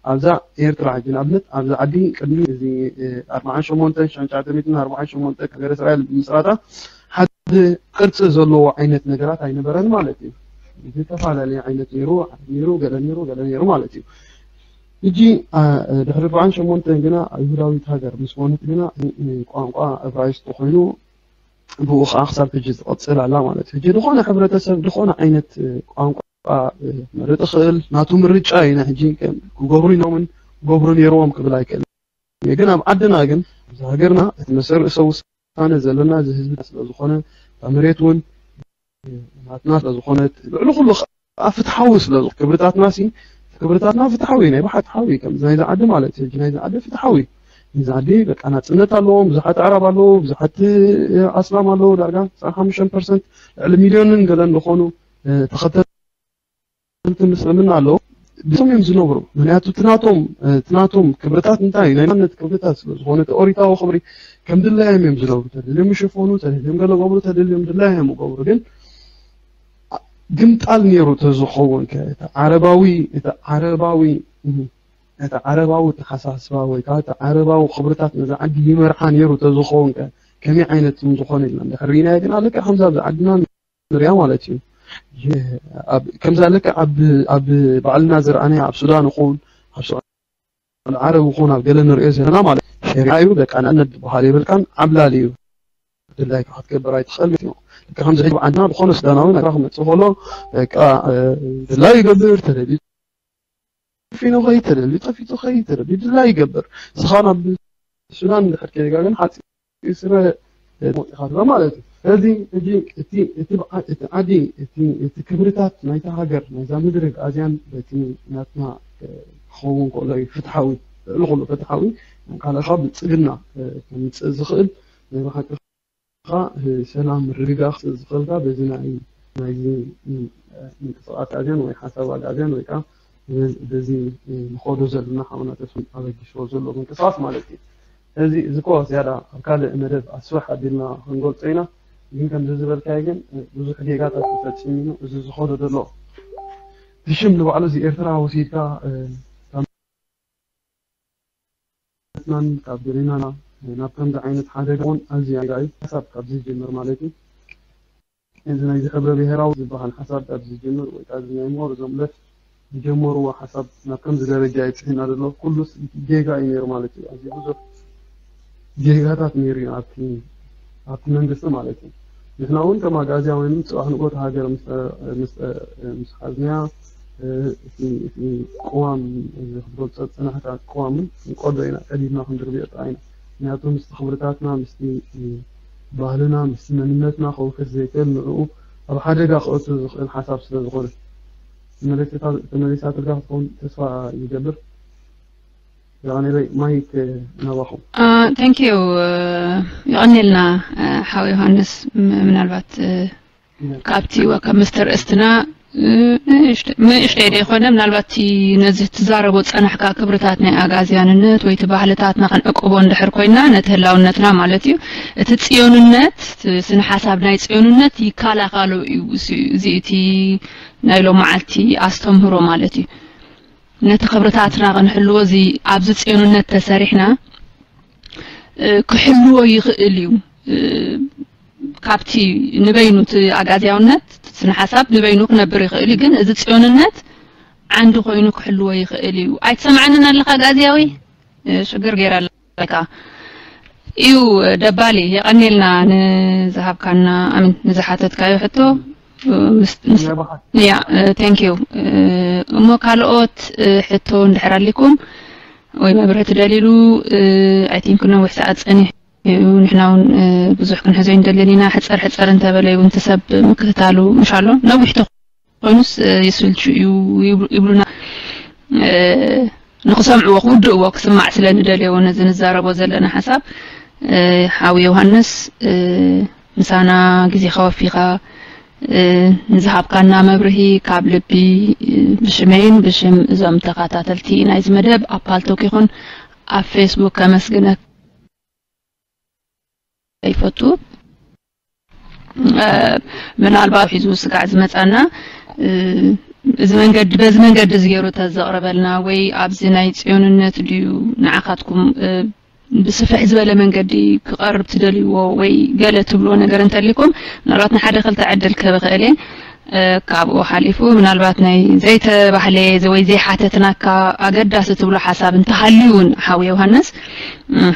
ኣብዛ ኤርትራ ሕጂ ንኣብነት ኣብዛ ዓዲ ቅድሚ እዚ፣ እ፣ ኣርብዓን ሸሞንተን ሽሕን ትሽዓተ ሚእትን ኣርብዓን ሸሞንተን ሃገረ እስራኤል ብምስራታ ሓደ ቅርጺ ዘለዎ ዓይነት ነገራት ኣይነበረን ማለት እዩ። ዝተፈላለየ ዓይነት ነይሩ፣ ነይሩ፣ ገለ ነይሩ፣ ገለ ነይሩ ማለት እዩ። ሕጂ፣ አ፣ ድሕሪ ኣርብዓን ሸሞንተን ግና ይሁዳዊት ሃገር ምስ ኮነት ግና፣ እ፣ እ፣ ቋንቋ እብራይስጢ ኮይኑ ብኡ ኸዓ ክሳብ ሕጂ ትቐጽል ኣላ ማለት እዩ። ሕጂ ዝኾነ ሕብረተሰብ ዝኾነ ዓይነት፣ እ፣ ቋንቋ፣ እ፣ ክመርጽ ይኽእል፣ ናቱ ምርጫ እዩ። ናይ ሕጂ ከም ክገብሩ ኢሎምን ክገብሩ ነይርዎም ክብል ኣይክእልን። ግን ኣብ ዓድና ግን፣ ኣብዚ ሃገርና እቲ መሰል ርእሰ ውሳነ ዘለና እዚ ህዝቢ ስለ ዝኾነ፣ እታ መሬት እውን ናትና ስለ ዝኾነት፣ ልዕሊ ኩሉ ኸዓ ፍትሓዊ ስለ ዝኾነ፣ ክብርታትና ሲ፣ ክብርታትና ፍትሓዊ፣ ናይ ብሓቂ ፍትሓዊ፣ ከምዚ ናይዚ ዓዲ ማለት እዩ። ሕጂ ናይዚ ዓዲ ፍትሓዊ። ናይዚ ዓዲ በቃ ናጽነት ኣለዎም፣ ብዙሓት ኣዕራብ ኣለዉ፣ ብዙሓት፣ እ፣ ኣስላም ኣለዉ፣ ዳርጋ ተስዓን ሓሙሽተን ፐርሰንት፣ ልዕሊ ሚልዮንን ገለን ዝኾኑ፣ እ፣ ተኸተልቲ ምስልምና ኣለዉ። ብሶም እዮም ዝነብሩ። ምኽንያቱ እቲ ናቶም፣ እ፣ እቲ ናቶም ክብርታት እንታይ እዩ? ናይ ማንነት ክብርታት ስለ ዝኾነ፣ እቲ ኦሪታዊ ክብሪ ከም ድላዮም እዮም ዝነብሩ። ተደልዮም ይሽፈኑ፣ ተደልዮም ገለ ገብሩ፣ ተደልዮም ድላዮም ይገብሩ። ግን ግምጣል ነይሩ ተዝኸውን ከ፣ እቲ ዓረባዊ፣ እቲ ዓረባዊ፣ እህ፣ እቲ ዓረባዊ ኣተሓሳስባ ወይ ከዓ እቲ ዓረባዊ ክብርታት ነዛ ዓዲ ይመርሓ ነይሩ ተዝኸውን ከ፣ ከመይ ዓይነት ምዝኾነ ኢልና እንድሕር ርኢናዮ ግና ልክዕ ከምዛ ኣብዚ ዓድና ንሪኣ ማለት እዩ። የ-፣ ኣብ፣ ከምዛ ልክዕ ኣብ፣ ኣብ ባዕልና ዝረኣናዮ ኣብ ሱዳን ይኹን፣ ኣብ ስዑዲ ዓረብ ይኹን፣ ኣብ ገለ ንሪኦ ዘለና ማለት እዩ። ሸሪዓ እዩ፣ በቃ ንኣብነት ዝበሃል የብልካን፣ ዓብላል እዩ። ድላይካ ክትገብር ኣይትኽእል ማለት እዩ። ልክዕ ከምዚ ሕጂ ኣብ ዓድና ዝኾነ ሱዳናዊ ናብራ ክመጽእ ከሎ፣ በቃ፣ እ፣ ድላዩ ይገብር፣ ተደልዩ ጠፊኑ ከይተደሊ ጠፊጡ ከይተደሊ ድላ ይገብር። ስኻ ናብ ሱዳን እንድሕር ከይጋ ግን ሓፂ ስረ መውፅኻ ትብሎ ማለት እዩ። ስለዚ ሕጂ እቲ እቲ በዓ- እቲ ዓዲ እቲ እቲ ክብርታት ናይታ ሃገር ናይዛ ምድሪ ኣዝያን በቲ ናትና ክኸውን ከሎ እዩ ፍትሓዊ ልዕሊ ኩሉ ፍትሓዊ ካልእኻ ብልፅግና ከምፅእ ዝኽእል ናይ ብሓቂ ሰላም ርግጋ ክስእ ዝኽእልካ በዚ ናይ ናይዚ ምንቅስቃስ ኣጋዝያን ወይ ሓሳብ ኣጋዝያን ወይ ከዓ በዚ ንኸዶ ዘለና ሓውና ተስፋ ኣበጊስዎ ዘሎ ምንቅስቃስ ማለት እዩ። እዚ እዚ ኮ ዝያዳ ኣብ ካልእ መደብ ኣስፍሕ ኣቢልና ክንገልጾ ኢና። ግን ከምዚ ዝበልካዮ ግን ብዙሕ ጌጋታት ተፈጺሙ እዩ። እዚ ዝኸዶ ዘሎ እቲ ሽም ንባዕሉ እዚ ኤርትራ ወሲድካ ናን ካብ ገሌናና ናብ ከምዚ ዓይነት ሓደጋ እውን ኣዝዩ ኣደጋ እዩ። ሓሳብ ካብ ዝጅምር ማለት እዩ። እዚ ናይዚ ሕብረ ብሄራዊ ዝበሃል ሓሳብ ካብ ዝጅምር ወይ ከዓ እዚ ናይ ምሁር እዞም ለት ዝጀመርዎ ሓሳብ ናብ ከምዚ ደረጃ ይብፅሕና ዘሎ ኩሉስ ጌጋ እዩ ነይሩ ማለት እዩ። ኣዝዩ ብዙሕ ጌጋታት ነይሩ እዩ ኣብቲ ኣብቲ መንግስቲ ማለት እዩ። ንሕና እውን ከም ኣግኣዝያውያን ጽባሕ ንግሆ እታ ሃገር ምስ ምስ ምስ ሓዝናያ እቲ እቲ ቅዋም እዚ ክትገልጾ ዝጸናሕካ ቅዋምን ንቀዶ ኢና ቀዲድና ክንድርብዮ ጥራይ ኢና። ምክንያቱ ምስቲ ክብርታትና ምስቲ ባህልና ምስቲ መንነትና ከውሕስ ዘይክእል ንዕኡ ኣብ ሓደጋ ክእቱ ዝኽእል ሓሳብ ስለ ዝኾነ ተመሊሳትልካ ክትከውን ተስፋ ይገብር። የቐንየለይ ማይክ ናባኹም። Thank you። የቐንየልና ሓው ዮሃንስ። ምናልባት ካብቲ ካብ ምስተ ርእስትና ንእሽተይ ዶ ይኮነ ምናልባት እቲ ነዚ ትዛረቦ ጸናሕካ ክብርታት ናይ ኣጋዝያንነት ወይ እቲ ባህልታትና ክንዕቅቦ እንድሕር ኮይና ነቲ ህላውነትና ማለት እዩ እቲ ጽዮንነት ስነ ሓሳብ ናይ ጽዮንነት ይከላኸሎ እዩ። እዚ እቲ ናይ ሎመዓልቲ ኣስተምህሮ ማለት እዩ። ነቲ ክብርታትና ክንሕልዎ እዚ ኣብዚ ጽዮንነት ተሰሪሕና ክሕልዎ ይኽእል እዩ። ካብቲ ንበይኑ እቲ ኣጋዝያውነት ስነ ሓሳብ ንበይኑ ክነብር ይኽእል እዩ፣ ግን እዚ ጽዮንነት ዓንዲ ኮይኑ ክሕልዎ ይኽእል እዩ። ኣይትሰምዓንን ኣለኻ ኣጋዝያዊ? ሽግር ገይራ ኣለካ። እዩ ደባሊ የቐኔልና ንዝሃብካና ኣሚን ንዝሓተትካዮ ሕቶ። ያ thank you። እሞ ካልኦት ሕቶ እንድሕር ኣሊኩም ወይ መብርሂ ትደልይሉ? I think ነዊሕ ሰዓት ጸኒሑ ንሕና እውን ብዙሕ ክንሕዞ ይንደልን ኢና። ሕፀር ሕፀር እንተበለ እውን እቲ ሰብ ምክትታሉ ምሻሎ ነዊሕ ተኮይኑስ ይስልቹ እዩ ይብሉና። ንክሰምዕዎ ክውድእዎ ክስማዕ ስለ ንደልየዎ ነዚ ንዛረቦ ዘለና ሓሳብ ሓው ዮሃንስ ምሳና ግዜኻ ወፊኻ ንዝሃብካና መብርሂ ካብ ልቢ ብሽመይን ብሽም እዞም ተኸታተልቲ ናይዚ መደብ ኣብ ፓልቶክ ይኹን ኣብ ፌስቡክ ከመስግነካ ይፈቱ። ምናልባት ሒዙ ስጋዕ ዝመጻና እዚ መንገዲ በዚ መንገዲ እዚ ገይሩ ተዘቕረበልና ወይ ኣብዚ ናይ ጽዮንነት ድዩ ንዓኻትኩም ብስፍሕ ዝበለ መንገዲ ክቐርብ ትደልይዎ ወይ ገለ ትብልዎ ነገር እንተሊኩም ምናልባት ንሓደ ክልተ ዕድል ክህብ እኽእል እየ። ካብኡ ሓሊፉ ምናልባት ናይ ዘይተባህለ ወይ ዘይሓተትናካ ኣገዳሲ ትብሎ ሓሳብ እንተሃልዩ እውን ሓው ዮሃንስ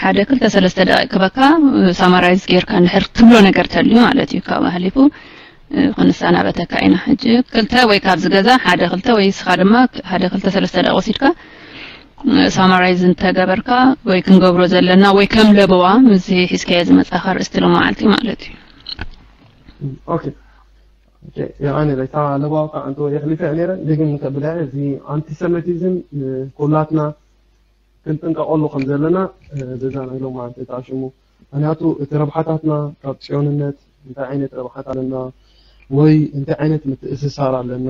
ሓደ ክልተ ሰለስተ ደቂቅ ክበካ ሳማራይዝ ጌርካ እንድሕር ትብሎ ነገር ተልዩ ማለት እዩ። ካብኡ ሓሊፉ ክንሰናበተካ ኢና። ሕጂ ክልተ ወይ ካብዚ ገዛ ሓደ ክልተ ወይ እስኻ ድማ ሓደ ክልተ ሰለስተ ደቂቅ ወሲድካ ሳማራይዝ እንተገበርካ ወይ ክንገብሮ ዘለና ወይ ከም ለበዋ ምስዚ ሒዝካዮ ዝመጻኻ ርእስቲ ሎመዓልቲ ማለት እዩ። ኦኬ ኦኬ የቐኒ ለይታ ለባው ከዓ እንተ የሕሊፈ ነረ ድግም ከብዳ እዚ ኣንቲሰሚቲዝም ኩላትና ክንጥንቀቐሉ ከም ዘለና በዛ ናይ ሎመዓልቲ ተኣሽሙ ምክንያቱ እቲ ረብሓታትና ካብ ጽዮንነት እንታይ ዓይነት ረብሓት ኣለና ወይ እንታይ ዓይነት ምትእስሳር ኣለና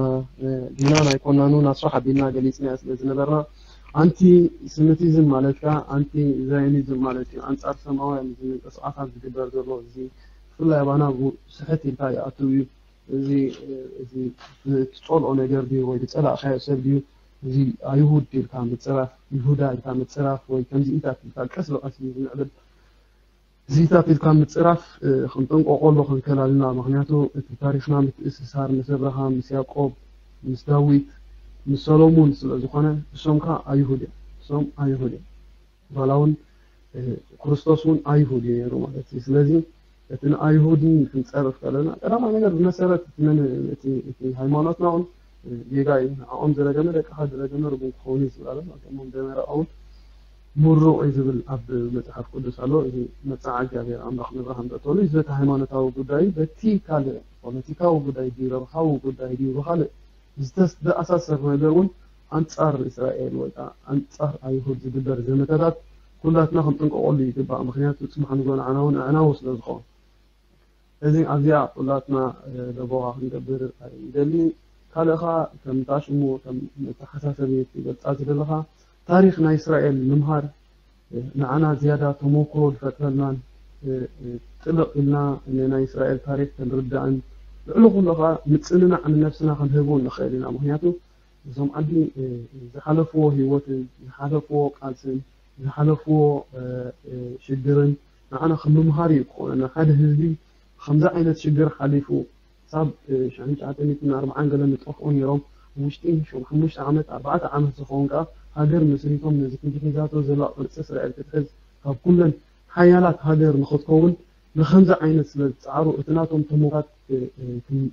ዲና ናይ ኮናኑ ናስፋሕ ኣቢልና ገሊጽናዮ ስለ ዝነበርና ኣንቲ ስምቲዝም ማለት ከኣ ኣንቲ ዛዮኒዝም ማለት እዩ ኣንጻር ሰማውያን እዚ ምንቅስቃሳት ዝግበር ዘሎ እዚ ብፍላይ ኣባና ስሕት ኢልካ ይኣትው እዩ እዚ እዚ ትጸልኦ ነገር ድዩ ወይ ዝጸላእካዮ ሰብ ድዩ እዚ ኣይሁድ ኢልካ ምጽራፍ ይሁዳ ኢልካ ምጽራፍ ወይ ከምዚኢታት ኢልካ ቀስ ብቀስ እዩ ዝምዕብል እዚታት ኢልካ ምጽራፍ ክንጥንቀቆ ኣሎ ክንከላልና ምክንያቱ እቲ ታሪክና ምትእስሳር ምስ ኣብርሃም ምስ ያቆብ ምስ ዳዊት ምስ ሰሎሙን ስለ ዝኾነ እሶም ከ ኣይሁድ እዮም እሶም ኣይሁድ እዮም ዋላ እውን ክርስቶስ እውን ኣይሁድ እዩ ነይሩ ማለት እዩ ስለዚ እቲ ንኣይሁድን ክንፀርፍ ከለና ቀዳማይ ነገር ብመሰረት እቲ ሃይማኖትና እውን ጌጋ እዩ። ንዕኦም ዝረገመ ደቅኻ ዝረገመ ርጉም ክኸውን እዩ ዝብል ኣሎ። ከምኦም ደመራኦም ምሩቕ እዩ ዝብል ኣብ መጽሓፍ ቅዱስ ኣሎ። እዚ መጽዓ እግዚኣብሔር ኣምላኽ ንብርሃን ዘእተወሉ እዩ። በቲ ሃይማኖታዊ ጉዳይ፣ በቲ ካልእ ፖለቲካዊ ጉዳይ ድዩ፣ ረብሓዊ ጉዳይ ድዩ፣ ብኻልእ ዝተስ-፣ ዝተኣሳሰር ነገር እውን ኣንጻር እስራኤል ወይ ከዓ ኣንጻር ኣይሁድ ዝግበር ዘመተታት ኩላትና ክንጥንቀቐሉ ይግባእ። ምኽንያቱ ጽባሕ ንግሆ ንዓና እውን ኣዕናዊ ስለ ዝኾን። እዚ ኣብዚኣ ኩላትና ለበዋ ክንገብር ይደሊ። ካልእኻ ከም ታሽሙ ከም መተሓሳሰቢ ትገልጻ ዝደለኻ ታሪኽ ናይ እስራኤል ምምሃር ንዓና ዝያዳ ተመክሮ ዝፈጥረልናን ጥልቕ ኢልና ናይ እስራኤል ታሪኽ ክንርዳእን ልዕሊ ኩሉ ኸዓ ምጽንናዕ ንነብስና ክንህብ እውን ንኽእል ኢና። ምኽንያቱ እዞም ዓዲ ዝሓለፍዎ ህይወትን ዝሓለፍዎ ቃልስን ዝሓለፍዎ ሽግርን ንዓና ከም ምምሃር እዩ ክኾነና። ሓደ ህዝቢ ከምዚ ዓይነት ሽግር ሓሊፉ ክሳብ ሽሕን ትሽዓተ ሚእትን ኣርባዓን ገለ ንጠፍኡ ነይሮም። ውሽጢ ሓሙሽተ ዓመት ኣርባዕተ ዓመት ዝኸውን ከዓ ሃገር መስሪቶም ነዚ ክንዲ ሒዛቶ ዘላ ቅርፂ እስራኤል ክትሕዝ ካብ ኩለን ሓያላት ሃገር ንኽትከውን ንኸምዚ ዓይነት ስለ ዝፀዓሩ እቲ ናቶም ተሞታት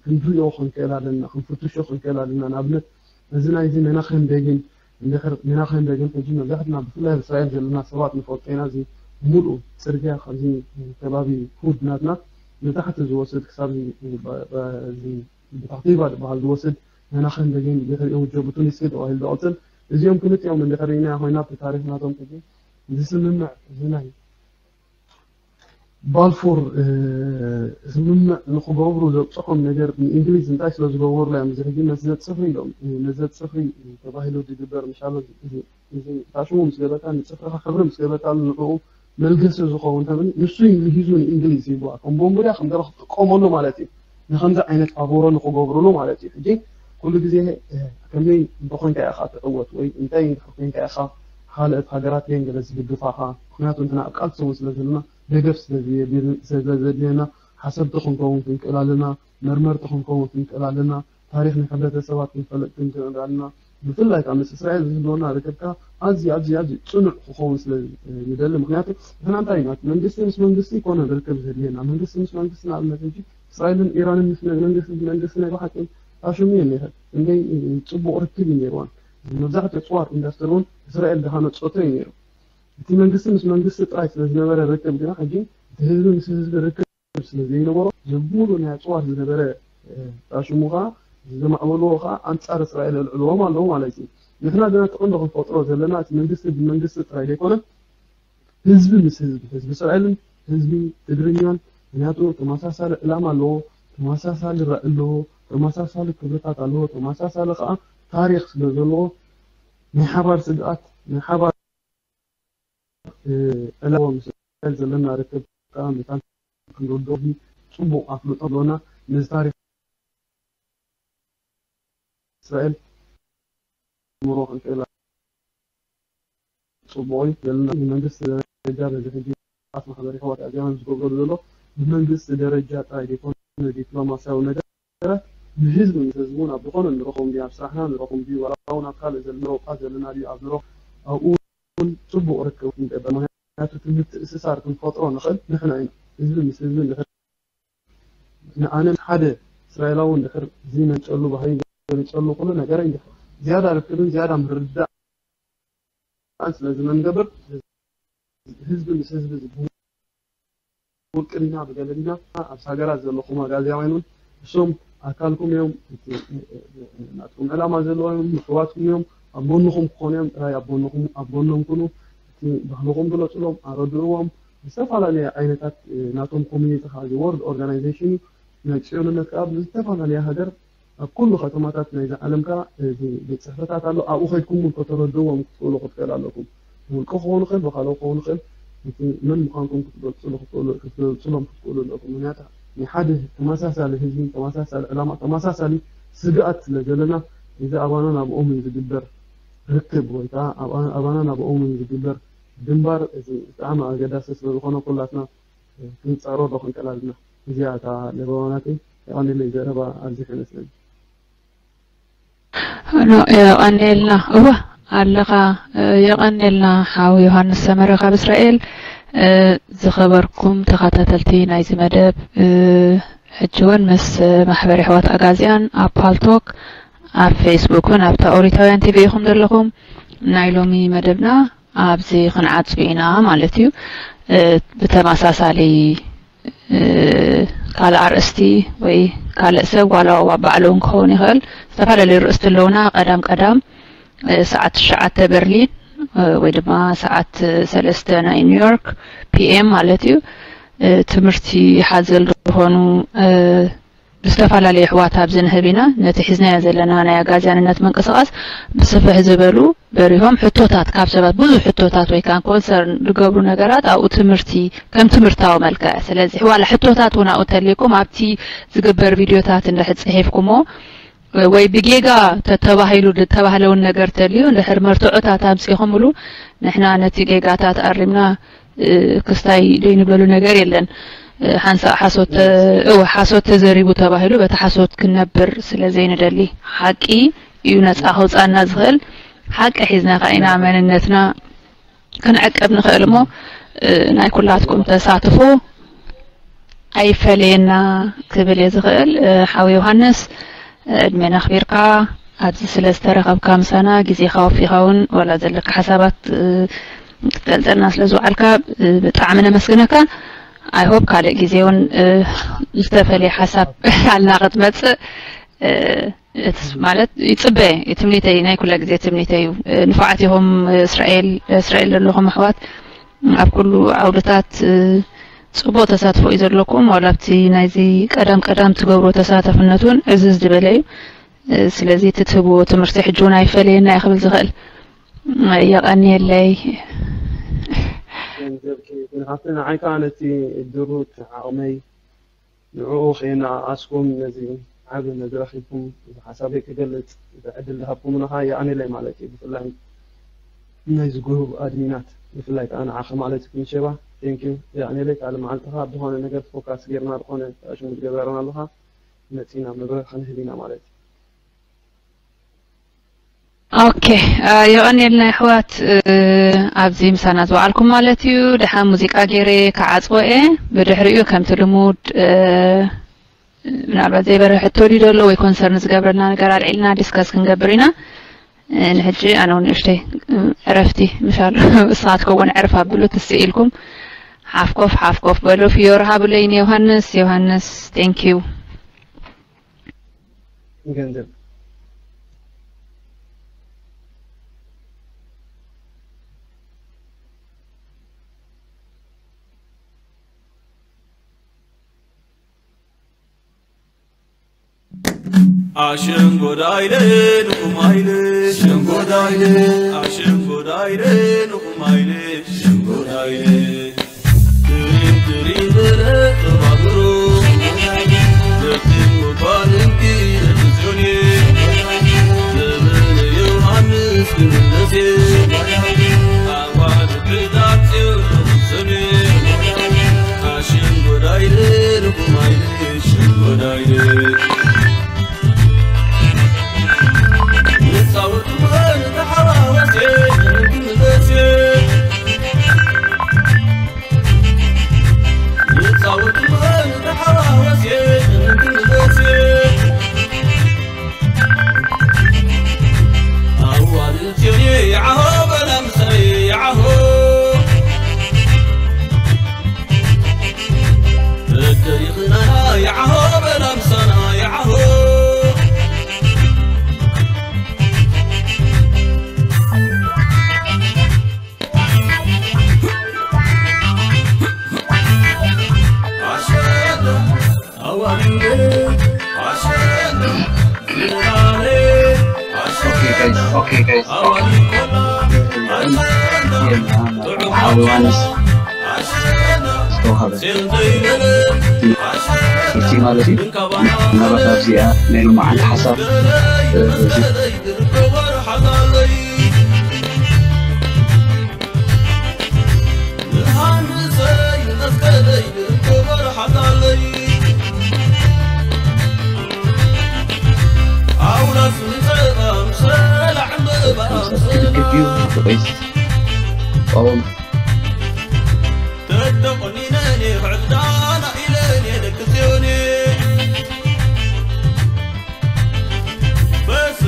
ክንሪኦ ክንክእል ኣለና፣ ክንፍትሾ ክንክእል ኣለና። ንኣብነት እዚ ናይዚ መናኸም ቤጊን እንድሕር መናኸም ቤጊን ሕጂ መብዛሕትና ብፍላይ ኣብ እስራኤል ዘለና ሰባት ንፈልጦ ኢና። እዚ ሙሉእ ፅርግያ ካብዚ ከባቢ ኩርድ ናትና ንታሕቲ ዝወስድ ክሳብ ብታሕቲ ይባ ዝበሃል ዝወስድ መናኸም ቤጊን ድሕሪኡ ጆቡቱኒስኪ ተባሂሉ ዝቐፅል እዚኦም ክልቲኦም እንድሕር ርኢናዮ ኮይና ኣብቲ ታሪክ ናቶም ሕጂ እዚ ስምምዕ እዚ ናይ ባልፎር ስምምዕ ንክገብሩ ዘብፅሖም ነገር ንእንግሊዝ እንታይ ስለ ዝገበሩላ እዮም እዚ ሕጂ መዝዘት ፅፍሪ ኢሎም መዝዘት ፅፍሪ ተባሂሉ ዝግበር ምሻሎ እዚ ታሽሙ ምስ ገበርካ ንፅፍርካ ሕብሪ ምስ ገበርካ ንዕኡ መልገሲ ዝኸውን ሕብሪ ንሱ እዩ ምሂዙ ንእንግሊዝ ይብዋ ከም ቦምቡድያ ከም ገለ ክጥቀመሉ ማለት እዩ ንከምዚ ዓይነት ፋቮሮ ንክገብሩሉ ማለት እዩ ሕጂ ኩሉ ግዜ ከመይ እንተኮንካ ኢኻ ትዕወት ወይ እንታይ ኮይንካ ኢኻ ካልኦት ሃገራት የን ገለ ዝድግፋኻ ምክንያቱ እንትና ኣብ ቃልሲ እውን ስለ ዘለና ደገፍ ስለዘድልየና ሓሰብቲ ክንከውን ክንክእል ኣለና መርመርቲ ክንከውን ክንክእል ኣለና ታሪክ ናይ ሕብረተሰባት ክንፈልጥ ክንክእል ኣለና ብፍላይ ከዓ ምስ እስራኤል ዝህልወና ርክብካ ኣዝዩ ኣዝዩ ኣዝዩ ፅኑዕ ክኸውን ስለ ንደሊ ምክንያቱ ንሕና እንታይ ኢና መንግስቲ ምስ መንግስቲ ይኮነ ርክብ ዘድልየና መንግስቲ ምስ መንግስቲ ንኣብነት ሕጂ እስራኤልን ኢራንን ምስ መንግስቲ መንግስቲ ናይ ብሓቂ ታሽሙ እየን ነይረን ክንደይ ፅቡቅ ርክብ እዩ ነይርዋን መብዛሕትኡ ፅዋር ኢንዳስትሪ እውን እስራኤል ዝሃነፀቶ እዩ ነይሩ እቲ መንግስቲ ምስ መንግስቲ ጥራይ ስለዝነበረ ርክብ ግና ሕጂ እቲ ህዝቢ ምስ ህዝቢ ርክብ ስለዘይነበሮ እዚ ሙሉ ናይ ኣፅዋር ዝነበረ ታሽሙ ከዓ ዘማዕበልዎ ከዓ ኣንፃር እስራኤል የልዕልዎም ኣለዉ ማለት እዩ ንሕና ግና እቲ ቀንዶ ክንፈጥሮ ዘለና እቲ መንግስቲ ብመንግስቲ ጥራይ ዘይኮነ ህዝቢ ምስ ህዝቢ ህዝቢ እስራኤልን ህዝቢ ትግርኛን ምክንያቱ ተመሳሳሊ ዕላማ ኣለዎ ተመሳሳሊ ራኢ ኣለዎ ተመሳሳሊ ክብርታት ኣለዎ ተመሳሳሊ ከዓ ታሪክ ስለ ዘለዎ ናይ ሓባር ስግኣት ናይ ሓባር ዕላማ ምስ እስራኤል ዘለና ርክብ ከዓ መታን ክንርድኦ ፅቡቅ ኣፍልጦ ኣለና ነዚ ታሪክ እስራኤል ምሮ ክንክእል ፅቡቅ እዩ ዘለና ብመንግስቲ ደረጃ በዚ ሕጂ ት ማሕበራዊ ሕዋት ኣዚያም ዝገብረሉ ዘሎ ብመንግስቲ ደረጃ ጥራይ ዘይኮነ ዲፕሎማሲያዊ ነገር ንህዝቢ ምስ ህዝቢ እውን ኣብ ዝኾነ ንረኸም ድዩ ኣብ ስራሕና ንረኸም ድዩ ዋላ እውን ኣብ ካልእ ዘሎ ሮጳ ዘለና ድዩ ኣብ ንረኽ ኣብኡ እውን ፅቡቅ ርክብ ክንገብር ምክንያቱ እቲ ምትእስሳር ክንፈጥሮ ንኽእል ንሕና ኢና ህዝቢ ምስ ህዝቢ ንድሕር ንኣነ ሓደ እስራኤላዊ እንድሕር ዝመንጨሉ ባህሪ ገሊፀሉ ኩሉ ነገረይ እንድሕር ዝያዳ ርክብን ዝያዳ ምርድዳእን ስለዚ መንገብር ህዝቢ ምስ ህዝቢ ዝብህል ውቅርና ብገለልና ኣብ ሃገራት ዘለኹም ኣጋዚያውያን እውን እሶም ኣካልኩም እዮም ናትኩም ዕላማ ዘለዎም እዮም ምሕዋትኩም እዮም ኣብ ጎንኹም ክኾኑ እዮም ጥራይ ኣብ ጎንኹም ኣብ ጎኖም ኩኑ እቲ ባህልኹም ግለፅሎም ኣረድእዎም ዝተፈላለየ ዓይነታት ናቶም ኮሚኒቲ ከዓ እዚ ወርልድ ኦርጋናይዜሽን እዩ ናይ ፅዮንነት ከዓ ብዝተፈላለየ ሃገር ኣብ ኩሉ ከተማታት ናይዚ ዓለም ከዓ እዚ ቤት ፅሕፈታት ኣሎ ኣብኡ ከድኩም እውን ከተረድእዎም ክትኽእሉ ክትክእል ኣለኩም ብውልቂ ክኸውን ይኽእል ብካልኦ ክኸውን ይኽእል እቲ መን ምዃንኩም ክትገልፅሉ ክትኽእሉ ክትገልፅሎም ክትክእሉ ኣለኩም ምክንያቱ ናይ ሓደ ተመሳሳሊ ህዝቢ ተመሳሳሊ ዕላማ ተመሳሳሊ ስግኣት ስለ ዘለና እዚ ኣባና ናብኦም እዩ ዝግበር ርክብ ወይ ከዓ ኣባና ናብኦም እዩ ዝግበር ግንባር እዚ ብጣዕሚ ኣገዳሲ ስለ ዝኾነ ኩላትና ክንፃሮ ዶ ክንክእል ኣለና እዚኣ እታ ለበዋ ናተይ የቐንየለይ ዘረባ ኣብዚሐ ይመስለኒ ኖ የቐንየልና እወ ኣለኻ የቐንየልና ሓው ዮሃንስ ሰመረ ካብ እስራኤል ዝኸበርኩም ተኸታተልቲ ናይዚ መደብ ሕጂ እውን ምስ ማሕበር የሕዋት ኣጋዚያን ኣብ ፓልቶክ ኣብ ፌስቡክን ኣብታ ኦሪታውያን ቲቪ ኢኹም ዘለኹም። ናይ ሎሚ መደብና ኣብዚ ክንዓጹ ኢና ማለት እዩ። እ፣ ብተመሳሳሊ፣ እ፣ ካልእ ኣርእስቲ ወይ ካልእ ሰብ ዋላ ባዕሉ እውን ክኸውን ይኽእል። ዝተፈላለዩ ርእስቲ ኣለውና። ቀዳም ቀዳም፣ እ፣ ሰዓት ትሽዓተ በርሊን፣ እ፣ ወይ ድማ ሰዓት ሰለስተ ናይ ኒውዮርክ ፒኤም ማለት እዩ። እ፣ ትምህርቲ ሓዘል ዝኾኑ፣ እ፣ ብዝተፈላለዩ ኣሕዋት ኣብዚ ንህብ ኢና። ነቲ ሒዝናዮ ዘለና ናይ ኣጋዝያንነት ምንቅስቓስ ብስፍሕ ዝበሉ በሪሆም ሕቶታት ካብ ሰባት፣ ብዙሕ ሕቶታት ወይ ከዓ ኮንሰርን ዝገብሩ ነገራት ኣብኡ ትምህርቲ ከም ትምህርታዊ መልክዕ። ስለዚ ዋላ ሕቶታት እውን ኣብኡ ተልይኩም ኣብቲ ዝግበር ቪድዮታት እንድሕር ጽሒፍኩሞ ወይ ብጌጋ ተተባሂሉ ዝተባህለ እውን ነገር ተልዩ እንድሕር መርትዖታት ኣምጺኹምሉ ንሕና ነቲ ጌጋታት ኣሪምና እ፣ ክስታይ ዘይንብለሉ ነገር የለን። እ፣ ሓንሳእ ሓሶት ተ-፣ እወ፣ ሓሶት ተዘሪቡ ተባሂሉ በቲ ሓሶት ክንነብር ስለ ዘይንደሊ፣ ሓቂ እዩ ነጻ ከውጻና ዝኽእል። ሓቂ ሒዝና ከኣ ኢና መንነትና ክንዕቅብ ንኽእል እሞ፣ እ፣ ናይ ኩላትኩም ተሳትፎ ኣይፈለየና ክብል እየ ዝኽእል። እ፣ ሓው ዮሃንስ፣ እ፣ ዕድሜና ኣኽቢርካ ኣብዚ ስለ ዝተረኸብካ ምሳና፣ ግዜኻ ወፊኻ እውን ዋላ ዘለካ ሓሳባት፣ እ፣ ክትገልጸልና ስለ ዝወዓልካ፣ እ፣ ብጣዕሚ ነመስግነካ። I hope ካልእ ግዜ እውን፣ እ፣ ዝተፈለየ ሓሳብ ኣልና ክትመጽእ፣ እ፣ እቲ ማለት ይጽበ፣ ትምኒተይ፣ ናይ ኩላ ግዜ ትምኒተይ እዩ። እ፣ ንፉዓት ኢኹም፣ እስራኤል፣ እስራኤል ዘለኹም ኣሕዋት፣ ኣብ ኩሉ ዓውድታት፣ እ፣ ጽቡቕ ተሳትፎ እዩ ዘለኩም። ዋላ ኣብቲ ናይዚ ቀዳም ቀዳም ትገብርዎ ተሳታፍነት እውን ዕዝዝ ዝበለ እዩ። እ፣ ስለዚ እቲ ትህብዎ ትምህርቲ ሕጂ እውን ኣይፈለየና እዩ ክብል ዝኽእል። የቐንየለይ። ገንዘብኪ ግን ሃብቲ ንዓይ ከኣ ነቲ ድሩት ዓቕመይ ንዕኡ ከየነኣኣስኩም ነዚ ዓቢ መድረኽ ኢልኩም እዚ ሓሳበይ ክገልጽ እዚ ዕድል ዝሃብኩምና ከኣ የቐንየለይ ማለት እዩ። ብፍላይ ነዚ ግሩብ ኣድሚናት ብፍላይ ከኣ ንዓኺ ማለት እዩ ክንሸባ ቴንክ ዩ የቐንየለይ። ካልእ መዓልቲ ከኣ ብዝኾነ ነገር ፎካስ ጌርና ዝኾነ ሽሙ ዝገበረና ኣለኻ መጺና መብረር ክንህብ ኢና ማለት እዩ። ኦኬ፣ አ፣ የቐንየልና ኣሕዋት፣ እ፣ ኣብዚ ምሳና ዝወዓልኩም ማለት እዩ። ደሓን ሙዚቃ ገይረ ክዓጽዎ እየ። ብድሕሪኡ ከምቲ ልሙድ፣ እ፣ ምናልባት ዘይበርሀ ሕቶ ድዩ ዘሎ ወይ ኮንሰርን ዝገብረልና ነገር ኣልዒልና ዲስከስ ክንገብር ኢና። እ፣ ንሕጂ ኣነ እውን ንእሽተይ፣ እ፣ ዕረፍቲ ምሻሉ ንስኻትኩም እውን ዕርፍ ኣብሉ ትስእ ኢልኩም ሓፍኮፍ ሓፍኮፍ በሉ። ፍዮሪ ሃብለይ ንዮሃንስ። ዮሃንስ፣ ቴንክ ዩ። ገንዘብ ኣሸንጎዳይለ ንኹማይለ ሸንጎዳይለ ኣሸንጎዳይለ ንኹማይለ ሸንጎዳይለ ትሪም ትሪም በለ ተባብሮ ደቂም ጓል እንዲ ርትስዮኔ ዘመነ ዮሃንስ ክምለሴ ኣዋልድ ሕዳር ጽዮን ርትስዮኔ ኣሸንጎዳይለ ንኹማይለ ሸንጎዳይለ ሓወ ዮሃንስ ዝተዋህበ ትምህርቲ ማለት እዩ። ምናልባት ኣብዚኣ ናይ ሎማዓንቲ ሓሳብ ክድግፍ እዩ ወይስ ጾም? ተተቆኒነኒ ክዕዳና ኢለኒ ደቂ ጽዮኒ በስ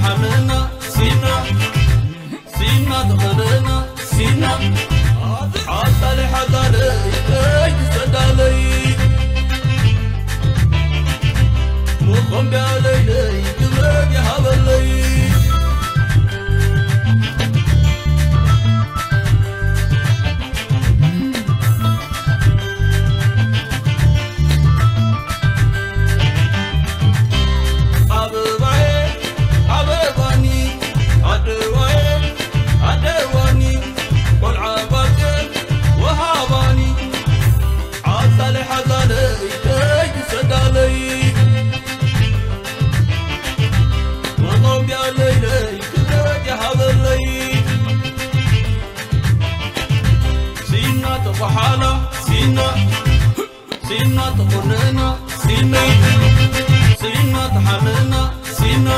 ሓመና ሲና ሲና ተኸለና ሲና ሓሳለ ሓሳለ ይተይ ትሰዳለይ መኾምቢያ ለይለይ ክብረት ይሃበለይ ኣበባየ ኣበባኒ ኣደዋየ ኣደዋኒ ቆልዓ ባጨ ወሃባኒ ሓሳለ ሓሳለ ይተይ ትሰዳለይ መኾምቢያ ለይለይ ክብረት ይሃበለይ ሲና ተኳሓላ ሲና ሲና ተኾነና ሲና ሲና ተሓመና ሲና